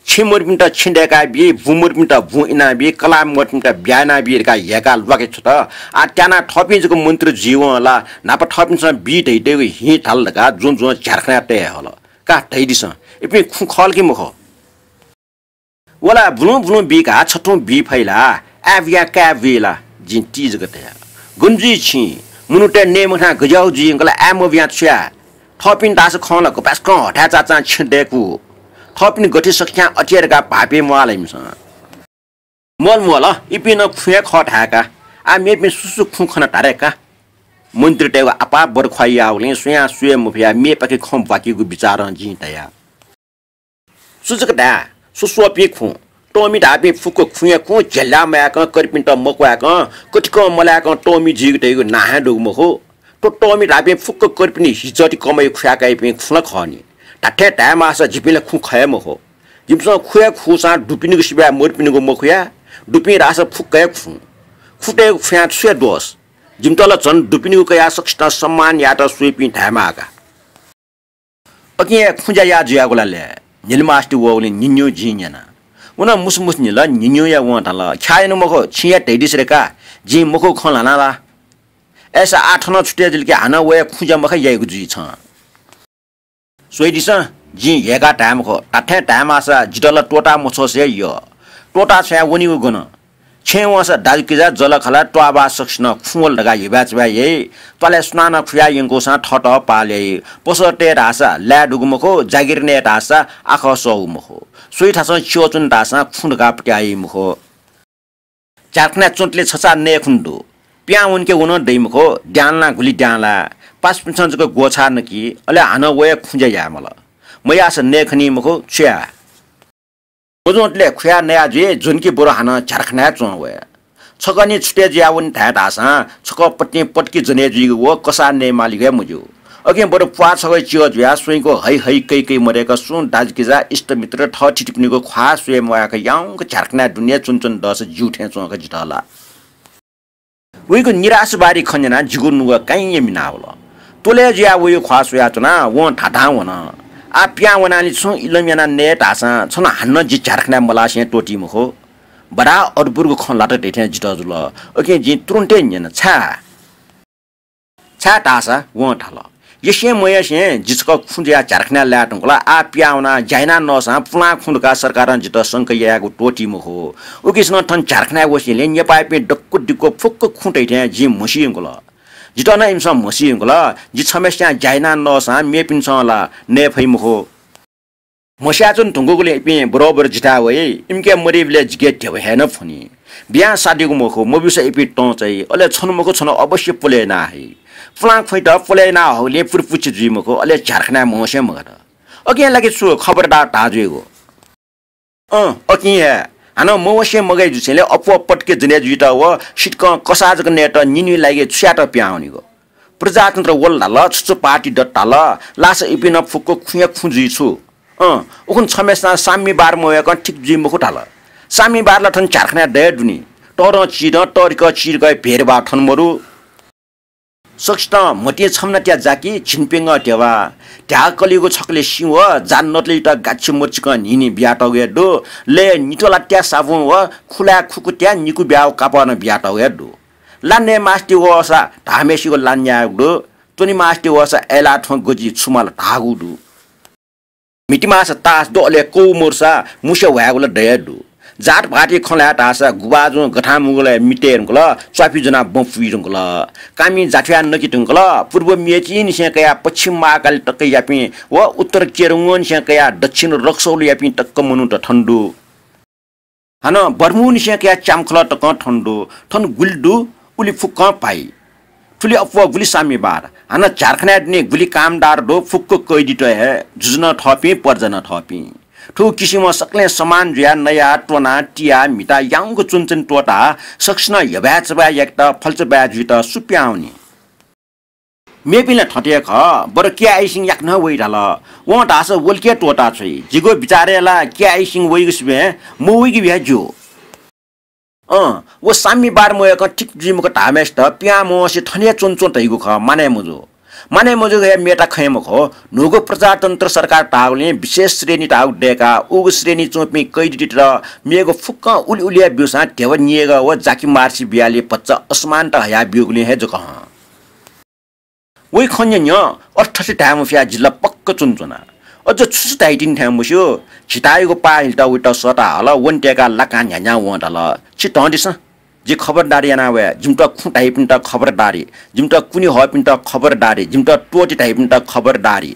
छेँ मदुपिन्त छेँ दय्काबी, बुँ मदुपिन्त बुँ इनाबी, कलाः मदुपिन्त ब्याहा यानाबी धकाः ह्यय्काः ल्वाके छ्वत। आः त्यानाः थःपिं जक मन्त्री जुइवं ला न्हापा थःपिन्सं बी धइतय्गु हिं धाल धकाः जुं जुं झ्यालखानाय् तये हल। का धयादिसँ, इपिं खुँ खः ला कि मखु? व ला बुलुं बुलुं बी का, छथुं बी फइ ला? आय् बुयाः काय् बुइ ला? जिं ति जक धया। गन जुइ छिं? मनूतय् नये मखनाः गज्याःगु जुइ यंकल, आय् मबुयाः छु याये? थःपिं धाःसा खं ला गपाय्सकं हथाय् चाचां छेँ दय्कू। थःपिं गथे सकस्यां अथे हे धकाः भाःपिं म्वाः ला इमिसं? म्वाःल म्वाःल, इपिं नं खुँ हे खः धाय्का। आः मेपिं सु सु खुँ खन धारे का। मन्त्रीतय्गु आपाः बरख्वाः याःगुलिं स्वयां स्वये मफयाः मेपाखे खँ ब्वाकीगु बिचारं जिं धया। छु जक धाये, स्वस्वःपिं खुँ। तःमि धाःपिं फुक्क खुँ हे खुँ, झ्याल्लाः मयाकं, कर्पिन्त मक्वय्कं, कतिकं मलाय्कं तःमि जुइगु धइगु नां हे दुगु मखु। थ्व तःमि धाःपिं फुक्क कर्पिनि हिजति कमय् खुयाकाइपिं खुँ ला खः नि। धात्थें धायेमाःसा जिपिं ला खुँ खः हे मखु। जिमिसं खुँ हे खुसां दुपिनिगु सिबय् मदुपिनिगु मखुया, दुपिं धाःसा फुक्क हे खुँ। खुँतय्गु खुँया छु हे दोष? जिमित ला झन दुपिनिगु कयाः सकसितं सम्मान यायेत स्वइपिं धायेमाः का। अकिं हे खुँज्या याः जुयागु ला ले? न्हिलिमास्ति वःगुलिं निन्यु जिं न्यना। व नं मुसुमुसु निल, निन्युया वं धाल, ख्याः यानागु मखु, छिं हे धयादिसँ रे का, जिं मखुगु खँ ल्हाना ला? अय्सा आः थनं छुटे जुल कि हानं व हे खुँज्या मखा याइगु जुइ छं। स्वयादिसँ, जिं ह्यय्काः धाये मखु, धात्थें धायेमाःसा जितः ला त्वःता मछ्वसे हे यः। त्वःता छ्वयाः वनीगु गन? छेँय् वंसा दाजुकिजा, जःलाखःला, त्वाःबाः सकसिनं खुँ वल धकाः हिबाय् चबाय् याइ। त्वालय् सुनानं खुयाः यंकूसां थःत पाल याइ। पसः तये धाःसा लाये दुगु मखु, जागिर नये धाःसा आखः सःगु मखु। स्वइ थासं च्यः च्वने धाःसां खुँ धकाः पत्याः याइ मखु। झ्यालखानाय् च्वंतले छचाः नये खुन्हु दु। पिहां वनेके व नं दइ मखु, द्यांलाः गुलि द्यांलाः। पासापिन्सं जक ग्वःछाः नकी, अले हानं व हे खुँज्या याये माल। मयाःसा नये खनी मखु, छु याये? मज्वंतले खुयाः नया जुइ, ज्वनी कि बरु हानं झ्यालखानाय् च्वं वये। छकः निं छुटे जुयाः वने धाये धाःसां छकः पतिं पतिकि ज्वने जुइगु व कसाः नये मालीगु हे मज्यू। अकिं बरु प्वाः छगः च्यः जुयाः स्वइगु है है कै कै मदय्क सुं दाजुकिजा, इष्टमित्र, थःथितिपिनिगु ख्वाः स्वये म्वाय्क याउँक झ्यालखानाय् दुने च्वने च्वने दःसा ज्यू थें च्वं का जितः ला। वइगु निराशावादी खँ न्यनाः जिगु नुगः काइँया मिनावल। त्वलय् जुयाः वइगु ख्वाः स्वयाच्वनाः वं धाधां वन। आः पिहां वनालि छुं इलम यानाः नये धाःसां छन हानं जि झ्यालखानाय् मलासें त्वःती मखु। बडा अद्भुतगु खँ ल्हात धइथें जितः जुल। उकिं जिं तुरुन्त हे न्यन, छाय्? छाय् धाःसा वं धाल, यसें मयसें जि छकः खुँ जुयाः झ्यालखानाय् लाये धुंकल, आः पिहां वनाः ज्या यानाः नःसां पुलां खुँ धकाः सरकारं जितः संका यायेगु त्वःती मखु। उकिसनं थन झ्यालखानाय् वसेंलि नेपाःपिं दक्व दिक्व फुक्क खुँ धइथें जिं म्हसी यंकल। जितः नं इमिसं म्हसी धुंकल। जि छम्हस्यां ज्या यानाः नःसां मेपिन्सं ला नये फइ मखु। म्हस्याच्वने धुंकूगुलिं इपिं बरोबर जिथाय् वइ। इमिके मदइबलय् जिके ध्यबा हे नं फ्वनी। बियां सादिगु मखु, मब्यूसा इपिं तं चाइ। अले छन्हु मखु छन्हु अवश्य पुले याना हइ। पुलां ख्वइत पुले याना हःगुलिं पुरपुछि जुइ मखु, अले झ्यालखानाय् म्हसे मगात। अकिं ला कि छु खबरदार धाः जुइगु? अँ, अकिं हे। हानं मवसे मगाइ जुसेंलि अप्वः पटके जने जुइत व सितकं कसाः जक नयेत निन्हुइ लागि छु यात पिहां वनीगु? प्रजातन्त्र वल धाल, छु छु पार्टी दत धाल, लासा इपिं नं फुक्क खुँया खुँ जुइ छु। अँ, उखुन्हु छम्हस्यां साम्यवाद मवय्कं ठीक जुइ मखु धाल। साम्यवाद ला थन झ्यालखानाय् दये दुनि। तःधं चिधं, तःधिकः चिधिकःया भेदभाव थन मदु। सकसितं म्हतिं छम्हनातया जाकि, झिंप्यंगः ध्यबा। ध्याः कलिगु छकलय् सिं व जात नतलित गाछि मचिकं न्हिं न्हिं बियातःगु हे दु। लय् नित्वलातया साबुं व खुलाय् खुकुतया निकू ब्याव कापः नं बियातःगु हे दु। ला नये मास्ति वःसा धाःम्हय्सिगु ला न्यायेगु दु। त्वने मास्ति वःसा अय्लाः थ्वँ गजि छु माल धाःगु दु। म्हितिमाःसा तास दु, अले कौ मरुसा मुस्या ह्वायेगु ला दये दु। जात भाःति खँ ल्हाये धाःसा गुभाजुं गथांमुगलय् मि तये धुंकल, च्वापि ज्वनाः बँ पुइ धुंकल। कामि जाथ्वया नके धुंकल, पूर्व मेचीनिसें कयाः पश्चिम महाकाली तक यापिं व उत्तर केरंगोनिसें कयाः दक्षिण रक्सौल यापिं तक मनूत थन दु। हानं बर्मुनिसें कयाः च्याम्खलः तकं थन दु। थन गुलि दु, उलि फुक्कं भाइ। थुलि अप्वः गुलि साम्यवाद। हानं झ्यालखानाय् दुने गुलि कामदार दु, फुक्क कैदीत हे, जुजु नं थःपिं, प्रजा नं थःपिं। थुगु किसिमं सकलें समान जुयाः नयाः, त्वनाः, तियाः, म्हिताः याउँक च्वनाच्वने त्वःताः सकसिनं हेबाय् चबाय् याकेत, फल्चा बाय् जुइत सु पिहां वनी? मेपिं ला थथे हे खः, बरु केआइसिङ याकनं वइ धाल। वं धाःसा वलिके त्वःता छ्वइ। जिगु बिचारय् ला केआइसिङ वइगु सिबें मवइगु हे ज्यू। अँ, व साम्यवाद मवय्कं ठीक जुइ मखु धाःम्हय्सित पिहां मवसे थन हे च्वनाच्वँ धइगु खः, मानय् मजू। मानय् मजूगु हे मेता खँय् मखु, न्हूगु प्रजातन्त्र सरकार धाःगुलिं विशेष श्रेणी धाःगु दय्काः उगु श्रेणी च्वंपिं कैदीतय्त मेगु फुक्कं उलि उलिया ब्यूसां ध्यबा नियेगः व जाकि मार्सी बियालि भचा असमानता हयाब्यूगुलिं हे जक हं। वइ खँ न्यँ न्यँ, अथे थथे धाये मफयाः जि ला पक्क च्वनाच्वना। अझ छु छु धाइतिनि थें मस्यू। झितायागु पाः हिलेत वइत सःता हल, वने तय्काः लाकां न्ह्यान्ह्यां वं धाल, छि धं दिसँ, जि खबरदारी याना वये, जिमित खुँ धाइपिन्त खबरदारी, जिमित कुने हःपिन्त खबरदारी, जिमित त्वःते धाइपिन्त खबरदारी।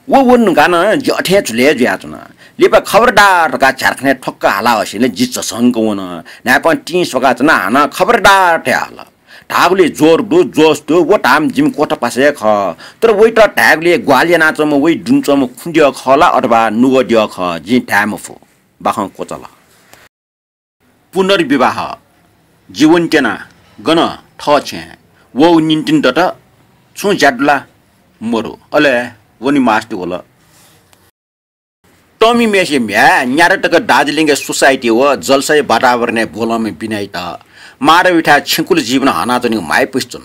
व वने धुंकाः नं जि अथें झुलय् जुयाच्वना। लिपा खबरदार धकाः झ्यालखानाय् ठ्वक्क हाला हसेंलि जि झसंक वन। न्हाय्पं तिं स्वकाच्वना, हानं खबरदार धयाहल। धाःगुलिइ जोर दु, जोस दु, व धाःम्ह जिमि क्वथा पासा हे खः। तर वइत धायेगुलिइ ग्वाहालि यानाच्वंम्ह वइ दुने च्वंम्ह खुँ द्यः खः ला अथवा नुगः द्यः खः, जिं धाये मफु। बाखं क्वचाल। पुनर्विवाह। जीवन त्यना गन थः छेँय् वःगु निंतिं दत। छुं ज्या दु ला? मदु। अले वने मास्ति वल। तःमिम्हय्सिया म्ह्याय् न्यादँ तक दार्जिलिङया सोसाइटी व जलसाया वातावरणय् ब्वलंम्ह बिनाइत माधवयाथाय् छेँकुल जीवन हनाच्वनेगु म्हाइपुसे च्वन।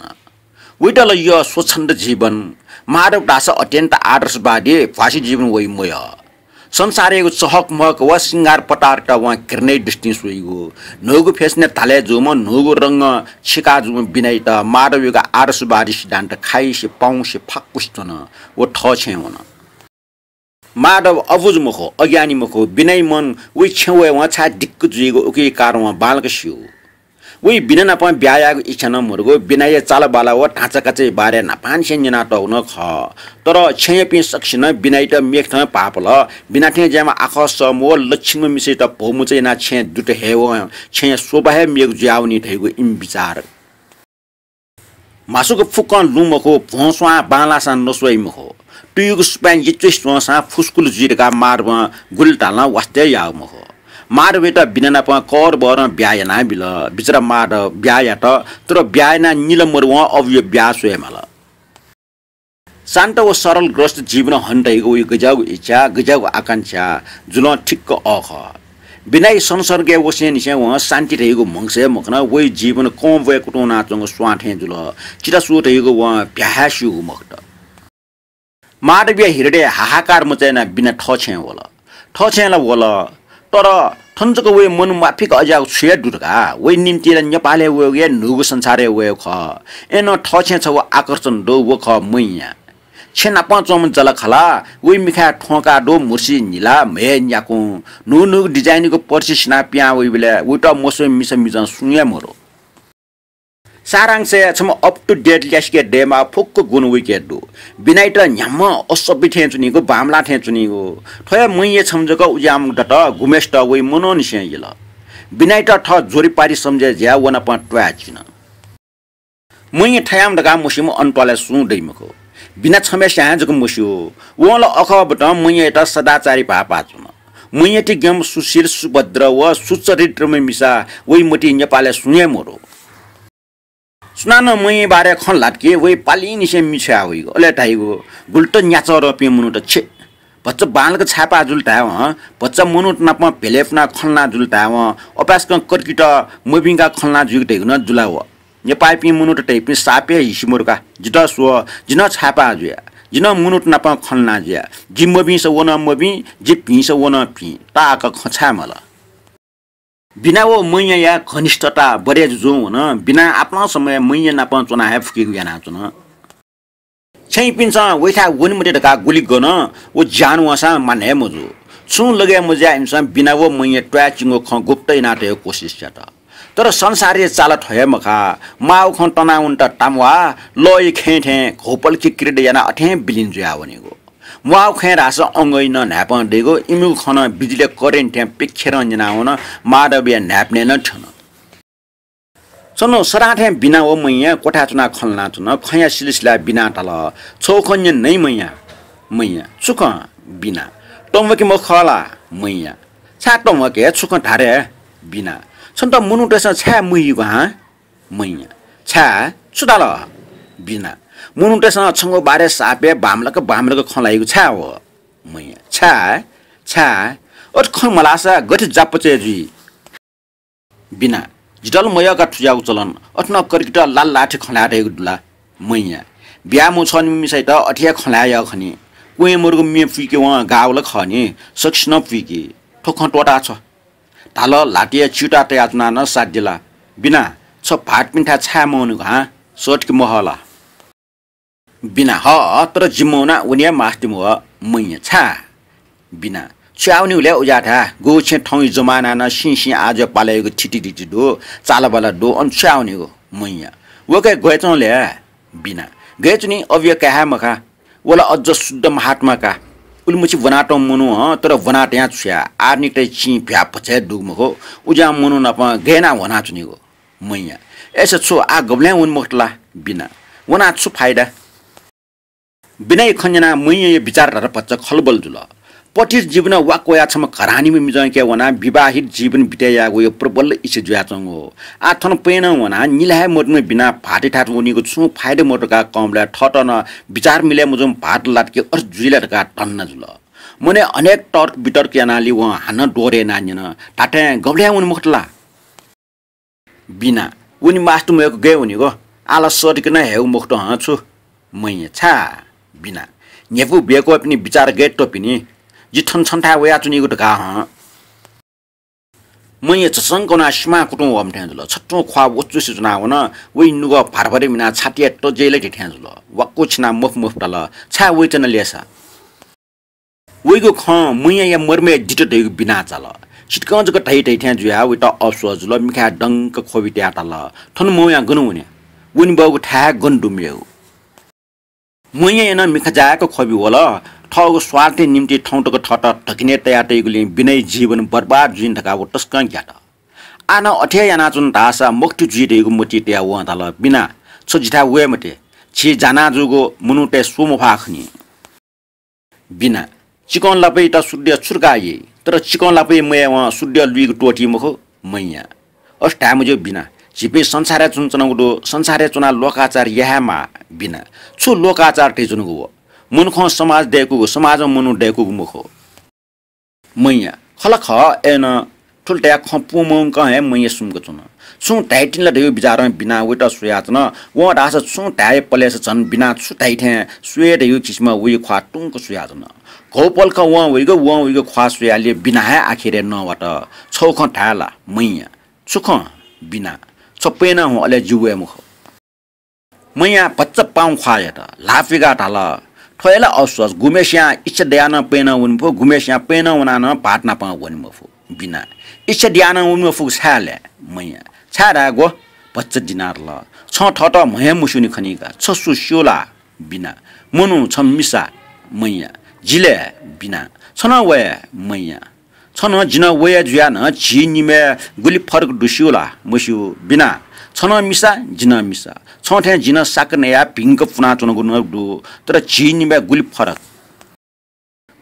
वइत ला यः स्वच्छन्द जीवन। माधव धाःसा अत्यन्त आदर्शवादी, भ्वासी जीवन वइ मयः। संसारयागु चहकमहक व श्रृंगार पटारत वं घृणया दृष्टिं स्वइगु। न्हूगु फेसनय् धाले जूम्ह, न्हूगु रंग छिका जूम्ह बिनाइत माधवयागु आदर्शवादी सिद्धान्त खाइसे पाउँसे फाक्वसे च्वन। व थः छेँय् वन। माधव अबुझ मखु, अज्ञानी मखु, बिनाया मन वइ छेँ वयेवं छाय् दिक्क जुइगु उकिया कारण वं बांलाक स्यू। वइ बिना नाप ब्याहा यायेगु इच्छा नं मदुगु, बिनाया चालबाला व धाँचाकाचाया बारे न्हापांनिसें न्यनातःगु नं खः। तर छेँयापिं सकसिनं बिनाइत मेखथं भाःपल। बिना थें ज्याःम्ह आखः सःम्ह व लच्छिन्म्ह मिसायात भौमचा यानाः छेँय् दुत हयेवं छेँया शोभा हे मेगु जुयावनी धइगु इमि बिचार। म्हासुक फुक्कं लुँ मखु, भ्वं स्वां बांलाःसां नस्वइ मखु। तुयुगु सुपाँय् यचुसे च्वंसां फुस्कुल जुइ धकाः माधवं गुलि धालं वास्ता याःगु मखु। माधवयात बिना नाप कहरबहरं ब्याहा यानाबिल। बिचरा माधव ब्याहा यात, तर ब्याहा यानाः निला मरुवं अबुया ब्याहा स्वये माल। शान्त व सरलग्रस्त जीवन हने धइगु वइ गज्याःगु इच्छा, गज्याःगु आकांक्षा जुलं ठिक्क अः खः। बिनाया संसर्गय् वसेंनिसें वं शान्ति धइगु म्हगसय् मखन, वइ जीवन कं ब्वय् कुतुं वनाच्वंगु स्वां थें जुल। चिता सु धइगु वं भ्याहाय् स्यूगु मखुत। माधवया हृदय हाहाकार मचायानाः बिना थः छेँय् वल। थः छेँय् ला वल, तर थन जक वइ मन म्वाःफिक अज्याःगु छु हे दु धकाः? वइ निंतिं ला नेपालय् वयेगु या न्हूगु संसारय् वयेगु खः। अय्नं थः छेँय् छगू आकर्षण दु, व खः मैया। छेँ नापं च्वंम्ह जःलाखःला, वइ मिखाय् थ्वंकाः दु म्हुर्सी न्हिला, म्हय् न्याकुँ। न्हू न्हूगु design-यागु पर्सि सिनाः पिहां वइबलय् वइत मस्वइम्ह मिसा मिजं सुं हे मदु। सारांशय् छम्ह up to date ल्यासेके दयेमाः फुक्क गुण वइके दु। बिनाइत न्ह्याम्ह असभ्य थें च्वनीगु, बांमलाः थें च्वनीगु। थ्व हे मय्‌या छम्ह जक उज्याःम्ह दत, गुम्हेसित वइ मनंनिसें यल। बिनाइत थः जोरीपारी सम्झे जुयाः व नाप त्वाये चिन। मय्‌या थय्‌याम्ह धकाः मस्यूम्ह अन त्वालय् सुं दइ मखु। बिना छम्हस्यां हे जक मस्यू। वं ला अखः बतं मय्‌यात सदाचारी भाःपाः च्वन। मय्‌याति ज्ञम्ह सुशील, सुभद्र व सुचरित्रम्ह मिसा वइ मतिइ नेपालय् सुं हे मदु। सुनानं मय्‌या बारे खँ ल्हात कि वइ पालिंनिसें मि छ्वया वइगु, अले धाइगु, गुलि त न्याचःरंपिं मनूत छे। भचा बांलाक छाय्‌पाः जुल धायेवं, भचा मनूत नाप भेले फुनाः खँ ल्हाना जुल धायेवं, अपाय्‌सकं कतिकित मभिंकाः खँ ल्हाना जुइगु धइगु नं जुल व। नेपाःपिं मनूत धइपिं साप हे हिसि मदु का। जितः स्व, जि नं छाय्‌पाः जुया। जि नं मनूत नाप खँ ल्हाना जुया। जि मभिंसा व नं मभिं, जि भिंसा व नं भिं। ताःहाकः खँ छाय् माल? बिना व मय्‌याया घनिष्ठता बढे जुजुं वन। बिनां आपालं समय् मय्‌या नाप च्वना हे फुकीगु यानाच्वन। छेँपिन्सं वइथाय् वने मते धकाः गुलि गन, व ज्यान वंसां माने हे मजू। छुं लगे मजुयाः इमिसं बिना व मय्‌या त्वाय् चिंगु खँ गुप्त यानातयेगु कोसिस यात। तर संसारया चाल थ्व हे मखा, माःगु खँ तनावनेत ताम्वाः, लःया खेँय् थें घौपलखि क्रीडा यानाः अथें बिलिं जुया वनीगु। म्वाःगु खँय् धाःसा अंगःया नं न्हाय्‌पं दइगु, इमिगु खँ नं बिजुलीया करेन्ट थें पिक्खेरं न्यनावन, माधवया न्हाय्‌पनय् नं थ्यन। छन्हु सदां थें बिना व मय्‌या क्वथाय् च्वनाः खँ ल्हानाच्वन। खँया सिलसिलाय् बिनां धाल, छगू खँ न्यने नि मय्‌या। मय्‌या, छु खँ? बिना, तंम्वाकि मखु खः ला? मय्‌या, छाय् तंम्वाके, छु खँ धा रे? बिना, छन्त मनूतय्‌सं छाय् महीगु हँ? मय्‌या, छाय्, छु धाल? बिना, मनूतय्‌सं छंगु बारे साप हे बांमलाक बांमलाक खँ ल्हाइगु छाय् व? मय्‌या, छाय्, छाय्, अथे खँ मल्हाःसा गथे जापचय् जुइ? बिना, जितः ला मयःका थुज्याःगु चलन, अथे नं कतिकित लाल लाठी खँ ल्हाये धइगु दु ला? मय्‌या, बियामू छःनिम्ह मिसायात अथे हे खँ ल्हाये यः खनी। क्वँय् मदुगु म्ये पुइके वं गाःगु ला खः नि, सकसिनं पुइकी। थ्व खँ त्वःता छ्व। धाल, ल्हातय् च्यूताः तयाच्वनाः नं साध्य ला? बिना, छ भाःतपिन्थाय् छाय् मवनेगु हँ? सःतके महः ला? बिना, हः, तर जि मवनाः वने हे मास्ति मवः। मय्‌या, छाय्? बिना, छु याः वनेगु लय् उज्याःथाय्? गुगु छेँ थौंया जमानां नं सिं सिं आः जुयाः पालय् याःगु थितिदिति दु, चालाबाला दु, अन छु याः वनेगु? मय्‌या, वय्‌कः हे ग्वय् च्वं लय्? बिना, गय् च्वनी, अबया काय् हे मखा। व ला अज्ज शुद्ध महात्मा का। उलिमछि ब्वनातःम्ह मनू हं, तर ब्वनातयां छु याये? आधुनिकताया चिं भ्याः भचा हे दुगु मखु। उज्याःम्ह मनू नाप गय् यानाः ह्वनाच्वनीगु? मय्‌या, अय्‌सा छु, आः गबलें वने मखुत ला? बिना, वनाः छु फाइदा? बिनाया खँ न्यनाः मय्‌याया बिचारधारा भचा खलबल जुल। पतित जीवनं वाक्क वयाः छम्ह घरानीम्ह मिजंके वनाः विवाहित जीवन बिते यायेगु प्रबल इच्छा जुयाच्वंगु। आः थन पय्‌नं वनाः निला हे मदुम्ह बिना भाःतयाथाय् वनीगु छुं फाइदा मदु धकाः कंबलय् थःत नं बिचार मिले मजूम्ह भाःत लात कि अथे जुइ ला धकाः धन्दा जुल। मनय् अनेक तर्क वितर्क यानाः लि वं हानं दोहोरे यानाः न्यन, धात्थें गबलें वने मखुत ला? बिना, वने मास्ति मवय्‌क गय् वनेगु? आः ला सःतके नं हयेगु मखुत हं छु। मय्‌या, छाय्? बिना, न्ह्यइपुगु ब्वय्‌कःपिनि बिचार गय् त्वःपिनि? जि थन छन्थाय् वयाच्वनीगु धकाः हं। मय्‌या झसंक वनाः सिमां कुतुं वःम्ह थें जुल। छत्वं ख्वाः वचुसे च्वनावन। वइ नुगः भार भार मिनाः छातिया तज्याइ ला थे थें जुल। वाक्क छिनाः मफु मफु धाल, छाय् वइत्यना लय्‌सा? वइगु खँ मय्‌याया मर्मय् दित धइगु बिनां चाल। सितिकं जक धइ धइ थें जुयाः वइत अफसोस जुल। मिखाय् दंक ख्वबि तयाः धाल, थन मवयां गन वने? वने बहःगु थाय् हे गन दु मेगु। मय्‌याया नं मिखा जाय्‌क ख्वबि वल। थःगु स्वार्थया निंतिं थौं तक थःत धकिने तयातइगुलिं बिनाया जीवन बर्बाद जुइन धकाः व तसकं ग्यात। आः नं अथे हे यानाच्वन धाःसा मखुति जुइ धइगु मतिइ तयाः वं धाल, बिना, छ जिथाय् वये मते। झी जाना जूगु मनूतय् स्वः मफाः खनी। बिना, चिकं लापयात शुद्ध छु धकाः याइ? तर चिकं लापया मयावं शुद्ध लुइगु त्वःती मखु। मय्‌या, अथे धाये मज्यू बिना, झीपिं संसारय् च्वनाच्वनागु दु, संसारय् च्वनाः लोकाचार याये हे माः। बिना, छु लोकाचार धयाच्वनागु व? मनुखं समाज दय्‌कूगु, समाजं मनू दय्‌कूगु मखु। मय्‌या, खः ला खः, अय्‌नं थुलि धयाः खँ पूमंकं हे मय्‌या सुम्क च्वन। छुं धाइतिनि ला धयागु बिचारं बिनां वइत स्वयाच्वन। वं धाःसा छुं धाये पलेसा झन बिनां छु धाइ थें स्वये धयागु किसिमं वइ ख्वाः तुंक स्वयाच्वन। घौपलखं वं वइगु, वं वइगु ख्वाः स्वयाः लि बिना हे आखिरय् नवात। छगू खँ धाये ला? मय्‌या, छु खँ? बिना, छ पय्‌नं हुँ, अले जि वये मखु। मय्‌यां भचा पाउँ ख्वाः यात। ल्हाः पिगाः धाल, थ्व हे ला अफसोस, गुम्हेसियां इच्छा दयाः नं पय्‌नं वने मफु, गुम्हेसियां पय्‌नं वनाः नं भाःत नाप वने मफु। बिना, इच्छा दयाः नं वने मफुगु छाय् लय्? मय्‌या, छाय् धायेगु? भचा दिनातल। छं थःत म्हं हे मस्यूनि खनी का। छ सु स्यू ला? बिना। मनू, छ मिसा। मैया। जि ले? बिना। छ नं वये? मैया। छ नं जि नं वये जुयाः नं झी निम्हय् गुलि फरक दु स्यू ला? मस्यू। बिना। छ नं मिसा, जि नं मिसा। छं थें जि नं साक नयाः भिंक पुनाच्वनागु नं दु, तर झी निम्हय् गुलि फरक।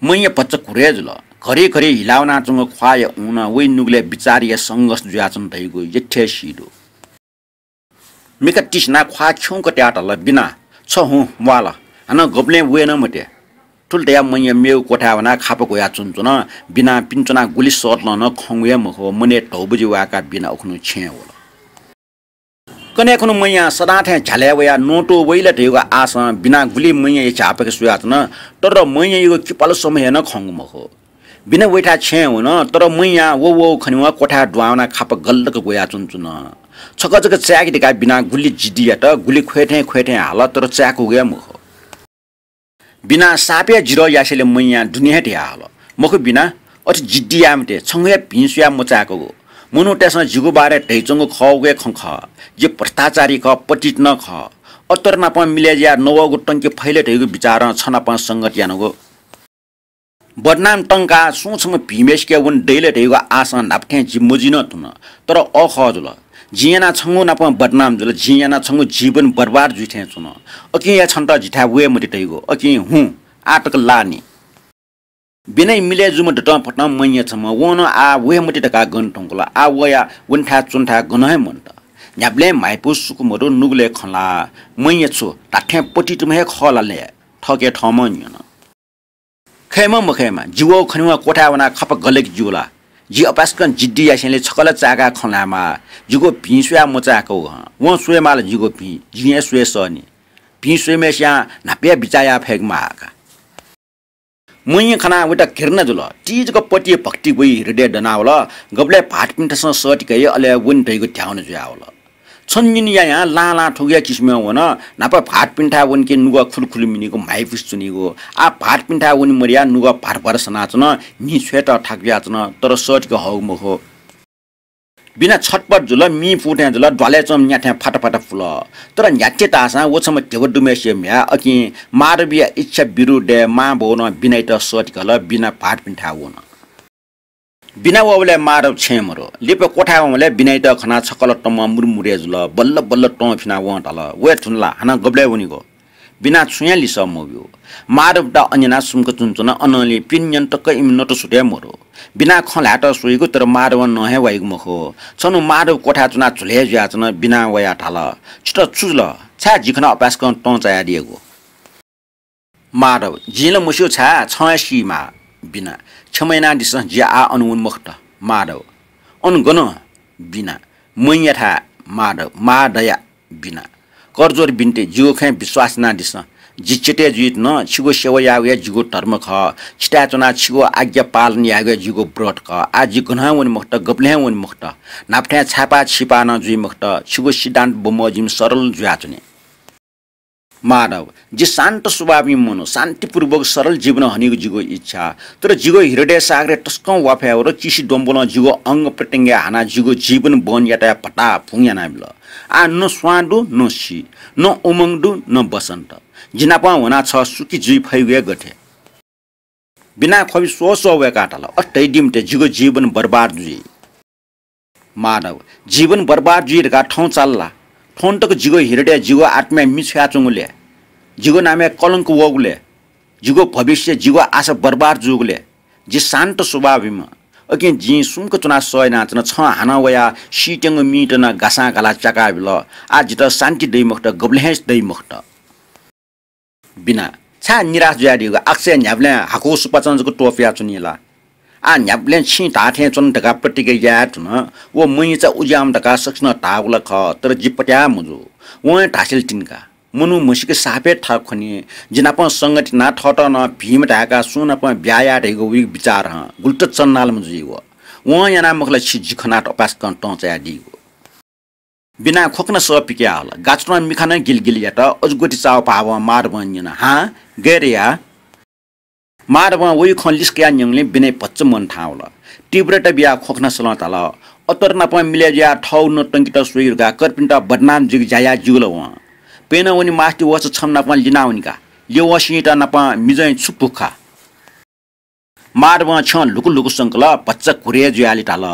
मैया भचा घुरे जुल। घरि घरि हिला वनाच्वंगु ख्वाःया ऊनं वइ नुगलय् बिचाःया संघर्ष जुयाच्वन धइगु यथेसि दु। मिखा तिसिनाः ख्वाः खिउँक तयाः धाल, बिना, छ हुँ, म्वाल। हानं गबलें वये नं मते। थुलि धयाः मैया मेगु क्वथाय् वनाः खापा ग्वयाः च्वनाच्वन। बिनां पिने च्वनाः गुलि सःतलं नं खंगु हे मखु, मनय् धौबजि वाय्काः बिना उखुन्हु छेँय् वल। कन्हय् खुन्हु मैयां सदां थें झ्यालय् वयाः नवानातुं वइ ला धइगु आशं बिनां गुलि मैयाया झ्याःपाखे स्वयाच्वन, तर मैयायागु किपाल समय हे नं खंगु मखु। बिना वइथाय् छेँय् वन, तर मैयां व वःगु खनेवं क्वथाय् दुहां वनाः खापा गल्लक ग्वयाः च्वनाच्वन। छकः जक चाय्के धकाः बिनां गुलि जिद्दी यात, गुलि ख्वय् थें ख्वय् थें हाल, तर चाय्कूगु हे मखु। बिनां साप हे जिद्दी यासेंलि मैयां दुने हे धयाहल, मखु बिना, अथे जिद्दी याये मते, छंगु हे भिं स्वयाः मचाय्कूगु। मनूतय्सं जिगु बारे धयाच्वंगु खःगु हे खँ खः। जि भ्रष्टाचारी खः, पतित नं खः। अतरनापं मिलय् जुयाः नवःगु तंके फइ ला धइगु बिचारं छनापं संगत यानागु। बदनाम तंकाः सुं छम्ह भिंम्हय्सिके वने दइ ला धइगु आशं न्हापा थें जि मजुइ नं धुन। तर अःखः जुल। जिं यानाः छंगु नाप बदनाम जुल, जिं यानाः छंगु जीवन बर्बाद जुइ थें च्वन। अकिं हे छन्त जिथाय् वये मते धइगु। अकिं हुँ, आः तक ला नि। बिनाया मिलय् जूम्ह दतं फतं मैया छम्ह, वं नं आः वये मते धकाः गन धुंकल। आः वया वनेथाय् च्वनेथाय् गनं हे मन्त। न्ह्याबलें म्हाइपु सुकु मदु, नुगलय् खँ ल्हाः। मैया छु धात्थें पतितम्ह हे खः ला ले? थःके थःम्हं न्यन। खयेमा मखयेमा, जि वःगु खनेवं क्वथाय् वनाः खापा गल्लक ज्यू ला? जि अपाय्सकं जिद्दी यासेंलि छकः ला चाय्काः खँ ल्हायेमाः। जिगु भिं स्वयाः मचाय्कूगु हं। वं स्वयेमाः ला जिगु भिं? जिं हे स्वये सः नि। भिं स्वइम्हय्सियां न्हापा हे बिचाः याये फय्केमाः का। मैया खनाः वयात घृणा जुल। ति जक पति भक्ति वइ हृदयय् दनावल। गबलय् भाःतपिन्थासं सःतिकइ, अले वने धइगु ध्याउन जुयावल। छन्हु निन्हु यायां लां लां थुगु हे किसिमं वन। न्हापा भाःतपिन्थाय् वंके नुगः खुलुखुलु मिनीगु, म्हाइपुसे च्वनीगु। आः भाःतपिन्थाय् वने मदयाः नुगः भार भार सनाच्वन, म्हि छ्वयेत थाकुयाच्वन, तर सःतिक हःगु मखु। बिना छटपट जुल, मिं पू थें जुल, द्वालय् च्वंम्ह न्या थें फात फात पुल। तर न्ह्याथे धाःसां व छम्ह ध्यबा दुम्हय्सिया म्ह्याय्, अकिं माधवया इच्छा विरुद्धय् मां बौनं बिनायात सःतिकल, बिना भाःतपिन्थाय् वन। बिना वःबलय् माधव छेँय् मदु। लिपा क्वथाय् वंबलय् बिनायात खनाः छकः ला तमं मुरुमुरे जुल। बल्ल बल्ल तं फिनाः वं धाल, वये धुन ला, हानं गबलय् वनेगु? बिनां छुं हे लिसः मब्यू। माधवयात अन यानाः सुम्क च्वनाच्वन, अनंलि पिने न्यने तक इमि नतसुतय् मदु। बिनां खँ ल्हायेत स्वइगु, तर माधवं नं हे वाइगु मखु। छन्हु माधव क्वथाय् च्वनाः झुलय् जुयाच्वन, बिनां वयाः धाल, छितः छु जुल? छाय् जि खनाः अपाय्सकं तं चायादियागु? माधव, जिं ला मस्यू छाय्, छं हे सीमाः। बिना, क्षमा यानादिसँ, जि आः अन वने मखुत। माधव, अन गन? बिना, मैयाथाय्। माधव, मां दया। बिना, करजोर बिन्ति, जिगु खँय् विश्वास यानादिसँ। जि चेतय् जुइत नं छिगु सेवा यायेगु हे जिगु धर्म खः। छिथाय् च्वनाः छिगु आज्ञा पालन यायेगु हे जिगु व्रत खः। आः जि गनं हे वने मखुत, गबलें हे वने मखुत। न्हापा थें छाय्पाः छिपाः नं जुइ मखुत। छिगु सिद्धान्त बमोजिम सरल जुयाच्वने। माधव, जि शान्त स्वभावया मनू, शान्तिपूर्वक सरल जीवन हनीगु जिगु इच्छा। तर जिगु हृदय सागरय् तसकं वा फयावल। चिसि द्वंबलं जिगु अंग प्रत्यंगय् हानाः जिगु जीवन बन याताया भताभुं यानाबिल। आः न स्वां दु, न सी, न उमंग दु, न बसन्त। जि नाप वनाः छ सुखी जुइ फइगु हे गथे? बिनां ख्वबि स्वःस्वः वय्काः धाल, अथे धयादी मते, जिगु जीवन बर्बाद जुइ। माधव, जीवन बर्बाद जुइ धकाः थौं चाल ला? थौं तक जिगु हृदयय् जिगु आत्माय् मि छ्वयाच्वंगु ले? जिगु नामय् कलंक वःगु ले? जिगु भविष्य, जिगु आशा बर्बाद जूगु ले? जि शान्त स्वभावयाम्ह। अकिं जिं सुम्क च्वनाः सह यानाच्वना, छं हानं वयाः सीत्यंगु मिइत नं गासां गालाः च्याकाबिल। आः जितः शान्ति दइ मखुत, गबलें हे दइ मखुत। बिना, छाय् निराश जुयादीगु? आकाशय् न्ह्याबलें हाकु सुपाँचं जक त्वपुयाच्वनी ला? आः न्ह्याबलें छिं धाःथें च्वन धकाः प्रतिज्ञा याये धुन। व मैचा उज्याःम्ह धकाः सकसिनं धाःगु ला खः, तर जि पत्याः मजू। वं हे धासेंलि तिनि का। मनू म्हसीके साप हे थाकु खनी। जि नाप संगति यानाः थःत नं भिंम्ह धाय्काः सुं नाप ब्याहा याये धइगु वइगु बिचारं गुलि तक चन्नालाम्ह जुइ व। वं यानाः मखु ला छि जि खनाः अपाय्सकं तं चायादीगु। बिनां ख्वखना सः पिकयाहल। गाच्वतं मिखा नं गिलगिल यात। अजूगति चाःपाःवं माधवं न्यन, हां, गय् रे याः? माधवं वइगु खँ लिसः कयाः न्यंगुलिं बिनाया भचा मन थाहां वल। तीव्रता बियाः ख्वखना सलं धाल, अतर नाप मिले जुयाः थःगु नं तंकेत स्वइ धकाः कर्पिन्त बदनाम जुइक ज्या याः ज्यू ला वं। प्यनं वने मास्ति वःसा छम्ह नाप लिना वने का। ल्यवंसित नाप मिजं छु पुख खः। माधवं छ्यं लुकु लुकु संकल, भचा घुरे जुयाः लिधाल।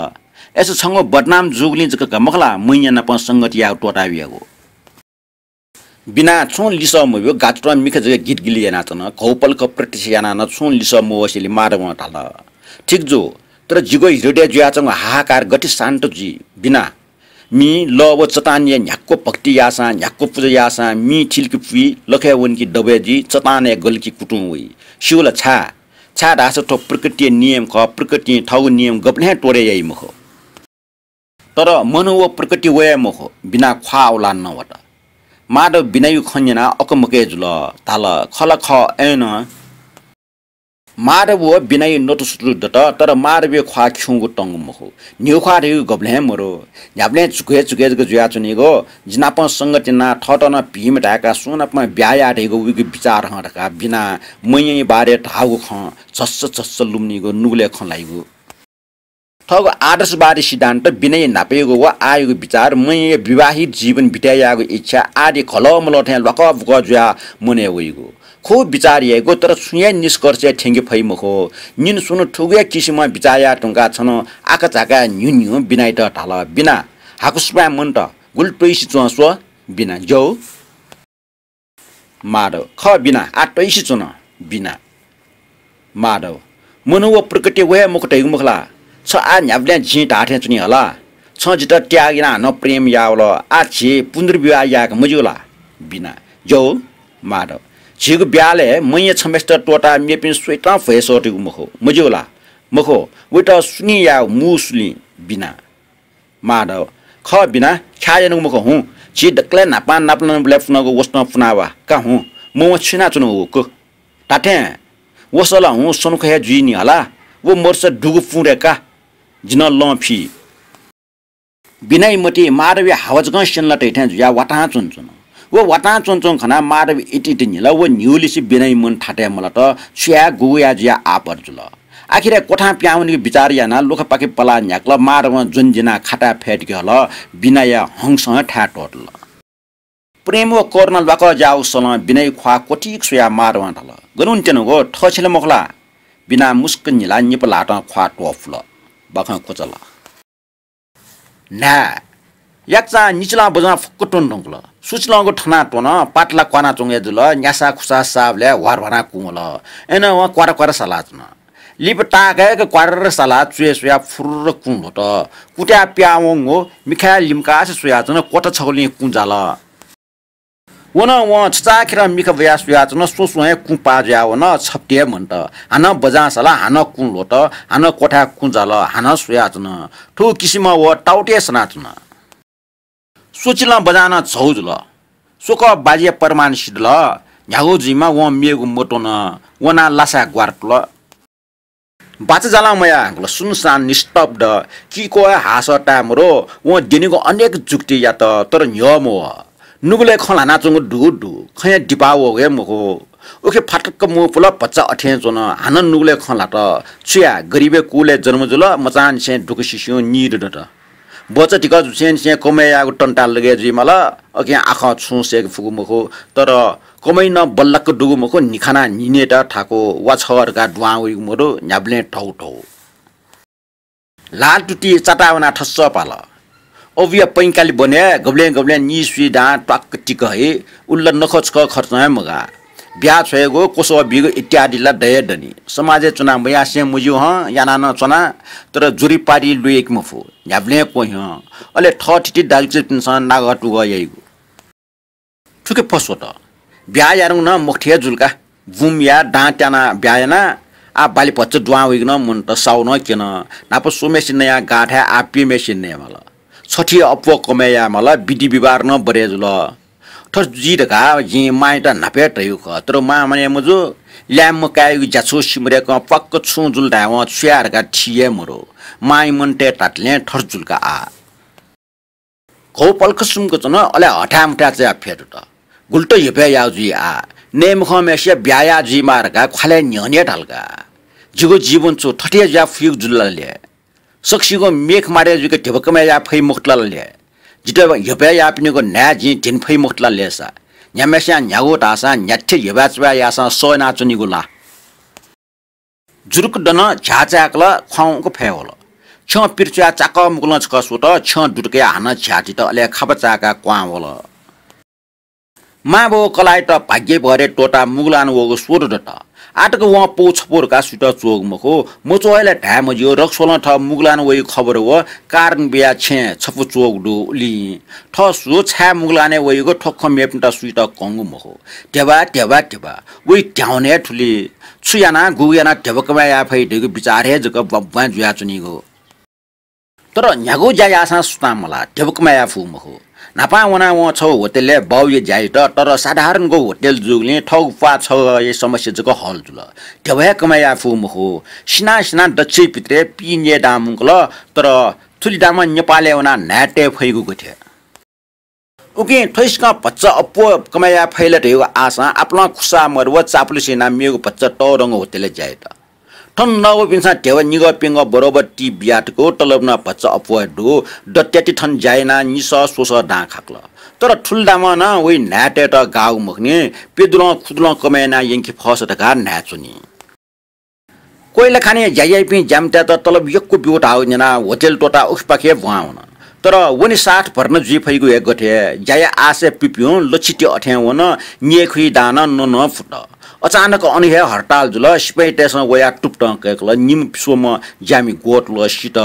अय्सा छंगु बदनाम जूगुलिं जक का मखु ला, मय्‌या नाप संगति यायेगु त्वःताबियागु। बिना छुं लिसः मब्यू, गातुतं मिखा जक गितगिली यानाच्वन। घौपलख प्रतीक्षा यानाः नं छुं लिसः मवसेंलि माधवं धाल, ठीक जू, तर जिगु हृदयय् जुयाच्वंगु हाहाकार गथे शान्त जुइ बिना? मि लः व चट्टानय् न्ह्याक्व भक्ति याःसां, न्ह्याक्व पुजा याःसां मि थिलकि पुइ, लखय् वनकि दबय् जुइ, चट्टानय् गलकि कुतुं वइ। स्यू ला छाय्? छाय्धाःसा थ्व प्रकृतिया नियम खः, प्रकृतिं थःगु नियम गबलें त्वरे याइ मखु। तर मनू व प्रकृति वये मखु, बिना ख्वाः औलाः नवत। माधव बिनाया खँ न्यनाः अकमकय् जुल, धाल, खः ला खः, अय्नं। माधव व बिनाया नतुसुतु दत, तर माधवया ख्वाः खिउँगु तंगु मखु। न्हिउ ख्वाः धइगु गबलें मरु। न्ह्याबलें झुकय् झुकय् जक जुयाच्वनीगु, जि नाप संगति यानाः थःत नं भिं मधाय्‌काः सुं नाप ब्याहा याये धइगु वइगु बिचाः हं धकाः बिनां मय्‌या बारे धाःगु खँ झस्स झस्स लुमनीगु, नुगलय् खँ ल्हाइगु। थःगु आदर्शवादी सिद्धान्त, बिनाया न्हापायागु व आःयागु बिचाः, मय्‌या विवाहित जीवन बिताय् यायेगु इच्छा आदि घलःमलः थें ल्वाकःबुकः जुयाः मनय् वइगु। खुब बिचाः याइगु, तर छुं हे निष्कर्षय् थ्यंके फइ मखु। निन्हु स्वन्हु थुगु हे किसिमं बिचाः याये धुंकाः छन्हु आकाझाकाय् न्ह्यू न्ह्यू बिनायात धाल, बिना, हाकुसुपाँय् मन्त, गुलि त्वइसे च्वँ स्व। बिना, ज्यू। माधव, खः बिना, आः त्वइसे च्वन। बिना, माधव, मनू व प्रकृति व हे मखु धइगु मखु ला? छ आः न्ह्याबलें जिं धाःथें च्वनी हला। छं जितः त्याग यानाः हानं प्रेम याःवल, आः झी पुनर्विवाह यायेक मज्यू ला? बिना, ज्यू। माधव, झीगु ब्याहालय् मय्‌या छम्हय्‌सित त्वःताः मेपिं सुयातं भ्वय् सःतेगु मखु, मज्यू ला? मखु, वइत सुलिं यायेगु, मू सुलिं। बिना, माधव, खः बिना, ख्याः यानागु मखु हुँ। झी दकलय् न्हापां नापलानाबलय् पुनागु वसतं पुनावा का हुँ। मवं छु यानाच्वनागु का। धात्थें वसः ला हुँ सनुखा हे जुइनि हला। व मरुसा दुगु पुँ दय्‌का। जि नं लं फी। बिनाया मतिइ माधवया हावाजकं स्यनेला तइ थें जुयाः वातां च्वनाच्वन। व वातां च्वनाच्वंगु खनाः माधव इतिइत न्हिल। व न्हिउलिसे बिनाया मन थातय् मलात। छु याये गुगु याये जुयाः आपत जुल। आखिरय् क्वथां पिहां वनेगु बिचाः यानाः लुखापाखे पलाः न्ह्याकल। माधवं ज्वने ज्यनाः खाताय् फय्‌तके हल। बिनाया हंसं थाय् त्वःतल। प्रेम व करुणा ल्वाकः ज्याःगु सलं बिनाया ख्वाः क्वथिक स्वयाः माधवं धाल, गन वनेत्यनागु, थः छेँ ला मखु ला? बिनां मुसुक्क न्हिलाः निपा ल्हातं ख्वाः त्वपुल। बाखं क्वचाल। न्हाय्, याकचां निचिलां बजां फुक्क त्वने धुंकल। सुचिलंगु थनाः त्वन, पातला क्वानाच्वंगु हे जुल, न्यासा खुसा साःबलय् ह्वारह्वानाः कुं वल। अय्नं वं क्वार क्वार सालाच्वन। लिपा ताःकय्‌क क्वार सालाः च्वय् स्वयाः फुर्र कुं ल्ह्वत। कुँतय् पिहां वंगु मिखाय् लिमकासे स्वयाच्वन, क्वथा छगुलिं कुं जाल। व नं वं छचाःखेरं मिखा ब्वयाः स्वयाच्वन, स्वस्वं हे कुं पाः जुयाः वन, छप्ति हे मन्त। हानं बजां सालाः, हानं कुं ल्ह्वत, हानं क्वथाय् कुं जाल, हानं स्वयाच्वन। थुगु किसिमं व ताउति हे सनाच्वन। स्वचिलं बजां नं झौ जुल। स्वकः बाजीया परिमाण सिधल। न्ह्यागु जुइमा वं मेगु मत्वन। वनाः लासाय् ग्वारातुल। बाचा जालं मयाः हाकल, सुनसान निस्तब्ध। किक्वः हे हाःसः ताये मरु। वं द्यनीगु अनेक जुक्ति यात, तर न्ह्यः मवः। नुगलय् खँ ल्हानाच्वंगु दुगु दु, खँया दिपा वःगु हे मखु। उखे फातक्क मू पुल, भचा अथें च्वन। हानं नुगलय् खँ ल्हात। छु याये, गरिबया कुलय् जन्म जुल, मचांनिसें दुःख सिस्युं नीदँ दत। बचा धिकः जुसेंनिसें कमय् यायेगु तन्ताः लगय् जुइमाल, अकिं आखः छुं सय्‌के फुगु मखु, तर कमय् नं बल्लाक दुगु मखु, न्हिखानाः न्हिनय्‌त थाकु, वा छगः धकाः दुहां वइगु मदु, न्ह्याबलें धौ धौ। लाल तुति चाताः वनाः थस्स पाल। अबुया पैंकालि बने गबलें गबलें निसुइ दां त्वाक्क तिक हइ, उल्ला नखः छखः खर्चं हे मगाः। ब्याहा छ्वयेगु, क्वसः बीगु इत्यादि ला दये दनि। समाजय् च्वनाः मयासें मज्यू हं, यानाः नं च्वना, तर जुरिपारि लुइक मफु। न्ह्याबलें क्वह्यं। अले थःथिति दाजुकिजापिन्सं नागः तुगः याइगु। थुके फस्वत। ब्याहा यानागु नं मखुथि हे जुल का। बुम याः, दां त्यानाः ब्याहा याना। आः बाली भचा दुहां वइगु नं मन्त, साहु नं क्यन। न्हापा स्वम्हेसित नयाः गाःथाय् आः प्यम्हेसित नयेमाल। छथी अप्वः कमय् यायेमाल, विधि व्यवहार नं बरय् जुल। थथे जुइ धकाः जिं मांयात न्हापा हे धयागु खः, तर मां मानय् मजू। ल्याय्म्ह काय्‌यागु ज्याछु सिमधय्‌कं प्वाक्क छुं जुल धायेवं छु याये धकाः थी हे मरु। मांया मनतय् धातलें थथे जुल का आः। घौ पलख सुम्क च्वन, अले हथाय् मथाय् च्वयाः फ्यतुत। गुलि त ह्यफय् याः जुइ आः। नये मखंम्हेसिया ब्याहा याः जुइमाः धकाः ख्वालय् न्ह्यःने हे धाल का। जिगु जीवन छु थथे हे जुयाः फुइगु जुल ला ले? सकसिगु मेख मारे जुइक धिबा कमय् याये फइ मखुत ला ले? जितः ह्यब्वय् याःपिनिगु न्हाय् जिं धिने फइ मखुत ला ले सा? न्ह्याम्हस्यां न्ह्यागु धाःसां न्ह्याथे ह्यब्वय् च्वय् याःसां सः यानाच्वनीगु ला? जुरुक दन, झ्याः चाय्‌कल, ख्वाउँक फय् वल। छ्यं पिर च्वयाः चाकः मुगलं छकः स्वत, छ्यं दुत कयाः हानं झ्याः तित, अले खापा चाय्‌काः क्वहां वल। मांबौ कलाःयात भाग्य भरे त्वःताः मुगलानं वःगु स्वदँ दत। आःतक वं पौ छपौ धकाः सुइत च्वःगु मखु, मच्वः हे ला धाये मज्यू, रक्सवलं थः मुगलानं वइगु खबर व कारण बियाः छेँय् छपु च्वःगु दु उलिं। थः सु छाय् मुगलानय् वइगु थ्व खँ मेपिन्त सुइत कंगु मखु। ध्यबा, ध्यबा, ध्यबा, वइ ध्याउन हे थुलि। छु यानाः, गुगु यानाः धिबा कमय् याये फइ धइगु बिचाः हे जक ब्वाँय् ब्वाँय् जुयाच्वनीगु। तर न्ह्यागु ज्या याःसां सुनां मलाः, धिबा कमय् याये फु मखु। न्हापां वनाः वं छगू होटलय् बाउया ज्या यात, तर साधारणगु होटल जूगुलिं थःगु प्वाः छगःया समस्या जक हल जुल। धिबा हे कमय् याये फु मखु। सिनाः सिनाः दच्छि पितरय् पीन्यय् दां मुंकल, तर थुलि दांम्ह नेपालय् वनाः न्हाय् तये फइगु गथे? उकिं थ्वइसिकं भचा अप्वः कमय् याये फइ ला धइगु आशां आपालं खुसा मदु व चापुलुसे यानाः मेगु भचा तःधंगु होटलय् ज्या यात। थन नवःपिन्सं ध्यबा निगः प्यंगः बरोबर टिप बियातःगु, तलब नं भचा अप्वः हे दु। दत्याति थन ज्या यानाः निसः स्वसः दां खाकल। तर थुलि दामं नं वइ न्हाय्‌तय्‌त गाःगु मखुनि, प्यदुलं खुदुलं कमय् यानाः यंके फःसा धकाः न्हाय् च्वनी। कोइलाखानय् ज्या याइपिं ज्यामितय्‌त तलब यक्व ब्यू धाःगु न्यनाः होटल त्वःताः उखेपाखे ब्वां वन। तर वने साथ भर्ना जुइ फइगु हे गथे? ज्याया आशय् पिपिं लच्छि ति अथें वन, न्यय्‌खुइ दां नं न्वनं फुत। अचानक अन हे हडताल जुल। सिपाइँतय्‌सं वयाः तुप्तं कय्‌कल। निम्ह स्वम्ह ज्यामि ग्वतुल, सित।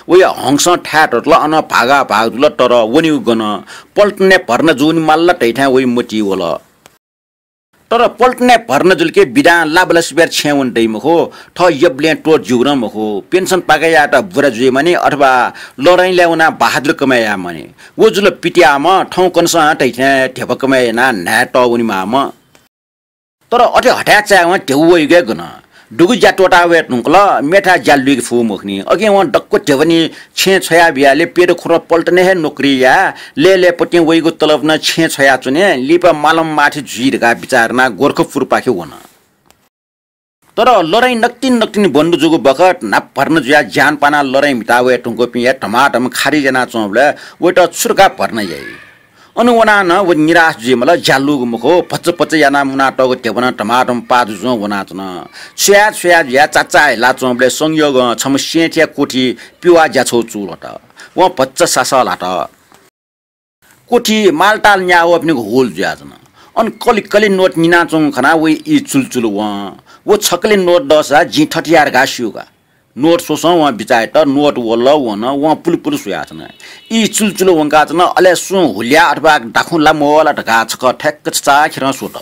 वया हंसं थाय् धतल, अनं भागा भाग जुल, तर वनेगु गन? पल्टनय् भर्ना जूनि माल ला धइथाय् वइ मतिइ वल। तर पल्टनय् भर्ना जुल कि बिदां लाबलासिबेर छेँय् वने दइ मखु, थः यबलें त्वःत ज्यूगु नं मखु। पेन्सन पाकय् यायेत बुरा जुइमानि अथवा लडाइँलय् वनाः बहादुर कमय् यायेमानि। व जुल पित्याःम्ह, थौं कन्हय्‌सं धइथें धिबा कमय् यानाः न्हाय् तः वनेमाःम्ह। तर अथे हथाय् चाय्‌वं ध्यबा वइगु हे गन? दुगु ज्या त्वःता वये धुंकल, मेथाय् ज्या लुइके फु मखुनि। अकिं वं दक्व ध्यबा नि छेँय् छ्वया बियाले प्यदँ खुरं पल्टनय् हे नोकरी याये, लय्‌लय्‌पतिं वइगु तलब नं छेँय् छ्वयाच्वने, लिपा मालं माथि जुइ धकाः बिचाः यानाः गोरखपुरपाखे वन। तर लडाइँ नकतिनि नकतिनि बन्द जूगु बखत न्हापा भर्ना जुयाः ज्यान पानाः लडाइँ म्हिता वये धुंकूपिं हे धमाधम खारिज यानाच्वंबलय् वयात छु धकाः भर्ना याइ? अन वनाः नं व निराश जुइमाल, ज्या लूगु मखु, भचा भचा यानाः मुनातःगु ध्यबा नं धमाधम पाः जुजुं वनाच्वन। छ्वया छ्वया जुयाः चाचा हिलाच्वंबलय् संयोगं छम्ह सेंथिया कोठी पिवाः ज्याछौ चूलात। वं भचा सासः ल्हात। कोठी मालताल न्याः वःपिनिगु हुल जुयाच्वन। अन कलि कलि नोट निनाच्वंगु खनाः वइ ई चुलचुल वं। व छकलि नोट दःसा जिं थथे याये धकाः स्यू का। नोट स्वसं वं बिचाः यात, नोट वल वन, वं पुलुपुलु स्वयाच्वन। ई चुलचुल वंकाच्वन, अले सुं हुल्या अथवा दाखुँ ला मवः ला धकाः छकः ठ्याक्क छचाःखेरं स्वत।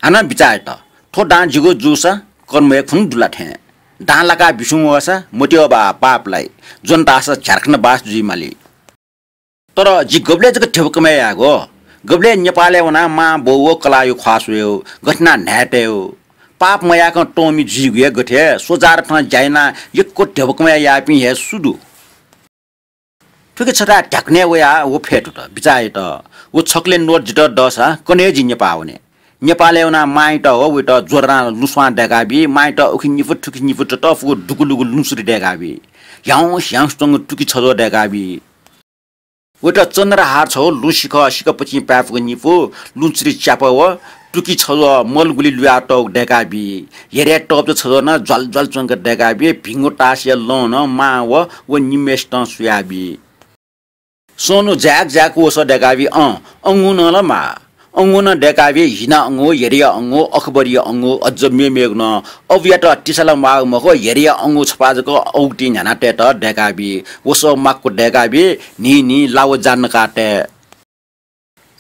हानं बिचाः यात, थ्व दां जिगु जूसा कर्म हे खुन्हु दु ला थें। दां लाकाः बिस्युं वःसा मतियो बा पाप लाइ, ज्वन धाःसा झ्यार्खान्त बास जुइ माली। तर जि गबलय् जक धिबा कमय् यायेगु, गबलय् नेपालय् वनाः मां बौ व कलाःया ख्वाः स्वयेगु, गथे यानाः न्हाय् तयेगु। पाप मयाकं तःमि जुइगु हे गथे, स्वजाःर थन ज्या यानाः यक्व धिबा कमय् याःपिं हे सु दु? थुकी छथाय् ध्याकनय् वयाः व फ्यतुत, बिचाः यात, व छकलि नोट जितः दःसा कन्हय् जि नेपाः वने। नेपालय् वनाः मांयात व वयात ज्वरां लुँस्वां दय्‌काबी, मांयात उखे निपु थुखे निपु ततःफुगु दुगुलुगु लुँसुरी दय्‌काबी, ह्याउँस ह्याउँस च्वंगु तुकि छज्वः दय्‌काबी। वयात चन्द्रहार छगू लुँसिखः सिखःपतिं पाय्‌फुगु निपु, लुँसुरी च्यापा व तुकि छज्वः मलगुलि लुयातःगु दय्‌काबी। हेर्या तःप्चा छज्वः नं ज्वाल ज्वाल च्वंक दय्‌काबी, भिंगु तासया लं नं मां व व निम्हय्‌सितं सुयाबी। स्वन्हु जाय्‌क जाय्‌क वसः दय्‌काबी, अँ, अंगू नं ला माः। अंगू नं दय्‌काबी, हिना अंगू, हेर्या अंगू, अकबरीया अंगू, अझ मेमेगु नं। अबुयात तिसा ला म्वाःगु मखु, हेर्या अंगू छपाः जक औगुतिं न्ह्यानातयेत दय्‌काबी। वसः माक्व दय्‌काबी, न्हिं न्हिं लाव जा नकाः तये।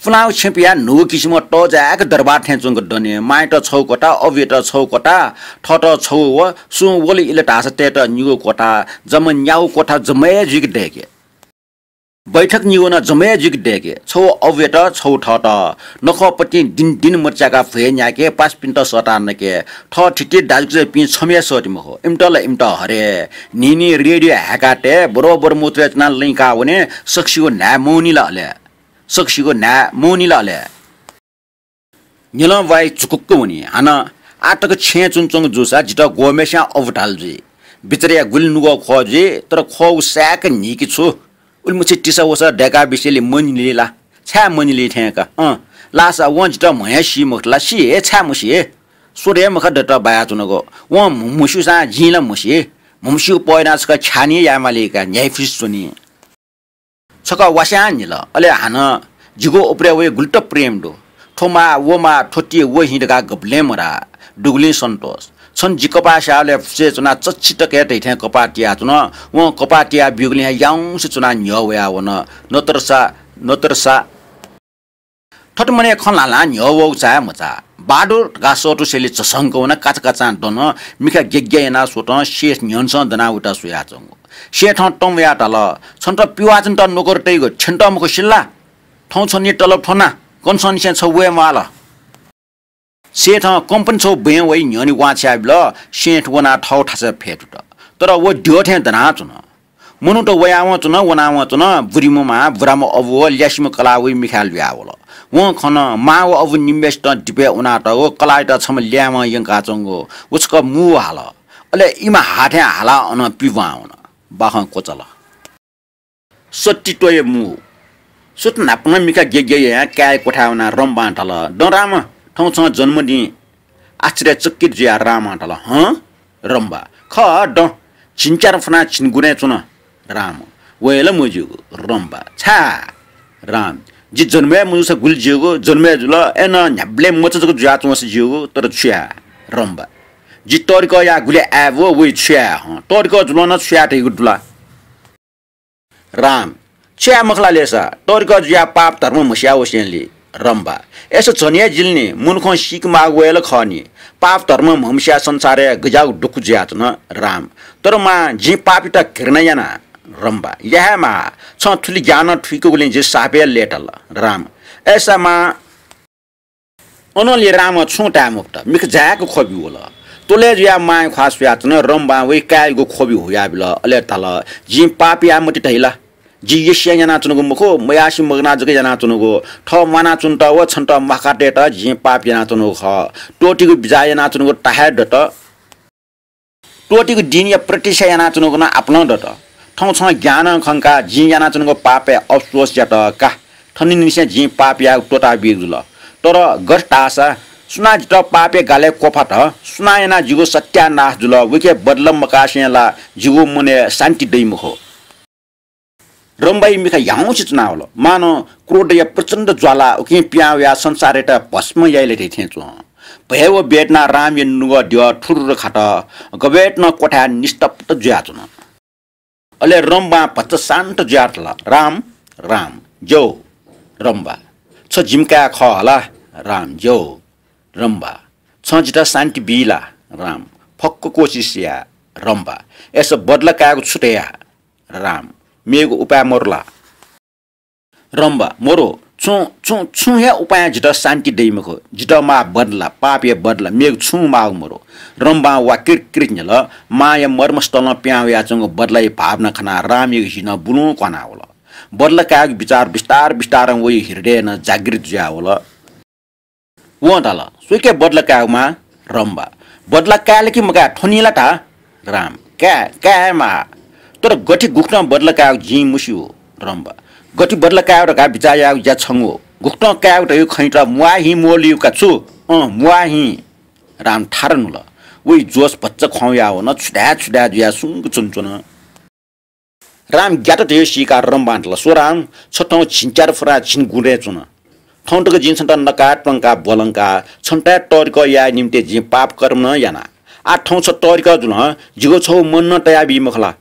पुलांगु छेँ पियाः न्हूगु किसिमं तःजाय्‌क दरबार थें च्वंक दने। मांयात छगू क्वथा, अबुयात छगू क्वथा, थःत छगू व सुं वल इल धाःसा तयेत निगू क्वथा, जम्मा न्यागू क्वथा जम्मा हे जुइक दय्‌के। बैठक निगू नं जम्मा हे जुइक दय्‌के। छगू अबुयात, छगू थःत। नखःपतिं दिं दिं मचाय्‌काः भ्वय् न्याय्‌के, पासापिन्त सःताः नके। थःथिति दाजुकिजापिं छम्ह हे सःति मखु। इमित ला इमित हरे। न्हिं न्हिं रेडियो हाय्‌काः तये, बरोबर मुतुरय् च्वनाः लँय् काः वने, सकसिगु न्हाय् मवनी ला अले। सकसिगु न्हाय् मवनी ला अले। न्हिलं ब्वाँय् झुकुक्क वनी। हानं आःतक छेँय् च्वनाच्वंगु जूसा जितः ग्वःम्हय्‌सियां अबु धाल जुइ। बिचाराया गुलि नुगः ख्वः जुइ, तर ख्वःगु साय्‌क न्हीके छु। उलिमछि तिसा वसा दय्‌का बिसेलि मनिली ला? छाय् मनिली थें का? अँ, लासा वं जितः म्हया सी मखुत ला? सी हे, छाय् मसी हे? स्वर हे मखा दत बायाच्वनागु। वं म्हस्यूसां जिं ला मसी। म्हस्यूगु पय्‌ना छकः ख्यानी यायेमाली का, न्ह्याइफुसि च्वनी। छकः वास्यां न्हिल, अले हानं जिगु उपरय् वइ गुलित प्रेम दु। थ्व माः, व माः, थ्व ति, व हिं धकाः गबलें मधाः। दुगुलिं सन्तोष। छन्त जि कपाः स्याःबलय् फुसय् च्वनाः चच्छि तक हे धइथें कपाः तियाच्वन। वं कपाः तिया ब्यूगुलिं हे याउँसे च्वनाः न्ह्यः वयावन। नतरसा, नतरसा। थथे मनय् खँ ल्हां ल्हां न्ह्यः वःगु चाहे मचाः। बहादुर धकाः सःतुसेलि झसंक वनाः काचाकाचां दन, मिखा ग्याग्या यानाः स्वतं सेठ न्ह्यःनेसं दनाः वयात स्वयाच्वंगु। सेठं तं वयाः धाल, छन्त पिवाःचान्हित नोकर तइगु छ्यन्त मखु सिल ला? थौं छन्हि तलब थ्वना, कन्हय्‌निसें छगू हे म्वाःल। सेठं कम्पनी छगू बँय् वइ न्ह्यःने वांछ्वया बिल। सेठ वनाः थःगु थासय् फ्यतुत। तर व द्यः थें दनाच्वन। मनूत वयावं च्वन, वनावं च्वन, बुरिम्ह मां, बुराम्ह अबु व ल्यासेम्ह कलाः वइ मिखाय् लुयावल। वं खन, मां व अबु निम्हय्‌सितं दिपय् उनातःगु, कलाःयात छम्ह ल्याय्‌म्हं यंकाच्वंगु। व छकः मू हाल। अले इमित हाथें हालाः अनं पिवां वन। बाखं क्वचाल। सत्तित्वया मू। सुथ न्हापां मिखा ग्याग्या यायां काय्‌या क्वथाय् वनाः रम्बां धाल, दँ राम, थौं छं जन्मदिन। आश्चर्यचकित जुयाः रामं धाल, हँ? रम्बा, खः, दँ। झिंच्यादँ फ्वनाः झिंगुरँय् च्वन। राम, वये ला मज्यूगु। रम्बा, छाय्? राम, जि जन्म हे मजूसा गुलि ज्यूगु, जन्म हे जुल, अय्‌नं न्ह्याबलें मचा जक जुयाच्वंसा ज्यूगु, तर छु याये? रम्बा, जि तःधिकःया गुलि आय्‌बु, वइ छु याये हँ? तःधिकः जुलं नं छु याये धइगु दु ला? राम, छु याये मखु ला लेसा, तःधिकः जुयाः पाप धर्म म्हस्याः वसेंलि। रम्बा, अय्‌सा झन हे जिल नि, मनुखं सीके माःगु वये ला खः नि। पाप धर्म म्हमस्याः संसारय् गज्याःगु दुःख जुयाच्वन। राम, तर मां, जिं पापयात घृणा याना। रम्बा, या हे मां, छं थुलि ज्ञानं थुइकूगुलिं जि साप हे लय्‌ताल। राम, अय्‌सा मां, अनंलि रामं छुं धाये मफुत, मिखा जाय्‌क ख्वबि वल। त्वलय् जुयाः मांया ख्वाः स्वयाच्वन। रम्बां वइ काय्‌यागु ख्वबि हुयाबिल, अले धाल, जिं पाप याये मते धइ ला? जि यस्यां यानाच्वनागु मखु, मयासें मगानाः जक यानाच्वनागु। थः म्वानाच्वनेत व छन्त म्वाकातयेत जिं पाप यानाच्वनागु खः। त्वःतिगु बिचाः यानाच्वनागु ता हे दत। त्वःतिगु दिनया प्रतीक्षा यानाच्वनागु नं आपालं दत। थौं छं ज्ञानं खंकाः जिं यानाच्वनागु पापय् अफसोस यात का। थनिंनिसें जिं पाप यायेगु त्वःताबीगु जुल। तर गथे धाःसा सुनां जितः पापया गालय् क्वफात, सुनां यानाः जिगु सत्यानाश जुल, वइके बदला मकासें ला जिगु मनय् शान्ति दइ मखु। रम्बाया मिखा ह्याउँसे च्वनावल। मानं क्रोधया प्रचण्ड ज्वाला उकिं पिहां वयाः संसारयात भस्म याइ ला धइथें च्वं। भय व वेदनां रामया नुगः द्यः थुरुरु खात। गबलें नं क्वथाय् निस्तब्ध जुयाच्वन। अले रम्बां भचा शान्त जुयाः धाल, राम, राम, ज्यू। रम्बा, छ जिमि काय् खः हला? राम, ज्यू। रम्बा, छं जितः शान्ति बी ला? राम, फक्व कोसिस या। रम्बा, अय्‌सा बदला कायेगु छु धया? राम, मेगु उपाय मरु ला? रम्बा, मरु, छुं, छुं, छुं हे उपायं जितः शान्ति दइ मखु। जितः माः बदला, पापया बदला, मेगु छुं माःगु मरु। रम्बां वाकिर किर न्ह्यल। मांया मर्मस्थलं पिहां वयाच्वंगु बदलाया भावना खनाः रामयागु हि नं बुलुं क्वानावल। बदला कायेगु बिचाः बिस्तार बिस्तारं वइ हृदयय् नं जागृत जुयावल। वं धाल, सुइके बदला कायेगु माः? रम्बा, बदला काये ला कि मकाये, थ्वनी ला धा? राम, काये, काये हे माः। तर गथे गुकथं बदला कायेगु जिं मस्यू। रम्बा, गथे बदला कायेगु धकाः बिचाः यायेगु ज्या छंगु। गुकथं कायेगु धइगु खँयात म्वाः हिं म्वःल्यू का छु? अँ, म्वाः हिं। राम थारा न्हुल। वइ जोश भचा ख्वाउँयावन, छु धाये छु धाये जुयाः सुंक च्वनाच्वन। राम ग्यात धइगु सीकाः रम्बां धाल, स्व राम, छ थौं झिंच्यादँ फ्वनाः झिंगुरँय् च्वन। थौं तक जिं छन्त नकाः त्वंकाः ब्वलंकाः छन्त हे तःधिकः याये निम्तिं जिं पाप कर्म नं याना। आः थौं छ तःधिकः जुलं जिगु छगू मन नं तयाबी मखु ला?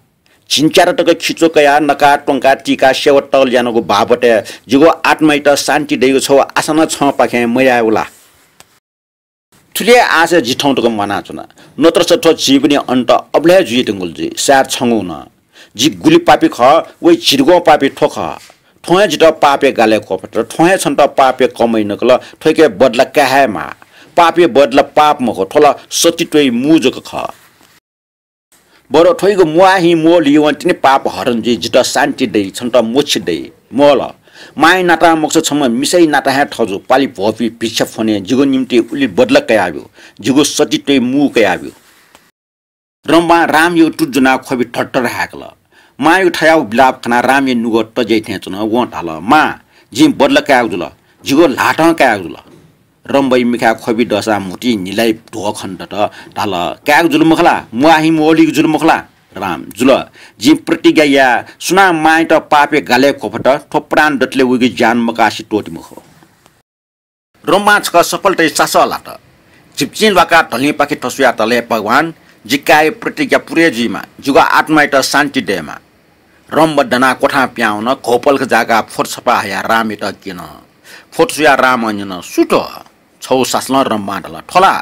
झिंच्यादँ तक खिच्व कयाः नकाः त्वंकाः तीकाः सेवा तःगल यानागु बाबतय् जिगु आत्मायात शान्ति दइगु छगू आशा नं छंपाखें मयायेगु ला? थुलि हे आशय् जि थौं तक म्वानाच्वना। नत्रस थ्व जीवनया अन्त अबलय् जुइधुंकल जुइ, सायद छंगु नं। जि गुलि पापी खः, वइ झिंगुगुं पापी थ्व खः। थ्वं हे जितः पापया गालय् क्वफात, थ्वं हे छन्त पापया कमाइ नकल, थ्वइके बदला काये हे माः। पापया बदला पाप मखु, थ्व ला सतित्वया मू जक खः। बरु थ्वइगु म्वाः हिं म्वःल्यूवं तिनि पाप हरण जुइ, जितः शान्ति दइ, छन्त मोक्ष दइ। म्वल, मांया नातां मखुसा छम्ह मिसाया नातां हे थजु, पालि भ्वपुइ भिक्षा फ्वने, जिगु निम्तिं उलि बदला कयाब्यु, जिगु सतित्वया मू कयाब्यु। रम्बां रामयागु तुति ज्वनाः ख्वबि धरधर हाय्‌कल। मांयागु थज्याःगु बिलाप खनाः रामया नुगः तज्याइ थें च्वन। वं धाल, मां, जिं बदला कायेगु जुल, जिगु ल्हातं कायेगु जुल। रम्बाया मिखाय् ख्वबि दःसां म्हुतुइ न्हिलाइ ध्वः खने दत। धाल, कायेगु जुल मखु ला? म्वाः हिं मवलीगु जुल मखु ला? राम, जुल। जिं प्रतिज्ञा याये, सुनां मांयात पापया गालय् क्वफत, थ्व प्राण दतले वइगु ज्यान मकासे त्वःते मखु। रम्बां छकः सफलताया सासः लात। झिप्चिं ल्वाकाः धलिंपाखे थस्वयाः धाल, हे भगवान, जि काय्‌या प्रतिज्ञा पूरे जुइमा, जिगु आत्मायात शान्ति दयेमा। रम्बा दनाः क्वथां पिहां वन। घौपलख जाकाः फोटो छपा हयाः रामयात क्यन। फोटो स्वयाः रामं न्यन, सु थ्व? छगू सासलं रम्बां धाल, थ्व ला?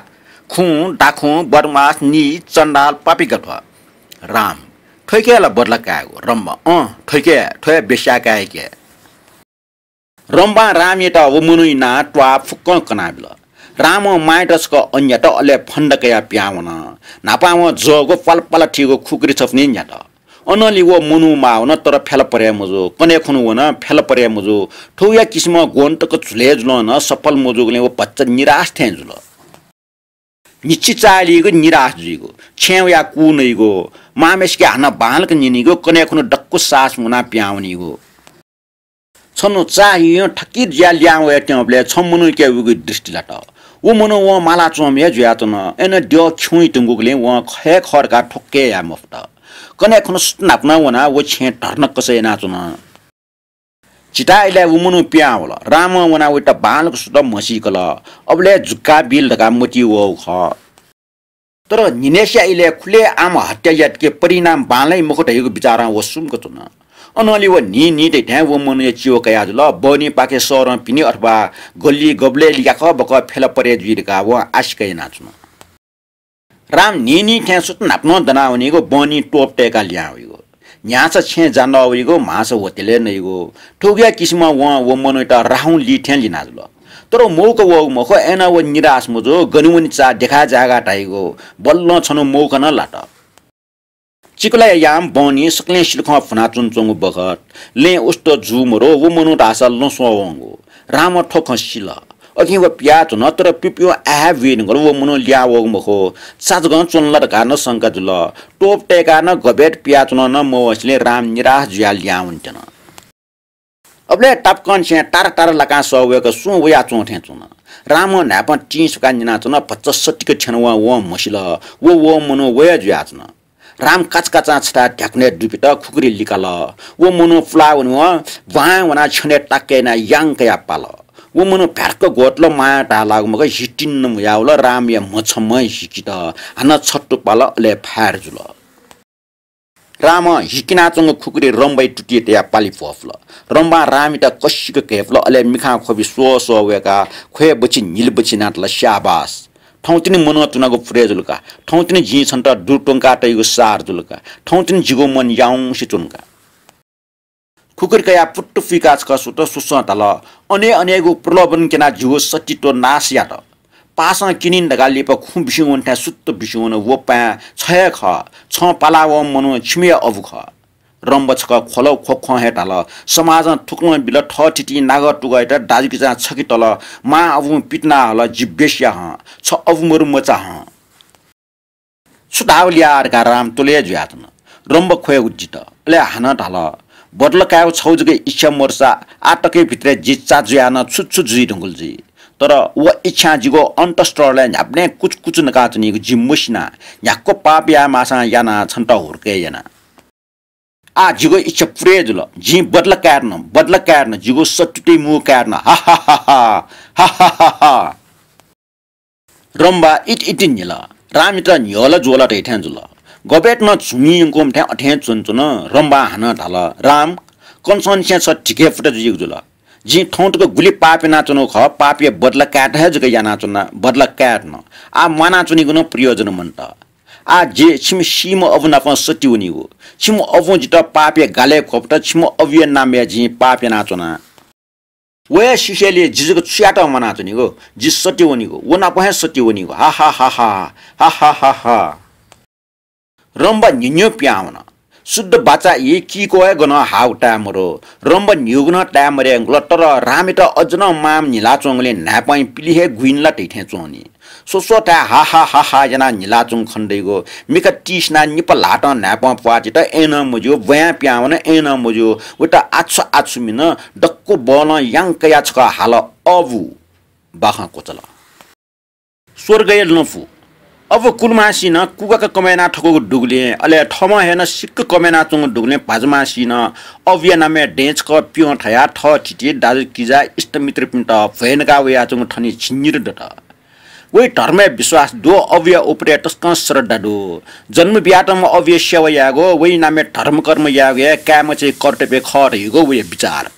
खुँ, दाखुँ, बदमास, नीच, चण्डाल, पापी का थ्व। राम, थ्वइके ला बदला कायेगु? रम्बा, अँ, थ्वइके, थ्व हे बेस्याये कायेके। रम्बां रामयात व मनूया नां त्वाः फुक्कं कनाबिल। रामं मांयात छकः अन्यात, अले फन्दा कयाः पिहां वन। न्हापां वं जःगु पालपाला थीगु खुकुरी छपु निं न्यात। अनंलि व मनू माः वन, तर फ्याला परे मजू। कन्हय् खुन्हु वन, फ्याला परे मजू। थौंया किसिमं ग्वन्त तक झुले जुलं नं सफल मजूगुलिं व भचा निराश थें जुल। न्हिच्छि चाःहिलीगु, निराश जुइगु, छेँय् वयाः कू नइगु, मांम्हय्‌सिके हानं बांलाक न्यनीगु, कन्हय् खुन्हु दक्व साहस मुनाः पिहां वनीगु। छन्हु चाःहियुं थकित जुयाः लिहां वयाच्वंबलय् छम्ह मनूयाके उगु दृष्टि लात। व मनू वं माला च्वंम्ह हे जुयाच्वन। अय्‌नं द्यः खिउँइ धुंकूगुलिं वं खय् खः धकाः ठ्वक्क हे याये मफुत। कन्हय् खुन्हु सुथ न्हापा नं वनाः व छेँय् धर्नक्कस यानाच्वन। झिताः इलय् व मनू पिहां वल। रामं वनाः वयात बांलाक सुथ म्हसीकल। अबलय् जुक्का बिल धकाः मतिइ वःगु खः। तर न्हिनय्‌सिया इलय् खुलेआम हत्या यात कि परिणाम बांलाइ मखु धइगु बिचारं व सुम्क च्वन। अनंलि व न्हिं न्हिं तइथें व मनूया चिवा कयाः जुल। बहनीपाखे शहरं भिंनि अथवा गल्ली गबलय् याकः बकः फ्याला परे जुइ धकाः वं आशिका यानाच्वन। राम न्हिं न्हिं थें सुथ न्हापा नं दनावनीगु, बहनी त्वप तय्‌काः लिहां वइगु। न्ह्याःसा छेँय् जान्दः वइगु, म्हाःसा होटलय् नइगु। थुकिया किसिमं वं व मनूयात राहुं ली थें लिना जुल। तर मौका वःगु मखु, अय्‌नं व निराश मजू, गन वने चाः देखाये जायेगा धाइगु। बल्लं छन्हु मौका नं लात। चिकुलाया याम बहनी सकलें सिलखं भुनाच्वनाच्वंगु बखत लँय् उस्त जू मरु, व मनू धाःसा लँ स्वः वंगु। रामं थ्व खँ सिल। अकिं व पिहां च्वन, तर पिपियुं आः हे बुइधुंकल, व मनू लिहां वःगु मखु, चा जकं च्वन ला धकाः नं शंका जुल। त्वप तय्‌काः नं गबय् पिहां च्वन नं मवंसेंलि राम निराश जुयाः लिहां वनेत्यन। अबलय् तापाकं छेँय् तारा तारा लाकां सः वय्‌कः सुं वयाच्वं थें च्वन। रामं न्हाय्‌पं तिं स्वकाः न्यनाच्वन, भचा सतिक थ्यन वं, वं म्हसिल, व, व मनू व हे जुयाच्वन। राम काचाकाचां छथाय् ध्याकुनय् दुबित खुकुरी लिकाल। व मनू पुलाः वनेवं ब्वाँय् वनाः छ्यनय् ताक्क यानाः यां कयाः पाल। व मनू भ्यार्क ग्वतल, मांया धाः लाःगु मखु, हितिन्न मुयावल। रामया म्ह छम्हं हिकित, हानं छत्तु पाल, अले फायर जुल। रामं हिकिनाच्वंगु खुकुरी रम्बाया तुतिइ तयाः पालि भ्वपुल। रम्बां रामयात कसिक घय्‌पुल, अले मिखां ख्वबि स्वः स्वः वय्‌काः ख्वय् बछि न्हिल बछि यानाः धाल, स्याबास। थौंतिनि मनं च्वनागु पुरे जुल का। थौंतिनि जिं छन्त दुर्तुंकाः तइगु सार जुल का। थौंतिनि जिगु मन याउँसे च्वन का। खुकुरी कयाः पुट्टु फुइकाः छकः सुत, सुसं धाल, अने अनेगु प्रलोभन क्यनाः जिगु सतीत्व नाश यात। पासां क्यनिन धकाः लिपा खुँ बिस्युं वन थें सुत्त बिस्युं वन। व पाँय् छ हे खः। छं पालावंम्ह मनू छिमि हे अबु खः। रम्ब छकः ख्वल, ख्वख्वं हे धाल, समाजं थुकलं बिल, थःथितिं नागः तुगःयात दाजुकिजां छखे तल, मां अबुं पितिना हल, जि वेश्या हं, छ अबु मरु मचा हं। छु धाःगु ल्याः धकाः राम त्वलय् जुयाच्वन। रम्ब ख्वय् उज्जित। अले हानं धाल, बदला कायेगु छगू जक इच्छा मदुसा आः तकया भित्रय् जि चा जुयाः नं छु छु जुइ धुंकल जुइ। तर व इच्छां जिगु अन्तःस्थलय् न्ह्याबलें कुचकुच नकाच्वनीगु जि मसिना। न्ह्याक्व पाप याये माःसां याना, छन्त हुर्के याना। आः जिगु इच्छा पुरे जुल। जिं बदला काये धुन, बदला काये धुन, जिगु सत्तुति मू काये धुन। हा हा हा हा। हा हा हा हा। रम्बा इति इति न्हिल। रामयात न्ह्यःला ज्वःला धइथें जुल। गबय् नं झुमि यंकूम्ह थें अथें च्वनाच्वन। रम्बां हानं धाल, राम, कन्हय् निसें छ धिके फुत जुइगु जुल। जिं थौं तक गुलि पाप यानाच्वनागु खः, पापया बदला कायेत हे जक यानाच्वना, बदला काये धुन। आः म्वानाच्वनीगु नं प्रयोजन मन्त। आः जि छिमि सीम्ह अबु नाप सती वनीगु। छिमि अबुं जितः पापया गालय् क्वफत, छिमि अबुया नामय् जिं पाप यानाच्वना। व हे सिसेंलि जि जक छु यात म्वानाच्वनीगु? जि सती वनीगु, व नाप हे सती वनीगु। हा हा हा हा। हा हा हा हा। रम्बा न्हिन्ह्यू पिहां वन। शुद्ध बाचा ई, किको हे गनं हाउ ताये मरु। रम्बा न्हिउगु नं ताये मरे धुंकल, तर रामयात अझ नं मां न्हिलाच्वंगुलिं न्हाय्‌पं पिलि हे गुइन ला धइथें च्वंनि। स्वस्वथाय् हा हा हा हा यानाः न्हिलाच्वंगु खनेदइगु। मिखा तिसिनाः निपा ल्हातं न्हाय्पं प्वाः तित, अय्नं मज्यू, ब्वाँय् पिहां वन, अय्नं मज्यू। वइत आछु आछु मिन, दक्व बलं यां कयाः छकः हाल, अबु। बाखं क्वचाल। स्वर्गया लँपु। अबु कुलुमांसिं नं कुगाका कमय् यानाः थकूगु दुगुलिं, अले थःम्हं हे नं सिक्क कमय् यानाच्वंगु दुगुलिं भाजुमांसिं नं अबुया नामय् दँय् छकः प्यं थयाः थःथिति, दाजुकिजा, इष्टमित्रपिन्त भ्वय् नका वयाच्वंगु थनिं झिंनिदँ दत। वइ धर्मय् विश्वास दु, अबुया उपरय् तसकं श्रद्धा दु। जन्म बियातःम्ह अबुया सेवा यायेगु, वइ नामय् धर्मकर्म यायेगु हे काय्मचाया कर्तव्य खः धइगु वया विचार।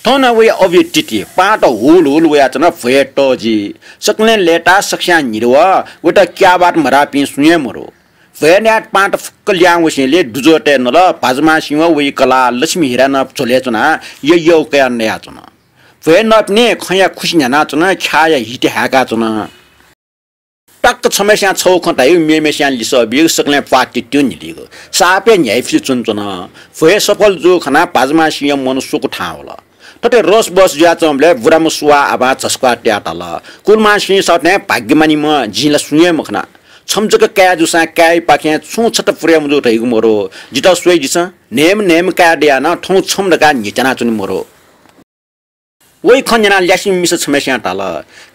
थौं नं वइ अबुया तिति, पाहांत हुल हुल वयाच्वन, भ्वय् तःजि। सकलें लय्ताः सकस्यां न्हिदँ वः, वइत क्याःबात मधाःपिं सुं हे मदु। भ्वय् न्यायेत पाहांत फुक्क लिहां वसेंलि दुजःतय् नल, भाजुमांसिं व वइ कलाः लक्ष्मी हिरा नं झ्वलय् च्वनाः यःयःगु कयाः नयाच्वन। भ्वय् नःपिनि खँया खुसि न्ह्यानाच्वन, ख्याःया हिति हाय्काच्वन। टक्क छम्हस्यां छगू खँ धाइगु, मेम्हस्यां लिसः बीगु, सकलें प्वाः तित्तिं न्हिलीगु। साप हे न्ह्याइपुसे च्वनाच्वन। भ्वय् सफल जूगु खनाः भाजुमांसिंया मन स्वकू थाहां वल। थथे रोसबोस जुयाच्वंबलय् बुराम्ह सुवाः आबां झसुकाः तयाः धाल, कुलुमांसिं सःथें भाग्यमानीम्ह जिं ला सुं हे मखना। छम्ह जक काय् जूसां काय्‌पाखें छुं छता पुरे मजू धइगु मदु। जितः स्वयादिसँ, न्हय्म्ह न्हय्म्ह काय् दयाः नं थौं छम्ह धकाः न्ह्यथनाच्वने मदु। वइ खँ न्यनाः ल्यासेम्ह मिसा छम्हस्यां धाल,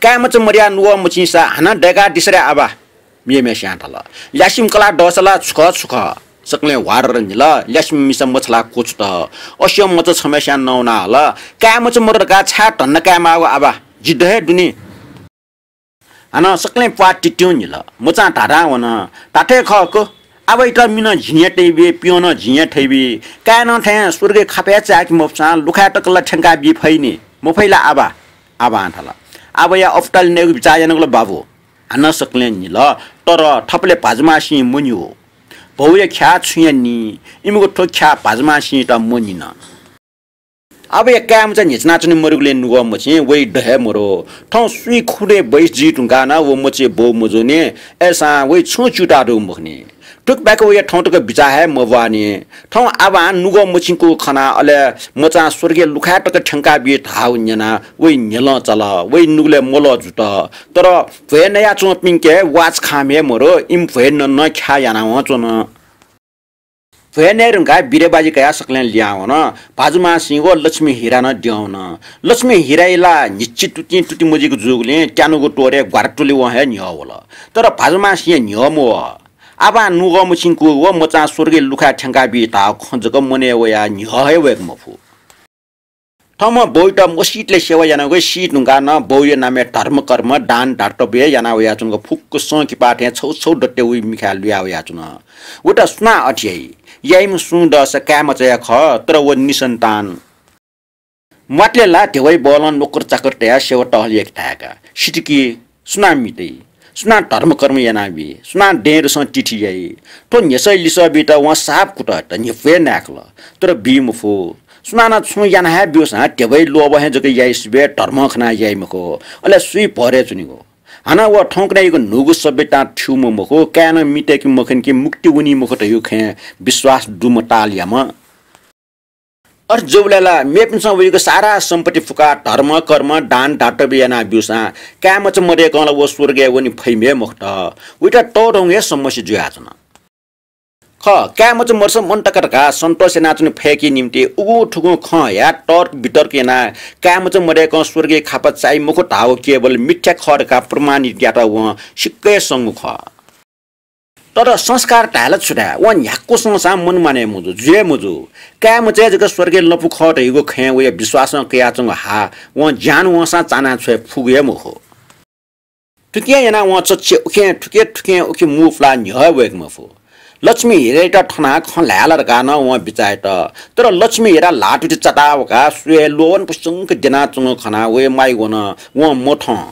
काय्‌मचा मदयाः नुगः मछिंसा हानं दय्कादिसँ रे आबा। मेम्हस्यां धाल, ल्यासेम्ह कलाः दःसा ला छु खः छु खः। सकलें ह्वारर न्हिल, ल्यासेम्ह मिसा मछालाः क्वछुत। अस्यं मचा छम्हस्यां नवानाः हल, काय्‌मचा मदु धकाः छाय् धन्दा कायेमाःगु आबा, जि द हे दुनि। हानं सकलें प्वाः तित्तिं न्हिल। मचां धाधां वन, धात्थें खः का, आबाइत मिनं जिं हे तयाबी, प्यं नं जिं हे थयाबी। काय् नं थें स्वर्गय् खापय् चाय्के मफुसां लुखाय् तक ला थ्यंकाबी फइ नि, मफइ ला आबा? आबां धाल, आबाया अपुतालय् नयेगु बिचाः यानागु ला बाबु। हानं सकलें न्हिल, तर थपालय् भाजुमांसिं मन्यू। भौया ख्याः छुं हे नी, इमिगु थ्व ख्याः भाजुमांसिंयात मन्यन। आबाया काय्‌मचा न्ह्यथनाच्वने मदुगुलिं नुगः मछिं, वइ द हे मदु। थौं स्वीखुदँय् बैस जुइ धुंकाः नं व मचाया बौ मजूनि, अय्‌सां वइ छुं च्यूताः दुगु मखुनि। थुकथं वया थौं तक बिचाः हे मब्वानि। थौं आबां नुगः मछिंकूगु खनाः, अले मचां स्वर्गय् लुखाय् तक थ्यंकाबी धाःगु न्यनाः वइ न्ह्यलं चाल, वइ नुगलय् मलः जुत। तर भ्वय् नयाच्वंपिन्के वाच खांम्ह हे मदु, इमि भ्वय् नँ नं ख्याः यानावं च्वन। भ्वय् नये धुंकाः बिरेबाजी कयाः सकलें लिहां वन। भाजुमांसिं व लक्ष्मी हिरा नं द्यं वन। लक्ष्मी हिराया ला न्हिच्छि तुतिं तुति मजुइक जूगुलिं त्यानुगु त्वरय् ग्वारातुलिवं हे न्ह्यः वल। तर भाजुमांसिं न्ह्यः मवः। आबां नुगः मछिंकूगु व मचां स्वर्गय् लुखाय् थ्यंकाबी धाःगु खँ जक मनय् वयाः न्ह्यः हे वय्के मफु। थःम्हं बौयात मसीतले सेवा यानागु सी धुंकाः नं बौया नामय् धर्मकर्म, दान, दातव्य याना वयाच्वंगु फुक्क संकिपा थें छौ छौ दत्ते वइ मिखाय् लुया वयाच्वन। वइत सुनां अथे याइ? याइम्ह सुं दःसा काय्‌मचा हे खः, तर व निसन्तान। म्वातले ला ध्यबाइ बलं नोकर चाकर तयाः सेवा टहल याके धाय्का। सितिकी, सुनां मितइ? सुनां धर्मकर्म यानाबी? सुनां दँय्‌दसं तिथि याइ? थ्व न्ह्यसःया लिसः बीत वं साप कुतः त न्ह्यब्वये नाय्कल, तर बी मफु। सुनानं छुं याना हे ब्यूसां ध्यबाइ लोभ हे जक याइ सिबें धर्मं खनाः याइ मखु, अले सुइ भरय् च्वनीगु। हानं व थौंकन्हय्‌यागु न्हूगु सभ्यतां थ्यूम्ह मखु, काय्‌नं मितय्‌के मखन कि मुक्ति वनी मखु धइगु खँय् विश्वास दुम्ह तालयाम्ह। अथे जूबलय् ला मेपिन्सं वइगु सारा सम्पत्ति फुकाः धर्म, कर्म, दान, दातव्य याना ब्यूसां काय्‌मचा मदय्‌कं ला व स्वर्गय् वने फइम्ह हे मखुत। वइत तःधंगु हे समस्या जुयाच्वन। खः, काय्‌मचा मदुसा मन्त का धकाः सन्तोष यानाच्वने फय्‌के निंतिं उगु थुगुं खँ हयाः तर्क वितर्क यानाः काय्‌मचा मदय्‌कं स्वर्गय् खापा चाइ मखु धाःगु केवल मिथ्या खः धकाः प्रमाणित यायेत वं सिक्क हे संगु खः। तर संस्कार धाये ला छु धाये, वं न्ह्याक्व संसां मन मानय् मजू, जुइ हे मजू। काय्‌मचाय् जक स्वर्गय् लँपु खः धइगु खँय् वया विश्वासं कयाच्वंगु हा वं ज्यान वंसां चाना छ्वये फुगु हे मखु। थुकिं यानाः वं चच्छि उखें थुखे, थुखें उखे मू पुलाः न्ह्यः हे वय्‌के मफु। लक्ष्मी हिरायात थनाः खँ ल्हाये ला धकाः नं वं बिचाः यात। तर लक्ष्मी हिरा ल्हाः तुति चाताः वकाः स्वये ल्वःवन पुस्यंक द्यनाच्वंगु खनाः वया माया वन, वं मथं।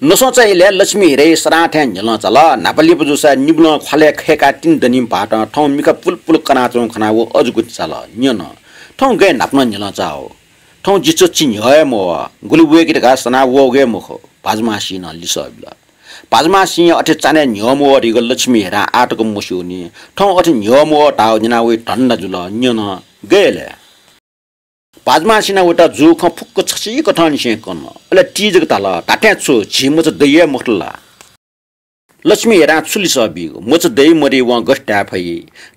नस्वंचा इलय् लक्ष्मी हिराया सरां थें न्ह्यलं चाल। न्हापा लिपा जूसा निबलं ख्वालय् खय्‌काः तिनि दनिम्ह भाःतं थौं मिखा पुलपुल कनाच्वंगु खनाः व अजू गुति चाल। न्यन, थौं गय् न्हापा नं न्ह्यलं चाःगु? थौं जि चच्छि न्ह्यः हे मवः, गुलि वय्‌के धकाः सनाः वःगु हे मखु, भाजुमांसिं नं लिसः बिल। भाजुमांसिंया अथे चान्हय् न्ह्यः मवः धइगु लक्ष्मी हिरां आःतक मस्यूनि। थौं अथे न्ह्यः मवः धाःगु न्यनाः वइ धन्दा जुल। न्यन, गय् ले? भाजमासिनं वयात जूगु खँ फुक्क छसिकथंनिसें कन। अले तिजक धाल, धात्थें छु, झी मचा दइ हे मखुत ला? लक्ष्मी हेरां छु लिसः बीगु? मचा दइ मदइ वं गथे धाये फइ?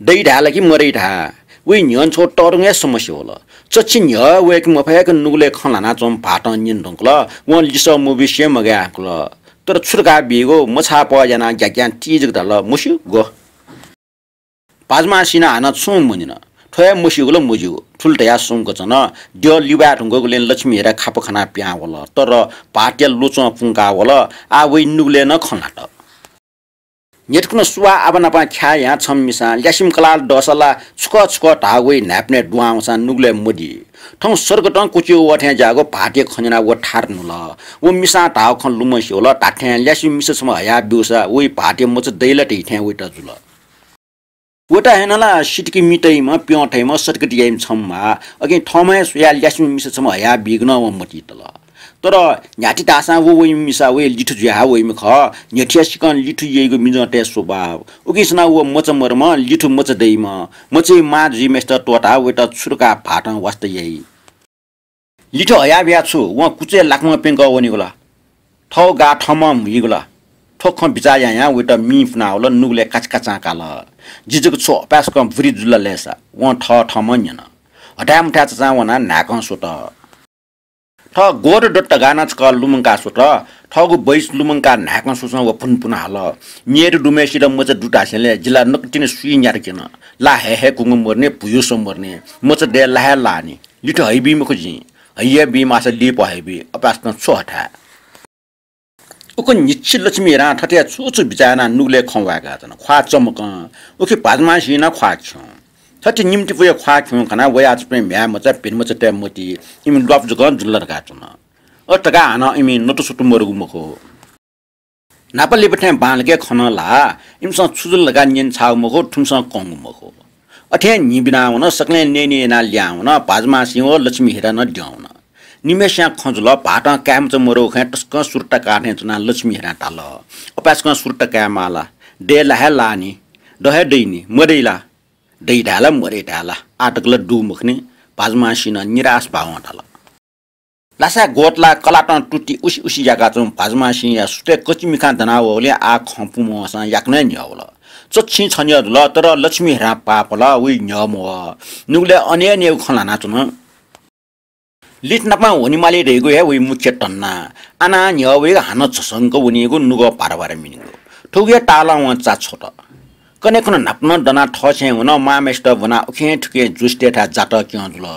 दइ धाये ला कि मदइ धाये? वइ न्ह्यःने छगू तःधंगु हे समस्या वल। चच्छि न्ह्यः वय्के मफय्क नुगलय् खँ ल्हानाच्वंम्ह भाःतं न्यने धुंकल। वं लिसः मबिसें मगाये धुंकल। तर छु धकाः बीगु? मछाःपः यानाः ग्याग्यां तिजक धाल, मस्यू, ग्व। भाजमासिनं हानं छुं मन्यन। थ्व हे मस्यूगु ला मज्यू, थुलि धयाः सुम्क च्वन। द्यः लिबाये धुंकूगुलिं लक्ष्मी हेरा खापा खनाः पिहां वल, तर भाःतया ल्वचं पुंका वल। आः वइ नुगलय् नं खँ ल्हात। न्ह्यथुकं सुवाः आबा नाप ख्याः यानाः छम्ह मिसां ल्यासेम्ह कलाः दःसा ला छुकः छुकः धाः वइ न्हाय्पनय् दुहां वंसां नुगलय् मदी। थौं सर्गतं क्वच्यू वः थें ज्याःगु भाःतया खँ न्यनाः व थात न्हुल। व मिसां धाःगु खँ लुमंसे वल। धात्थें ल्यासेम्ह मिसा छम्ह हयाब्यूसा वइ भाःतया मचा दइ ला धइथें वइत जुल। वइत हे नं ला सितिकि मि तइम्ह, प्यं तइम्ह, सतिकति याइम्ह छम्ह म्वाः। अकिं थःम्हं हे स्वयाः ल्यासेम्ह मिसा छम्ह हयाबीगु नं वं मतिइ तल। तर न्ह्याथे धाःसां व वइम्ह मिसा वया लिथु जुयाः वइम्ह खः। न्ह्यथुया सिकं लिथु यइगु मिजंतय् स्वभाव। उकिं सनाः व मचा मदुम्ह, लिथु मचा दइम्ह, मचाया मां जुइम्हय्सित त्वःताः वइत छु धकाः भाःतं वास्ता याइ? लिथु हयाबिया छु, वं कुचय् लाकां प्यंकः वनीगु ला? थःगु गाः थःम्हं म्हुइगु ला? थ्व खँ बिचाः यां यां वइत मिं पुनावल, नुगलय् काचाकाचां काल। जि जक छु अपाय्सकं बुरी जुल ला लय्सा? वं थःथःम्हं न्यन। हथाय् मथाय् चचां वनाः न्हाय्कं स्वत। थः गोत्र दत धकाः नं छकः लुमंकाः स्वत। थःगु बैस लुमंकाः न्हाय्कं स्वसं व पुनपुन हाल। मेय्त दुम्हय्सित मचा दु धासेंलि जि ला नकतिनि सुइ न्यात क्यन। ला हये हे कुंगु मदुनि, भुयूसं मदुनि। मचा दये ला हे लाःनि। लिथु हइबी मखु जिं। हइयाबी माःसा लिपा हइबी। अपाय्सकं छु हथाय्? उकिं न्हिच्छि लक्ष्मी हेरां थथे छु छु बिचाः यानाः नुगलय् खँ वाय्काच्वन। ख्वाः चमकं। उखे भाजमासिं नं ख्वाः खिउँ। थथे निम्तिपुया ख्वाः खिउँ खनाः वयाच्वंपिं म्ह्याय् मचा, भिन मचातय् मतिइ, इमि ल्वापु जकं जुल धकाः च्वन। अथे धकाः हानं इमि नतुसुतु मदुगु मखु। न्हापा लिपा थें बांलाक खँ नं ल्हाः। इमिसं छु जुल धकाः न्यने छाःगु मखु, थुमिसं कंगु मखु। अथें न्हि बिनावन, सकलें नयेनी यानाः लिहां वन, भाजमासिं व लक्ष्मी हेरा नं द्यं वन। निम्हय्सियां खँ जुल, भाःतं काय्मचा मदुगु खँय् तसकं सुरता काः थें च्वनाः लक्ष्मी हेरां धाल, अपाय्सकं सुरता कायेमाः ला? दये ला हे लाःनि, द हे दइनि, मदइ ला? दइ धाये ला, मदइ धाये ला? आः तक ला दु मखुनि। भाजमासिनं निराश भावं धाल। लासाय् ग्वतलाः कलातं तुति उसि उसि याकाच्वंम्ह भाजमासिंया सुथय् कचिमिखां दनावःगुलिं आः खँ पुमवंसां याकनं न्ह्यः वल। चच्छिं छन्ह्यः जुल, तर लक्ष्मी हेरां पाः पल, वइ न्ह्यः मवः। नुगलय् अनेक अनेक खँ ल्हानाच्वन। लिथनापं वनेमाली धइगु हे वइ मुख्य तन्ना। आनाः न्ह्यः वइगु हानं झसंक वनीगु, नुगः भाराभारा मिनीगु। थुगु हे तालं वं चा छ्वत। कन्हय् खुन्हु न्हापा नं दनाः थःछेँय् वन, मांम्हय्सित ब्वनाः उखें थुखें ज्योतिषीतय्थाय् जातक क्यं जुल।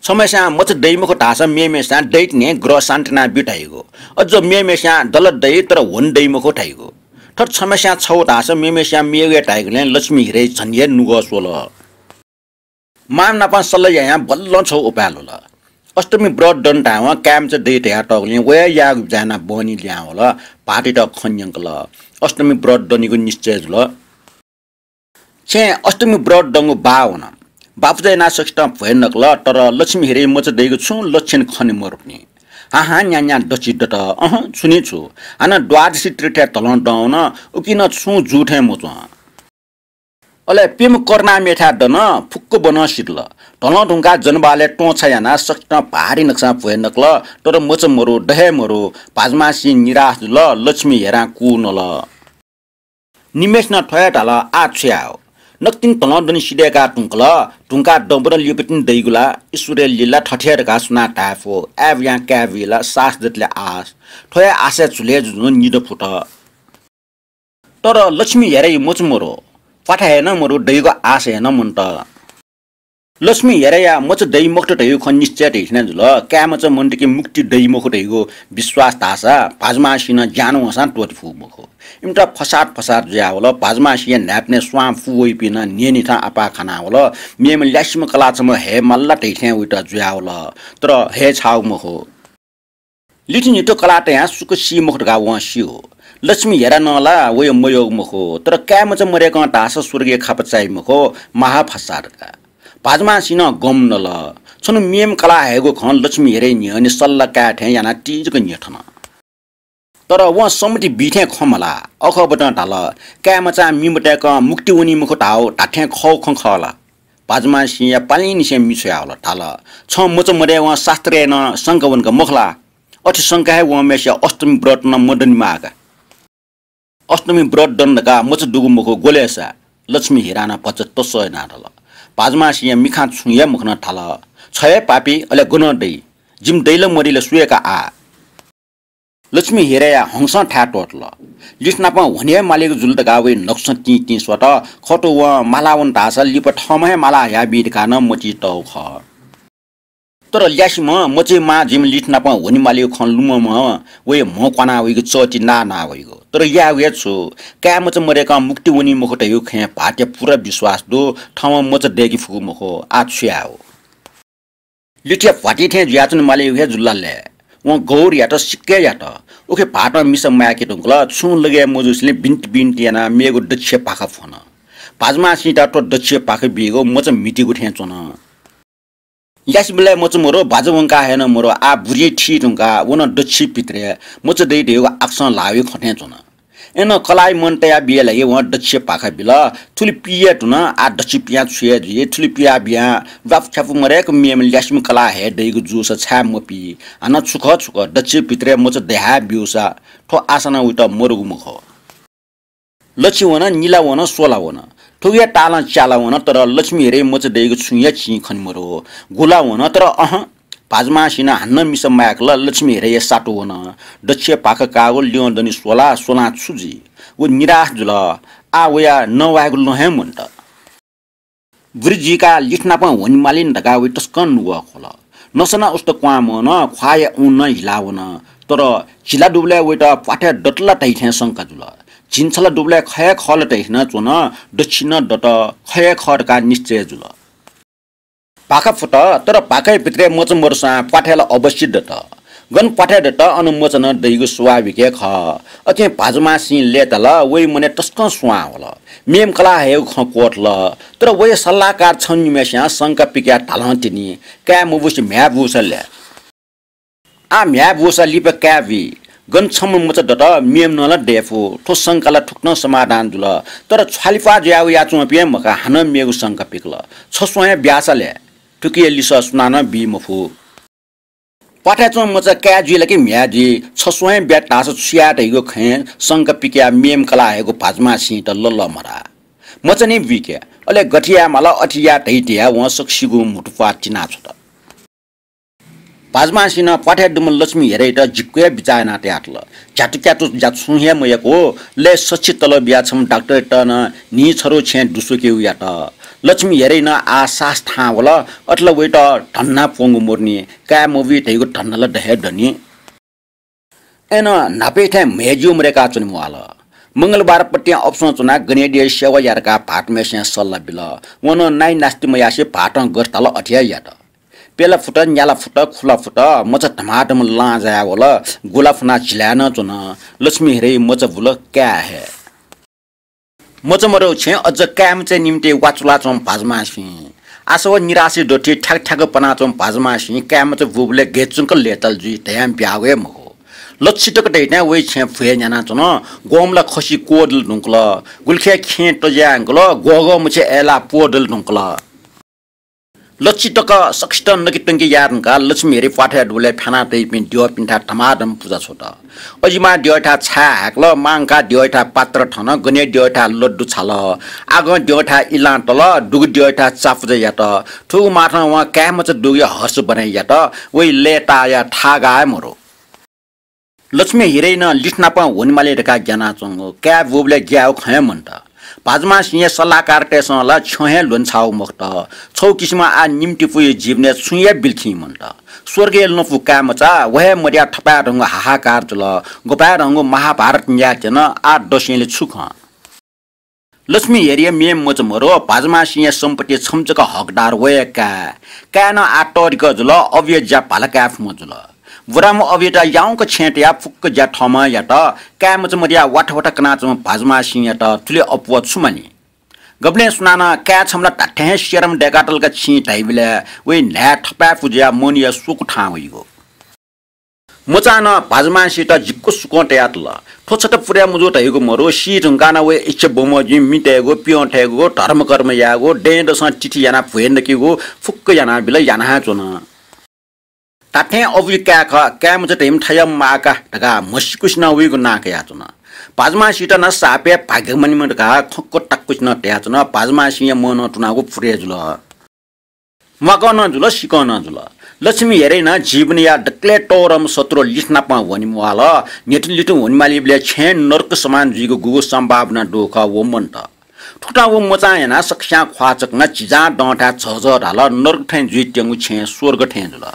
छम्हय्सियां मचा दइ मखु धाःसा मेम्हय्सियां दइतिनि, ग्रह शान्ति यानाः ब्यु धाइगु। अझ मेम्हय्सियां दला दइ, तर ह्वने दइ मखु धाइगु। थथे छम्हय्सियां छगू धाःसा मेम्हय्सियां मेगु हे धाइगुलिं लक्ष्मी हेराइ झन हे नुगः स्वल। मांम्ह नाप सल्लाह यायां बल्लं छगू उपाय ल्ह्वल। अष्टमी व्रत दन धायेवं काय्मचा दइ धयातःगुलिं वया याःगु बिचाः यानाः बहनी लिहां वल। भाःतयात खँ न्यंकल। अष्टमी व्रत दनेगु निश्चय जुल। छेँय् अष्टमी व्रत दंगु बाः वन। बापुजः यानाः सकसितं भ्वय् नकल, तर लक्ष्मी हेराइ मचा दइगु छुं लक्षण खने मरुनि। हां हां न्यां न्यां दच्छि दत, अहं, छुं नं छु। हानं द्वादशी तीर्थय् धलं दं वन, उकिं नं छुं जू थें मच्वं। अले प्यम्ह करुणामय्थाय् दन, फुक्क बनं सिधल। धलं धुंकाः जनबहालय् त्वंछाः यानाः सकसितं भारी नकसां भ्वय् नकल, तर मचा मरु, द हे मरु। भाजमासिं निराश जुल, लक्ष्मी हेरां कू नल। निम्हय्सिनं थ्व हे धाल, आः छु यायेगु? नकतिनि धलं दने सिधय्काः धुंकल, धुंकाः दँबदँ लिपातिनि दइगु ला? ईश्वरया लीला थथे हे धकाः सुनां धाये फु? आय् बुयां काय् बुइ ला? सास दतले आस। थ्व हे आशय् झुलय् जुजुं निदँ फुत। तर लक्ष्मी हेराइ मचा मरु, प्वाथा हे नं मरु, दइगु आश हे नं मन्त। लक्ष्मी हेराया मचा दइ मखुत धइगु खँ निश्चय धइथें जुल। काय्मचा मन्त कि मुक्ति दइ मखु धइगु विश्वास धाःसा भाजमासिं नं ज्यानं वंसां त्वःते फु मखु। इमित फसाद फसाद जुयावल। भाजमासिया न्हाय्पनय् स्वां पूवइपिं नं न्यनेथं आपाः खानावल। मेम्ह ल्यासेम्ह कलाः छम्ह हये माल ला धइथें वइत जुयावल। तर हये छाःगु मखु। लिथनित कलाः तयां सुक सी मखु धकाः वं स्यू। लक्ष्मी हेरा नं ला वया मयःगु मखु, तर काय्मचा मदय्कं धाःसा स्वर्गया खापा चाइ मखु, महाफसाद का। भाजमासिं नं गम नल। छन्हु मेम्ह कलाः हयेगु खँ लक्ष्मी हेराया न्ह्यःने सल्लाह काये थें यानाः तिजक न्ह्यथन। तर वं सम्मति बी थें खँ मल्हाः। अखःबतं धाल, काय्मचां मि मतय्कं मुक्ति वनी मखु धाःगु धात्थें खःगु खँ खः ला? भाजुमासिंया पालिंनिसें मि छ्वयावल, धाल, "छं मचा मदयेवं शास्त्रय् नं शंका वंका मखु ला? अथे शंका हे वंम्हेसिया अष्टमी व्रत नं मदनेमाः का।" "अष्टमी व्रत दन धकाः मचा दुगु मखु, ग्वलय् सा?" लक्ष्मी हिरां नं भचा तसः यानाः धाल। भाजुमासिंया मिखां छुं हे मखनाः धाल, "छ हे पापी, अले गनं दइ? जिमि दइ ला मदइ ला सु हे का आः।" लक्ष्मी हिराया हंसं थाय् त्वःतल। लिथनापं ह्वने हे मालीगु जुल धकाः वइ नकसं तिं तिं स्वत। खः त, वं माला वन धाःसा लिपा थःम्हं हे माला हयाबी धकाः नं मतिइ तःगु खः। तर ल्यासेम्ह मचाया मां जुइम्ह लिथनापं ह्वने मालीगु खँ लुमंम्ह वइ म्ह क्वाना वइगु चःति नाः नाः वइगु। तर यायेगु हे छु, काय् मचा मदय्कं मुक्ति वनी मखु धइगु खँय् भाःतया पूरा विश्वास दु। थःम्हं मचा दय्के फुगु मखु, आः छु यायेगु? लिथया भ्वातिं थें जुयाच्वने मालीगु हे जुल ला लय्। वं गौरयात सिक्क हे यात। उखे भाःतं मिसा माय्के धुंकल। छुं लगे मजूसेंलि बिन्ति बिन्ति यानाः मेगु दच्छिया पाखा फ्वन। भाजुमासिंयात थ्व दच्छिया पाखा बीगु मचा म्हितीगु थें च्वन। ल्यासेबलय् मचा मरु, बाजा वंका हे नं मरु, आः बुरिं थी धुंकाः व नं दच्छिया भित्रय् मचा दइ धइगु आकाशं ल्हाः वइगु खँ थें च्वन। अय्नं कलाःया मन तया बिये लागि वं दच्छिया पाखा बिल। थुलि पी हे धुन, आः दच्छिया पियां छु हे जुइ, थुलि पिया बियां ल्वापु छ्यापु मदय्क मेम्ह ल्यासेम्ह कलाः हये दइगु जूसा छाय् मपी? हानं छु खः छु खः, दच्छिया भित्रय् मचा दये हे ब्यूसा थ्व आशां नं वइत मरुगु मखु। लच्छि वन, निला वन, स्वला वन, थुगु हे तालं च्याला वन, तर लक्ष्मी हिराया मचा दइगु छुं हे चिं खने मरु। गुला वन, तर अहँ, भाजुमासिंनं हानं मिसा माय्कल। लक्ष्मी हिराया सातु वन। दच्छिया पाखा काःगु ल्यं दनि स्वला, स्वलां छु जुइ? व निराश जुल। आः वया नवायेगु लँ हे मन्त। बुरि जुइकाः लिथनापं ह्वने माली नि धकाः वइ तसकं नुगः ख्वल। नसा नं उस्त क्वहां मवन, ख्वाःया ऊन नं हिला वन। तर झिला दुबलय् वइत प्वाथय् दत ला धइ थें शंका जुल। झिंछला दुबलय् खः हे खः ला धइ थें नं च्वन, दच्छिया नं दत, खः हे खः धकाः निश्चय जुल। पाखा फुत, तर पाखाया भित्रय् मचा मरुसां प्वाथय् ला अवश्य दत। गन प्वाथय् दत, अन मचा नं दइगु स्वाभाविक हे खः। अथें भाजुमासिं लय्ताल, वइ मनय् तसकं स्वां वल। मेम्ह कलाः हयेगु खँ क्वथल, तर वया सल्लाहकार छम्ह निम्हय्सियां शंका पिकयाः धालं तिनि, काय् मबूसे म्ह्याय् बूसा लय्? आः म्ह्याय् बूसा लिपा काय् बी। गन छम्ह मचा दत, मेम्हं नं ला दयेफु। थ्व शंका ला थुकथं समाधान जुल। तर छ्वालिप्वाः जुयाः वयाच्वंपिं हे मखा, हानं मेगु शंका पिकल। छस्वं हे ब्याःसा लय्? थुकिया लिसः सुनानं बी मफु। प्वाथय् च्वंम्ह मचा काय् जुइ ला कि म्ह्याय् जुइ, छस्वं हे ब्यात धाःसा छु याये धइगु खँय् शंका पिकयाः मेम्ह कलाः हयेगु भाजुमासिंयात ललमरा। मचा नि बुइके, अले गथे याये माल अथे या धइ धयाः वं सकसिगुं म्हुतुप्वाः तिनाछ्वत। भाजुमासिनं प्वाथय् दुम्ह लक्ष्मी हिरायात जिक्क हे बिचाः यानाः तयातल। झ्यातुक्यातु ज्या छुं हे मयाकू, लय् सछि तलब बियाः छम्ह डाक्टरयात नं न्हिं छरु छेँय् दुस्वकेगु यात। लक्ष्मी हिराया नं आः साहस थाहां वल। अथे ला वइत धन्दा प्वंगु मरुनि, काय् मबी धइगु धन्दा ला द हे दनि। अय्नं न्हापाया थें म्हय् ज्यू मदय्काः च्वने म्वाःल। मंगलबार पतिं अफसं च्वनाः गनेद्यःया सेवा या धकाः भाःतम्हय्सिनं सल्लाह बिल। वं नं नाइ नास्ति मयासें भाःतं गथे धाल अथे हे यात। प्यला फुत, न्याला फुत, खुला फुत, मचा धमाधम लां जाया वल। गुला फुनाः झिलाय् नं च्वन। लक्ष्मी हिराया मचा बुल, काय् हे। मचा मदय् छेँय् अझ काय् मचाया निंतिं वाचुलाच्वंम्ह भाजुमासिं। आशा व निराशया दथुइ थ्याक थ्याक पनाच्वंम्ह भाजुमासिं काय् मचा बूबलय् गय् च्वंक लय्ताल जुइ धयां ब्यागु हे मखु। लच्छि तक दइथें वइ छेँय् भ्वय् न्यानाच्वन। ग्वम्ह ला खसि क्वदल धुंकल, गुलिखय् खेँ तज्यायंकल, ग्वःग्वः मछि अय्लाः प्वदल धुंकल। लच्छि तक सकसितं नकेत्वंके याये धुंकाः लक्ष्मी हिराया प्वाथय् दुबलय् फ्यानातइपिं द्यःपिन्थाय् धमाधम पुजा छ्वत। अजिमां द्यःथाय् छाय् हाय्कल, मांकाः द्यःथाय् पात्र थन, गनेद्यःथाय् लड्डु छाल, आगं द्यःथाय् इलां तल, दुगु द्यःथाय् चापुजा यात। थुगु माथं वं काय् मचा दुगुया हर्ष बने यात। वइ लय्ताःया थागा हे मरु। लक्ष्मी हिराया नं लिथनापं ह्वने माली धकाः ग्यानाच्वंगु। काय् बूबलय् ग्यायेगु खँ हे मन्त। भाजुमासिंया सल्लाहकारतय्सं ला छ्यं हे ल्ह्वने छाःगु मखुत। छगू किसिमं आः निम्हतिपूया जीवनय् छुं हे बिल्खिं मन्त। स्वर्गया लँपु काय् मचा, व हे मदयाः थपाय्धंगु हाहाकार जुल। ग्वपाय्धंगु महाभारत न्यायेत्यन, आः दसेंलि छु खँ? लक्ष्मी हिराया मेम्ह मचा मरु, भाजुमासिंया सम्पत्तिया छम्ह जक हकदार व हे काय्। काय् नं आः तःधिकः जुल, अबुया ज्या भाला काये फुम्ह जुल। बुराम्ह अबुयात याउँक छेँय् तयाः फुक्क ज्या थःम्हं यात। काय् मचा मदयाः वाथा वाथा कनाच्वंम्ह भाजुमासिंयात थुलि अप्वः छु मानि? गबलें सुनानं काय् छम्ह ला धात्थें हे सेरम दय्कातल का छिं धाइबलय् वइ न्हाय् थपाय्पु जुयाः मनया स्वकू थाहां वइगु। मचां नं भाजुमांसित जिक्क सुकं तयातल। थ्व छता पुरे मजू धइगु मरु, सी धुंकाः नं वया इच्छा बमोजिं मि तयेगु, प्यं थयेगु, धर्मकर्म यायेगु, दँय्‌दसं तिथि यानाः भ्वय् नकेगु फुक्क यानाबिल, याना हे च्वन। धात्थें अबुया काय् खः, काय् मचा धइम्ह थय्‌म्ह माः का धकाः म्हसीकुसिनं वइगु नां कयाच्वन। भाजुमांसित नं सापय् भाग्य मनिम्ह धकाः खक्व ताकुसिनं धयाच्वन। भाजुमांसिया मनं तुनागु पुरे जुल। म्वाकं नं जुल, सिकं नं जुल। लक्ष्मी हेरय् नं जीवनया दकलय् तःधंम्ह शत्रु लित नापं वनेम्वाल। न्ह्यथुलिथुं वनेमालीबलय् छेँ नरक समान जुइगु गुगु सम्भावना दु खः व मन्त। थुकथं व मचां यानाः सकस्यां ख्वाः चकनाः झिंझां दंथाय् झःझः धाल, नरक थें जुइत्यंगु छेँ स्वर्ग थें जुल।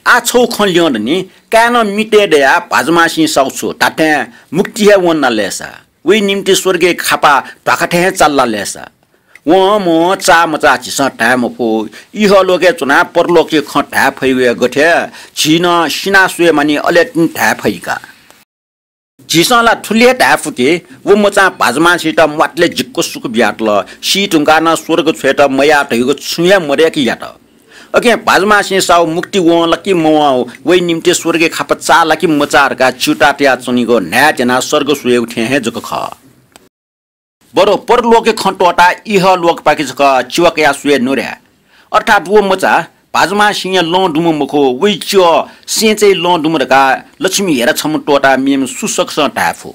आः छगू खँ ल्यं दनि, काय्‌नं मि तये दयाः भाजुमांसिं साउ छु धात्थें मुक्ति हे वंनालेसा, वइ निम्ति स्वर्गय् खापा ध्वाखा थें हे चाल्लालेसा। वं मवं चाःमचाः झीसं धाये मफु। इहलोकय् च्वनाः परलोकया खँ धाये फइगु हे गथे, झी नं सिनाः स्वये मानि, अले तिनि धाये फइ का। झीसं ला थुलि हे धाये फु कि व मचां भाजुमांसित म्वातले जिक्क सुख बियातल। सी धुंकाः नं स्वर्ग छ्वयेत मयाः धइगु छुं हे मदय्‌क यात। अकिं भाजुमांसिं साउ मुक्ति वं ला कि मवं, वइ निम्ति स्वर्गय् खापा चाः ला कि मचाः धकाः च्यूताः तयाच्वनीगु न्हाय् त्यनाः सर्ग स्वयेगु थें हे जक खः। बरु परलोकया खँ त्वःताः इहलोकपाखे जक च्यः कयाः स्वये नुरे। अर्थात् व मचा भाजुमांसिंया लं दुम्ह मखु, वइ च्यः सेंचाया लं दुम्ह धकाः लक्ष्मी हेरा छम्ह त्वःताः मेम्ह सुसकसं धाये फु।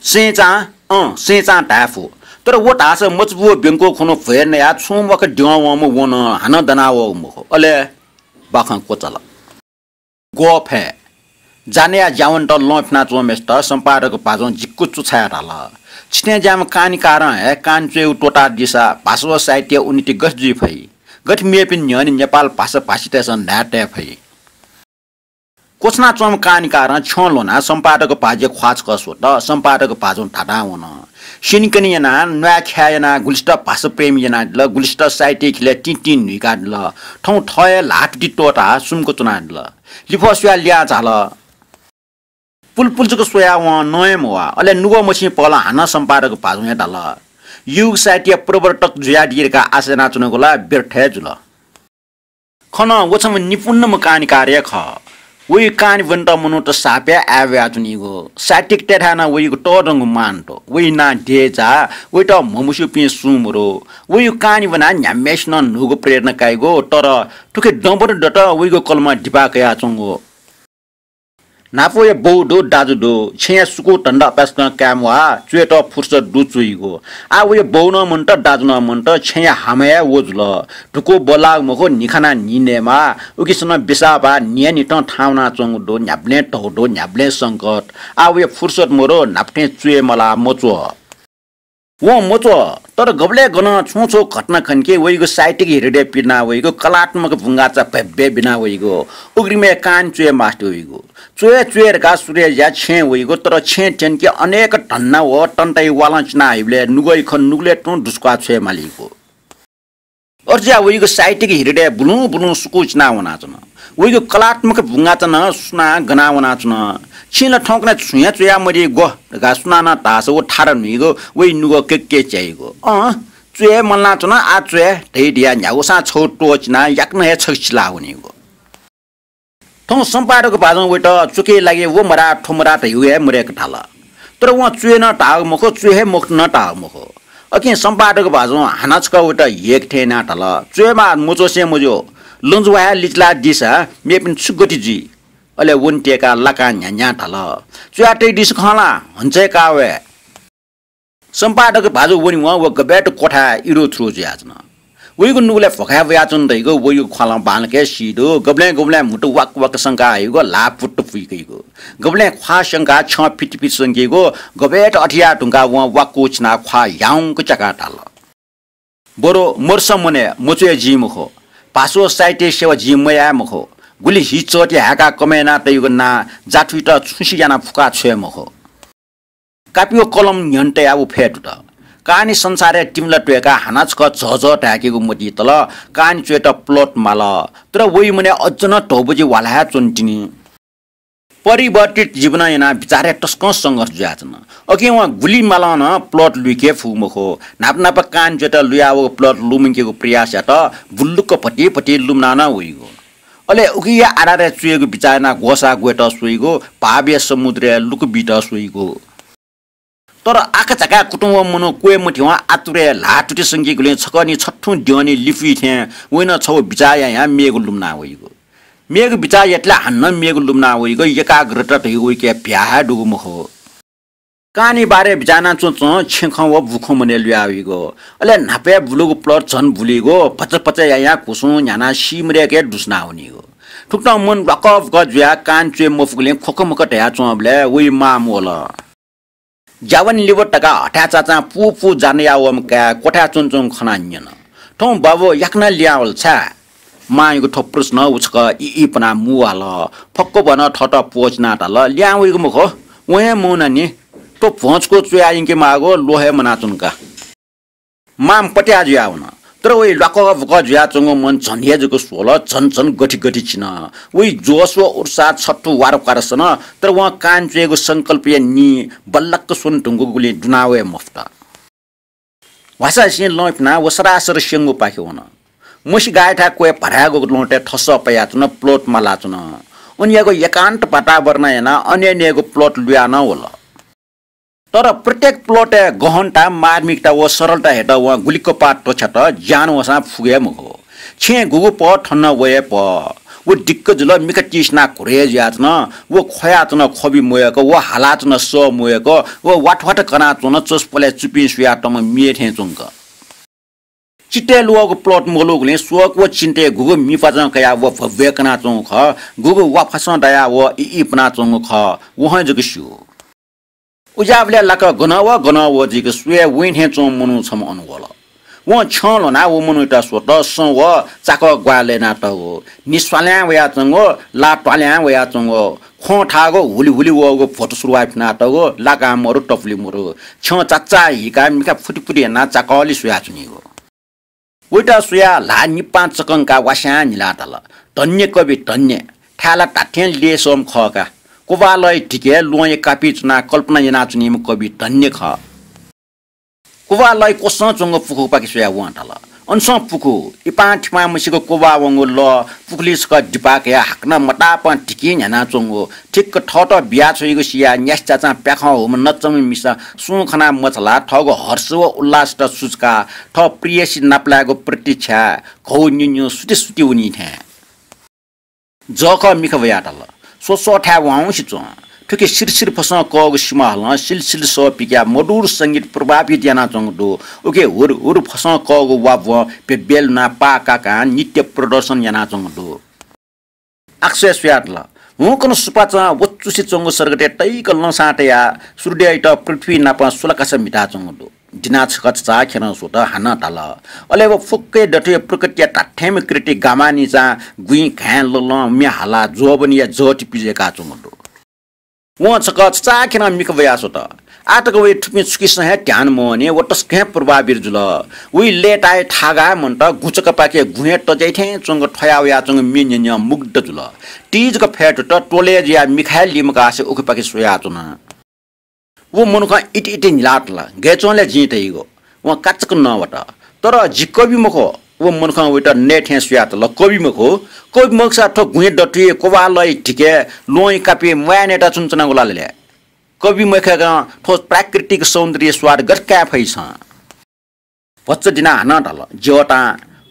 सेंचां, अँ, सेंचां धाये फु। तर व धाःसा मचाबू ब्यंक्व खुन्हु भ्वय् नयाः छुं म्वाक द्यं वंम्ह व नं हानं दनावःगु मखु। अले बाखं क्वचाल। ग्वःफय्। जानेया ज्यावन्त लं फ्यानाच्वंम्हय्‌सित सम्पादक भाजुं जिक्क चुछायाः धाल, छिथें ज्याःम्ह कहानीकारं हे कहानी च्वयेगु त्वःतादीसा भाषा व साहित्यया उन्नति गथे जुइ फइ? गथे मेपिनि न्ह्यःने नेपाल भाषा भाषितय्‌सं न्हाय् तये फइ? क्वछुनाच्वंम्ह कहानीकारं छ्यं ल्ह्वनाः सम्पादक भाजुया ख्वाः छकः स्वत। सम्पादक भाजुं धाधां वन। स्यनेकने यानाः, न्वाय् ख्याय् यानाः गुलिसित भाषा प्रेमी यानादिल, गुलिसित साहित्य ख्यलय् तिंतिं न्हुइकादिल। थौं थः हे ल्हातुति त्वःताः सुम्क च्वनादिल। लिफः स्वयाः लिहां झाल। पुलपुल जक स्वयाः वं नं हे मवाः। अले नुगः मछिं पहलं हानं सम्पादक भाजुं हे धाल, युग साहित्यया प्रवर्तक जुयादी धकाः आशा यानाच्वनागु ला व्यर्थ हे जुल। खः नं व छम्ह निपुणम्ह कहानीकार हे खः। वइ कहानी ब्वनेत मनूत सापय् आय्‌ब्वयाच्वनीगु। साहित्यिकतय्‌थाय् नं वइगु तःधंगु मान दु। वइ नां देय्‌जाः, वइत म्हमस्यूपिं सुं मदु। वइ कहानी ब्वनाः न्ह्याम्हय्‌सिनं न्हूगु प्रेरणा काइगु, तर थुकी दँबदँ दत वइगु कलमं दिपाः कयाच्वंगु। न्हापाया बौ दु, दाजु दु, छेँया सुकू धन्दा अपाय्‌सकं काये म्वाः, च्वयेत फुर्सद दु च्वइगु। आः वया बौ नं मन्त, दाजु नं मन्त, छेँया हामा हे व जुल। धुकू बल्लाःगु मखु, न्हि खानाः न्हि नयेमाः, उकिसनं बिसाः बाः न्हियान्हिथं थाहां वनाच्वंगु दु, न्ह्याबलें धौ दु, न्ह्याबलें संकट। आः वया फुर्सद मदु, न्हापा थें च्वये मलाः, मच्वः। वं मच्वः, तर गबलय् गनं छुं छुं घटना खंके वइगु साहित्यिक हृदय पिना वइगु, कलात्मक बुंगाचा भय्‌भय् बिना वइगु, उघ्रिमय् कहानी च्वये मास्ति वइगु। च्वये च्वये धकाः सुरय् ज्या छेँ वइगु, तर छेँ थ्यंके अनेक धन्दा व तन्ताया वालं चिना हइबलय् नुगःया खँ नुगलय् तुं दुस्वाः छ्वये मालीगु। अथे जुयाः वइगु साहित्यिक हृदय बुलुं बुलुं सुकू चिना वनाच्वन। वइगु कलात्मक बुंगाचा नं सुनां गना वनाच्वन। छिं ला थौंकन्हय् छुं हे च्वया मदी ग्व धकाः सुनानं धाःसा व थारा न्हुइगु, वइ नुगः केक्के च्याइगु। अँ, च्वये मलानाच्वन, आः च्वये धइ धयाः न्ह्यागुसां छगू त्वःचिनाः याकनं हे छगू चिला वनीगु। थौं सम्पादक भाजुं वइत च्वके लागि व मदाः थ्व मदाः धइगु हे मदय्‌क धाल। तर वं च्वये नं धाःगु मखु, च्वये हे मखुत नं धाःगु मखु। अकिं सम्पादक भाजुं हानं छकः वइत ह्येके थें यानाः धाल, च्वयेमाः, मच्वसें मज्यू, लँजुवा हे लिचिलादीसा मेपिनि छु गति जुइ? अले वने त्यय्‌काः लाकां न्ह्यान्ह्यां धाल, च्वया तइदिसँ खः ला, हन्चय् का वये। सम्पादक भाजु वनेवं व गबय्‌त क्वथाय् इरुथुरु जुयाच्वन। वइगु नुगलय् भ्वखाय् वयाच्वन धइगु वइगु ख्वालं बांलाक हे सी दु। गबलें गबलें म्हुतु वाक वाक संका हइगु, ल्हाः पुट्ट पुइकइगु, गबलें ख्वाः संकाः छ्यं फित फित संकीगु, गबय्‌त अथे याये धुंकाः वं वाक्क उछिनाः ख्वाः ह्याउँक च्याकाः धाल, बरु मरुसा मनय् मच्वये जिं मखु, भाषा व साहित्य सेवा जिं मयाये मखु, गुलि हि चःति हाय्‌काः कमय् याना तइगु नां जाथुइत छुं सि यानाः फुकाः छ्वये मखु। कापि व कलम न्ह्यःने तयाः व फय् दुत। कहानी संसारय् तिमिला त्वय्‌काः हानं छकः झःझः धाय्‌केगु मतिइ तल। कहानी च्वयेत plot माल। तर वइ मनय् अझ नं धौबजि ह्वाला हे च्वन तिनि। परिवर्तित जीवनं यानाः बिचारय् तसकं संघर्ष जुयाच्वन। अकिं वं गुलि मालं नं plot लुइके फुगु मखु। न्हापा न्हापा कहानी च्वयेत लुयावःगु plot लुमंकेगु प्रयास यात। बुल्लुक्क भति भति लुमना नं वइगु। अले उकिया आधारय् च्वयेगु बिचाः यानाः ग्वसाः ग्वयेत स्वइगु, भावया समुद्रय् लुकु बीत स्वइगु। तर आकाझाकाय् कुतुं वःम्ह मनू क्वय् मथ्यं आतुरय् ल्हाः तुति संकीगुलिं छकः निं छथुं द्यःने लिपुइ थें वइनं छगू बिचाः यायां मेगु लुमना वइगु। मेगु बिचाः यात ला हानं मेगु लुमना वइगु, एकाग्रता धइगु वइके भ्याः हे दुगु मखु। कानया बारे बिचाः यानाच्वंच्वं छेँखँ व बुखँ मनय् लुया वइगु। अले न्हापाय् बुलुगु plot झन बुलीगु, भचा भचा यायां कुसुं न्ह्यानाः सीमदय्‌के दुसुना वनीगु। थुकथं मन ल्वाकःबुकः जुयाः कान च्वये मफुगुलिं ख्वखमख धयाच्वंबलय् वइ मां वल। ज्यावने लिब धकाः हथाय् चाचां पू पू जानाया वःम्ह काय् क्वथाय् च्वंच्वंगु खनाः न्यन। थौं बाबु याकनं लिहां वल छाय्? मांयागु थ्व प्रश्नं व छकः इइपनाः मुवाल। फक्व भनं थःत प्वःचिनाः धाल, लिहां वइगु मखु, वं हे मवनानि। थ्व भ्वंचुकू च्वयाः यंके माःगु ल्वः हे मनाच्वन का। मां पत्याः जुयावन। तर वइ ल्वाकःबुकः जुयाच्वंगु मन झन हे जक स्वल, झन झन गथि गथि चिन। वइ जोश व उत्साह छथु वारक्वार सन, तर वं कान च्वयेगु संकल्पया निं बल्लाक्क स्वने धुंकूगुलिं दुना वये मफुत। ह्वासांसिं लं फ्यानाः व सरासर स्यंगुपाखे वन। मसि गाःयाथाय् क्वय् भराय्‌गु लँतय् थसः पयाच्वन, plot मालाच्वन। अनयागु एकान्त वातावरणं यानाः अन्यन्ययागु plot लुया नं वल। तर प्रत्येक plot-य् गहनता, मार्मिकता व सरलता हयेत वं गुलि कपाः त्वछ्यात, ज्यान वःसां फुगु हे मखु। छेँय् गुगु पह थन नं वये पह। व दिक्क जुल, मिखा तिसिनाः घुरय् जुयाच्वन। व ख्वयाच्वन, ख्वबि मवय्‌क, व हालाच्वन, सः मवय्‌क, व वाथवाथ कनाच्वन, चसपलय् चुपिं सुयातःम्ह म्ये थें च्वंक। चित्तय् लुवःगु plot मलूगुलिं शोक व चिन्ताय् गुगु मिपाचं कयाः व भव्य कनाच्वंगु खः, गुगु वाफसं दयाः व इइपनाच्वंगु खः, व हं जक स्यू। उज्याःबलय् लाक गनं व गनं व जुइक स्वये वइ थें च्वंम्ह मनू छम्ह अन वल। वं छ्यं ल्ह्वनाः व मनूयात स्वत, सँ व चाकः ग्वाहालि यानातःगु, निस्वाल्यां वयाच्वंगु, ला त्वाल्यां वयाच्वंगु, ख्वं थाःगु, हुलिहुलि वःगु भ्वतुसुरुवाः फिनातःगु, लाकां मरु, तपुलि मरु, छ्यं चाचाः हीकाः मिखा फुतिफुति यानाः चाकःलि स्वयाच्वनीगु। वइत स्वयाः ल्हाः निपां चकंकाः वास्यां न्हिलाः धाल, धन्य कवि, धन्य। थाय् ला धात्थें लेसःम्ह खः का। क्वबालय धिके ल्वहंया कापि च्वनाः कल्पना यानाच्वनीम्ह कवि धन्य खः। क्वबालय क्वसं च्वंगु पुखूपाखे स्वयाः वं धाल, अनसं पुखू, इपां थिपां मसिक क्वबाः वंगु लः, पुखुलिइ छकः दिपा कयाः हाकनं मतापं धिकिं न्ह्यानाच्वंगु, ठिक्क थःत बियाछ्वइगु सियाः न्यासि चाचां प्याखं हूम्ह नच्चंम्ह मिसा सुं खनाः मछालाः थःगु हर्ष व उल्लासत सुचुकाः थः प्रियसी नापलायेगु प्रतीक्षाय् घौ न्यु न्यु सुति सुति वनी थें। जःखः मिखा वयाः धाल, स्वस्वःथाय् वाउँसे च्वँ। थुकी सिरसिर फसं कःगु सिमाहलं सिलसिल सः पिकयाः मधुर संगीत प्रभावित यानाच्वंगु दु। उकी हुर हुर फसं कःगु वाब्वं बेब्यलुनाः पाः काकां नृत्य प्रदर्शन यानाच्वंगु दु। आकाशय् स्वयाः धाल, हुंकन सुपाँचं वचुसे च्वंगु सर्गतय् तइक लँसां तयाः सूर्ययात पृथ्वी नाप सुलाकासा म्हिताच्वंगु दु। दिनाः छकः छचाःखेरं स्वत, हानं धाल। अले व फुक्कया दथुइ प्रकृतिया धात्थेंम्ह कृति गामानिचां गुँइ घाँय् ललं म्ये हालाः ज्वःबनया जःति पिजय्काच्वंगु दु। वं छकः छचाःखेरं मिखा वयाः स्वत। आः तक वइ थुपिं छुकिसं हे ध्यान मवने, व तसकं हे प्रभावित जुल। वइ लय्ताय् थागाः मन्त, गुँचकपाखे गुँहय् तज्याइ थें च्वंक थ्वया वयाच्वंगु म्ये न्यनें मुग्ध जुल। तिजक फय्तुत त्वलय् जुयाः मिखा हे लिमकासे उखेपाखे स्वयाच्वन। व मनुखं इति इति न्हिलातल, गय् च्वं ले जिं धइगु? वं काचक नवात। तर जि कवि मखु। व मनुखं वइत नये थें स्वयातल, कवि मखु? कवि मखुसा थ्व गुँहय् दथुइ, क्वबालय धिके, ल्वहंया कापि म्वाये नयेत च्वनाच्वनागु ला ले? कवि मखुयाकं थ्व प्राकृतिक सौन्दर्य स्वाद गथे काये फइ छं? भचा दिनाः हानं धाल, ज्यवतां,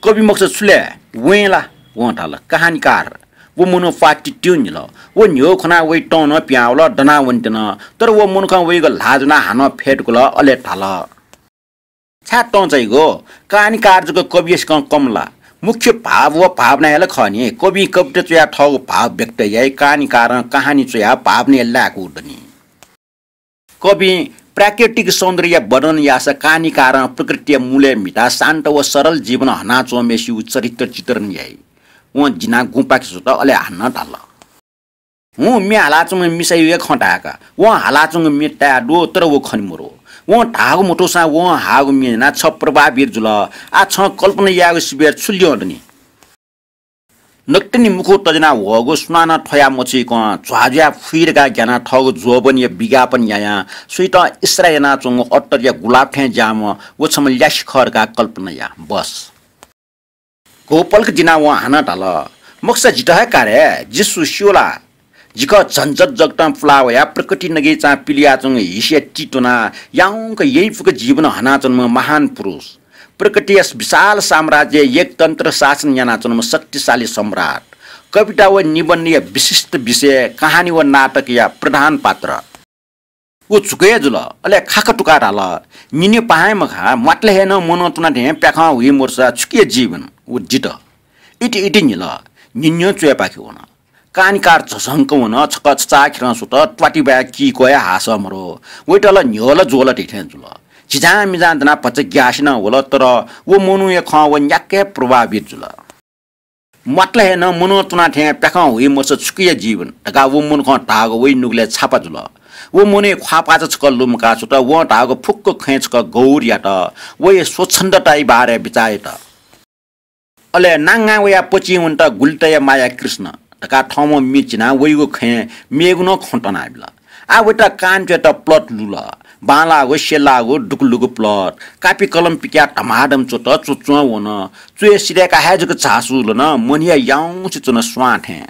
कवि मखुसा छु ले? वँय् ला? वं धाल, कहानीकार। व मनू प्वाः तित्तिं न्हिल। व न्ह्यः खनाः वइ तं नं पिहां वल, दनाः वनेत्यन। तर व मनुखं वइगु ल्हाः ज्वनाः हानं फय्तुकल, अले धाल, छाय् तं चाइगु? कहानीकार जक कविया सिकं कम ला? मुख्य भाव व भावना हे ला खः नि। कविं कविता च्वयाः थःगु भाव व्यक्त याइ, कहानीकारं कहानी च्वयाः भावना लायेकूगु दनि। कविं प्राकृतिक सौन्दर्य वर्णन याःसा कहानीकारं प्रकृतिया मूलय् म्हिताः शान्त व सरल जीवन हनाच्वंम्हय्सिगु चरित्र चित्रण याइ। वं दिनाः गुँपाखे स्वत, अले हानं धाल, हुँ, म्ये हालाच्वंम्ह मिसायागु हे खँ धाय्का। वं हालाच्वंगु म्ये ताये दु, तर व खने मरु। वं धाःगु मथूसां वं हाःगु म्ये न्यनाः छ प्रभावित जुल। आः छं कल्पना यायेगु सिबय् छु ल्यं दनि? नकतिनि मुखु तज्यानाः ह्वःगु सुनानं थ्वया मछुइकं झ्वाः जुयाः फुइ धकाः ग्यानाः थःगु ज्वःबनया विज्ञापन यायां सुइत इसारा यानाच्वंगु अत्तरया गुलाब थें ज्याःम्ह व छम्ह ल्यासे खः धकाः कल्पना या। बस। घौपलख दिनाः वं हानं धाल, मखुसा जितः हे का रे, जिसु स्यू ला? जिखः झन्झट जगतं पुला वयाः प्रकृति नगय्चां पिलियाच्वंगु हिसया ति त्वनाः याउँक यइपुक जीवन हनाच्वंम्ह महान पुरुष। प्रकृतिया विशाल साम्राज्यय् एकतन्त्र शासन यानाच्वंम्ह शक्तिशाली सम्राट। कविता व निबन्धया विशिष्ट विषय, कहानी व नाटकया प्रधान पात्र। व झुकय् जुल, अले खाखा तुकाः धाल, न्यने पाहां मखा, म्वातले हे नं मनं त्वना थें प्याखं हुइ मरुसा छुकिया जीवन? व दित। इति इति न्हिल, न्हिन्यं च्वय्पाखे वन। कानिकार झसंक वन, छकः छचाःखेरं सुत, त्वातिबाय् किकोया हासः मरु। वइत ला न्ह्यः ला ज्वः ला धइथें जुल। झिझां मिझां दनाः भचा ग्यासे नं वल, तर व मनूया खँ व न्याक्क हे प्रभावित जुल। म्वातले हे नं मनं त्वना थें प्याखं हुइ मरुसा छुकिया जीवन धकाः व मनुखं धाःगु वइ नुगलय् छापा जुल। व मनूया ख्वाःपाःचा छकः लुमंकाः छुत, वं धाःगु फुक्क खँय् छकः गौर यात, वया स्वच्छन्दताया बारे बिचाः यात। अले नांगां वयाः पचिं वनेत गुलि तया माया कृष्ण धकाः थःम्हं मि चिनाः वइगु खँय् मेगु नं खँ तनाबिल। आः वइत कान च्वयेत प्लट लुल। बांलाःगु, स्यलाःगु, दुगुलुगु प्लट। कापि कलम पिकयाः धमाधम च्वत, च्वच्वं वन। च्वय् सिधय्काः हे जक झासु लन, मनया याउँसे च्वन स्वां थें।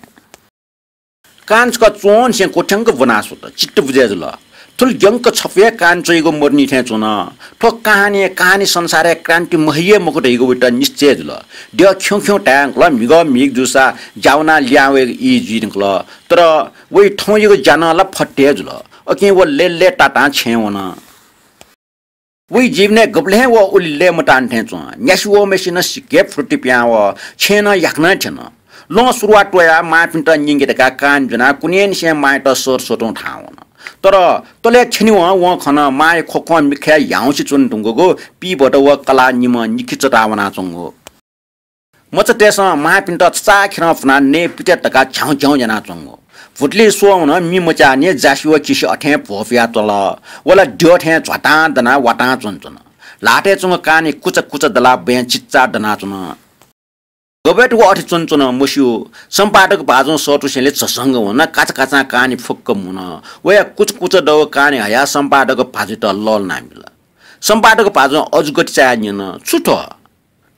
कान छकः च्वंनिसें क्वथ्यंक ब्वना स्वत, चित्त बुझय् जुल। थुलि ग्यंक छपु हे कान च्वइगु मरुनि थें च्वन। थ्व कहानी, कहानी संसारय् क्रान्ति महइ हे मखु धइगु वइत निश्चय जुल। द्यः खिउँ खिउँ धायेधुंकल, म्हिगः म्हिगः जूसा ज्या वनाः लिहां वयेगु ई जुइधुंकल। तर वइ थौंयागु ज्या नं ला फत हे जुल। अकिं व लय्‌लय्‌तातां छेँय् वन। वइ जीवनय् गबलें हे व उलि लय्‌मताःनि थें च्वं। न्यासि वःम्हय्‌सिनं सिक्क हे फुर्ति पिहां वः, छेँय् नं याकनं थ्यन। लं सुरुवात वयाः मांपिन्त न्यंके धकाः कान ज्वनाः कुन्हय्‌निसें मांयात सर सतुं थाहां वन। तर तलय् थ्यनेवं वं खन, मांया ख्वख्वं मिखाय् ह्याउँसे च्वने धुंकूगु पीभत व कलाः निम्ह निखि चताः वनाच्वंगु। मचातय्‌सं मांपिन्त छचाःखेरं फुनाः नये पित्या धकाः झ्याउँ झ्याउँ यानाच्वंगु। भुतुलिइ स्वः वन, मि मच्याःनि, जासि व किसि अथें भ्वपुया च्वल। व ला द्यः थें झ्वातां दनाः वातां च्वनाच्वन। ल्हातय् च्वंगु कानि कुचा कुचा दलाः बँय् चिच्चाः दनाच्वन। गबय् तक व अथे च्वनाच्वन मस्यू। सम्पादक भाजुं सःतुसेंलि झसंक वन, काचाकाचां कानि फुक्क मुन। वया कुचा कुचा दःगु कानि हयाः सम्पादक भाजुयात लःल्हानाबिल। सम्पादक भाजुं अजू गति चायाः न्यन, छु थ्व?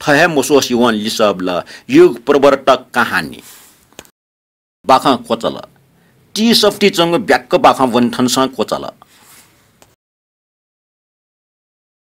थ्व हे मस्वःसे वं लिसः बिल, युग प्रवर्तक कहानी। बाखं क्वचाल। टी सफ्टी च्वंगु ब्याक्क बाखं ब्वने थनसं क्वचाल।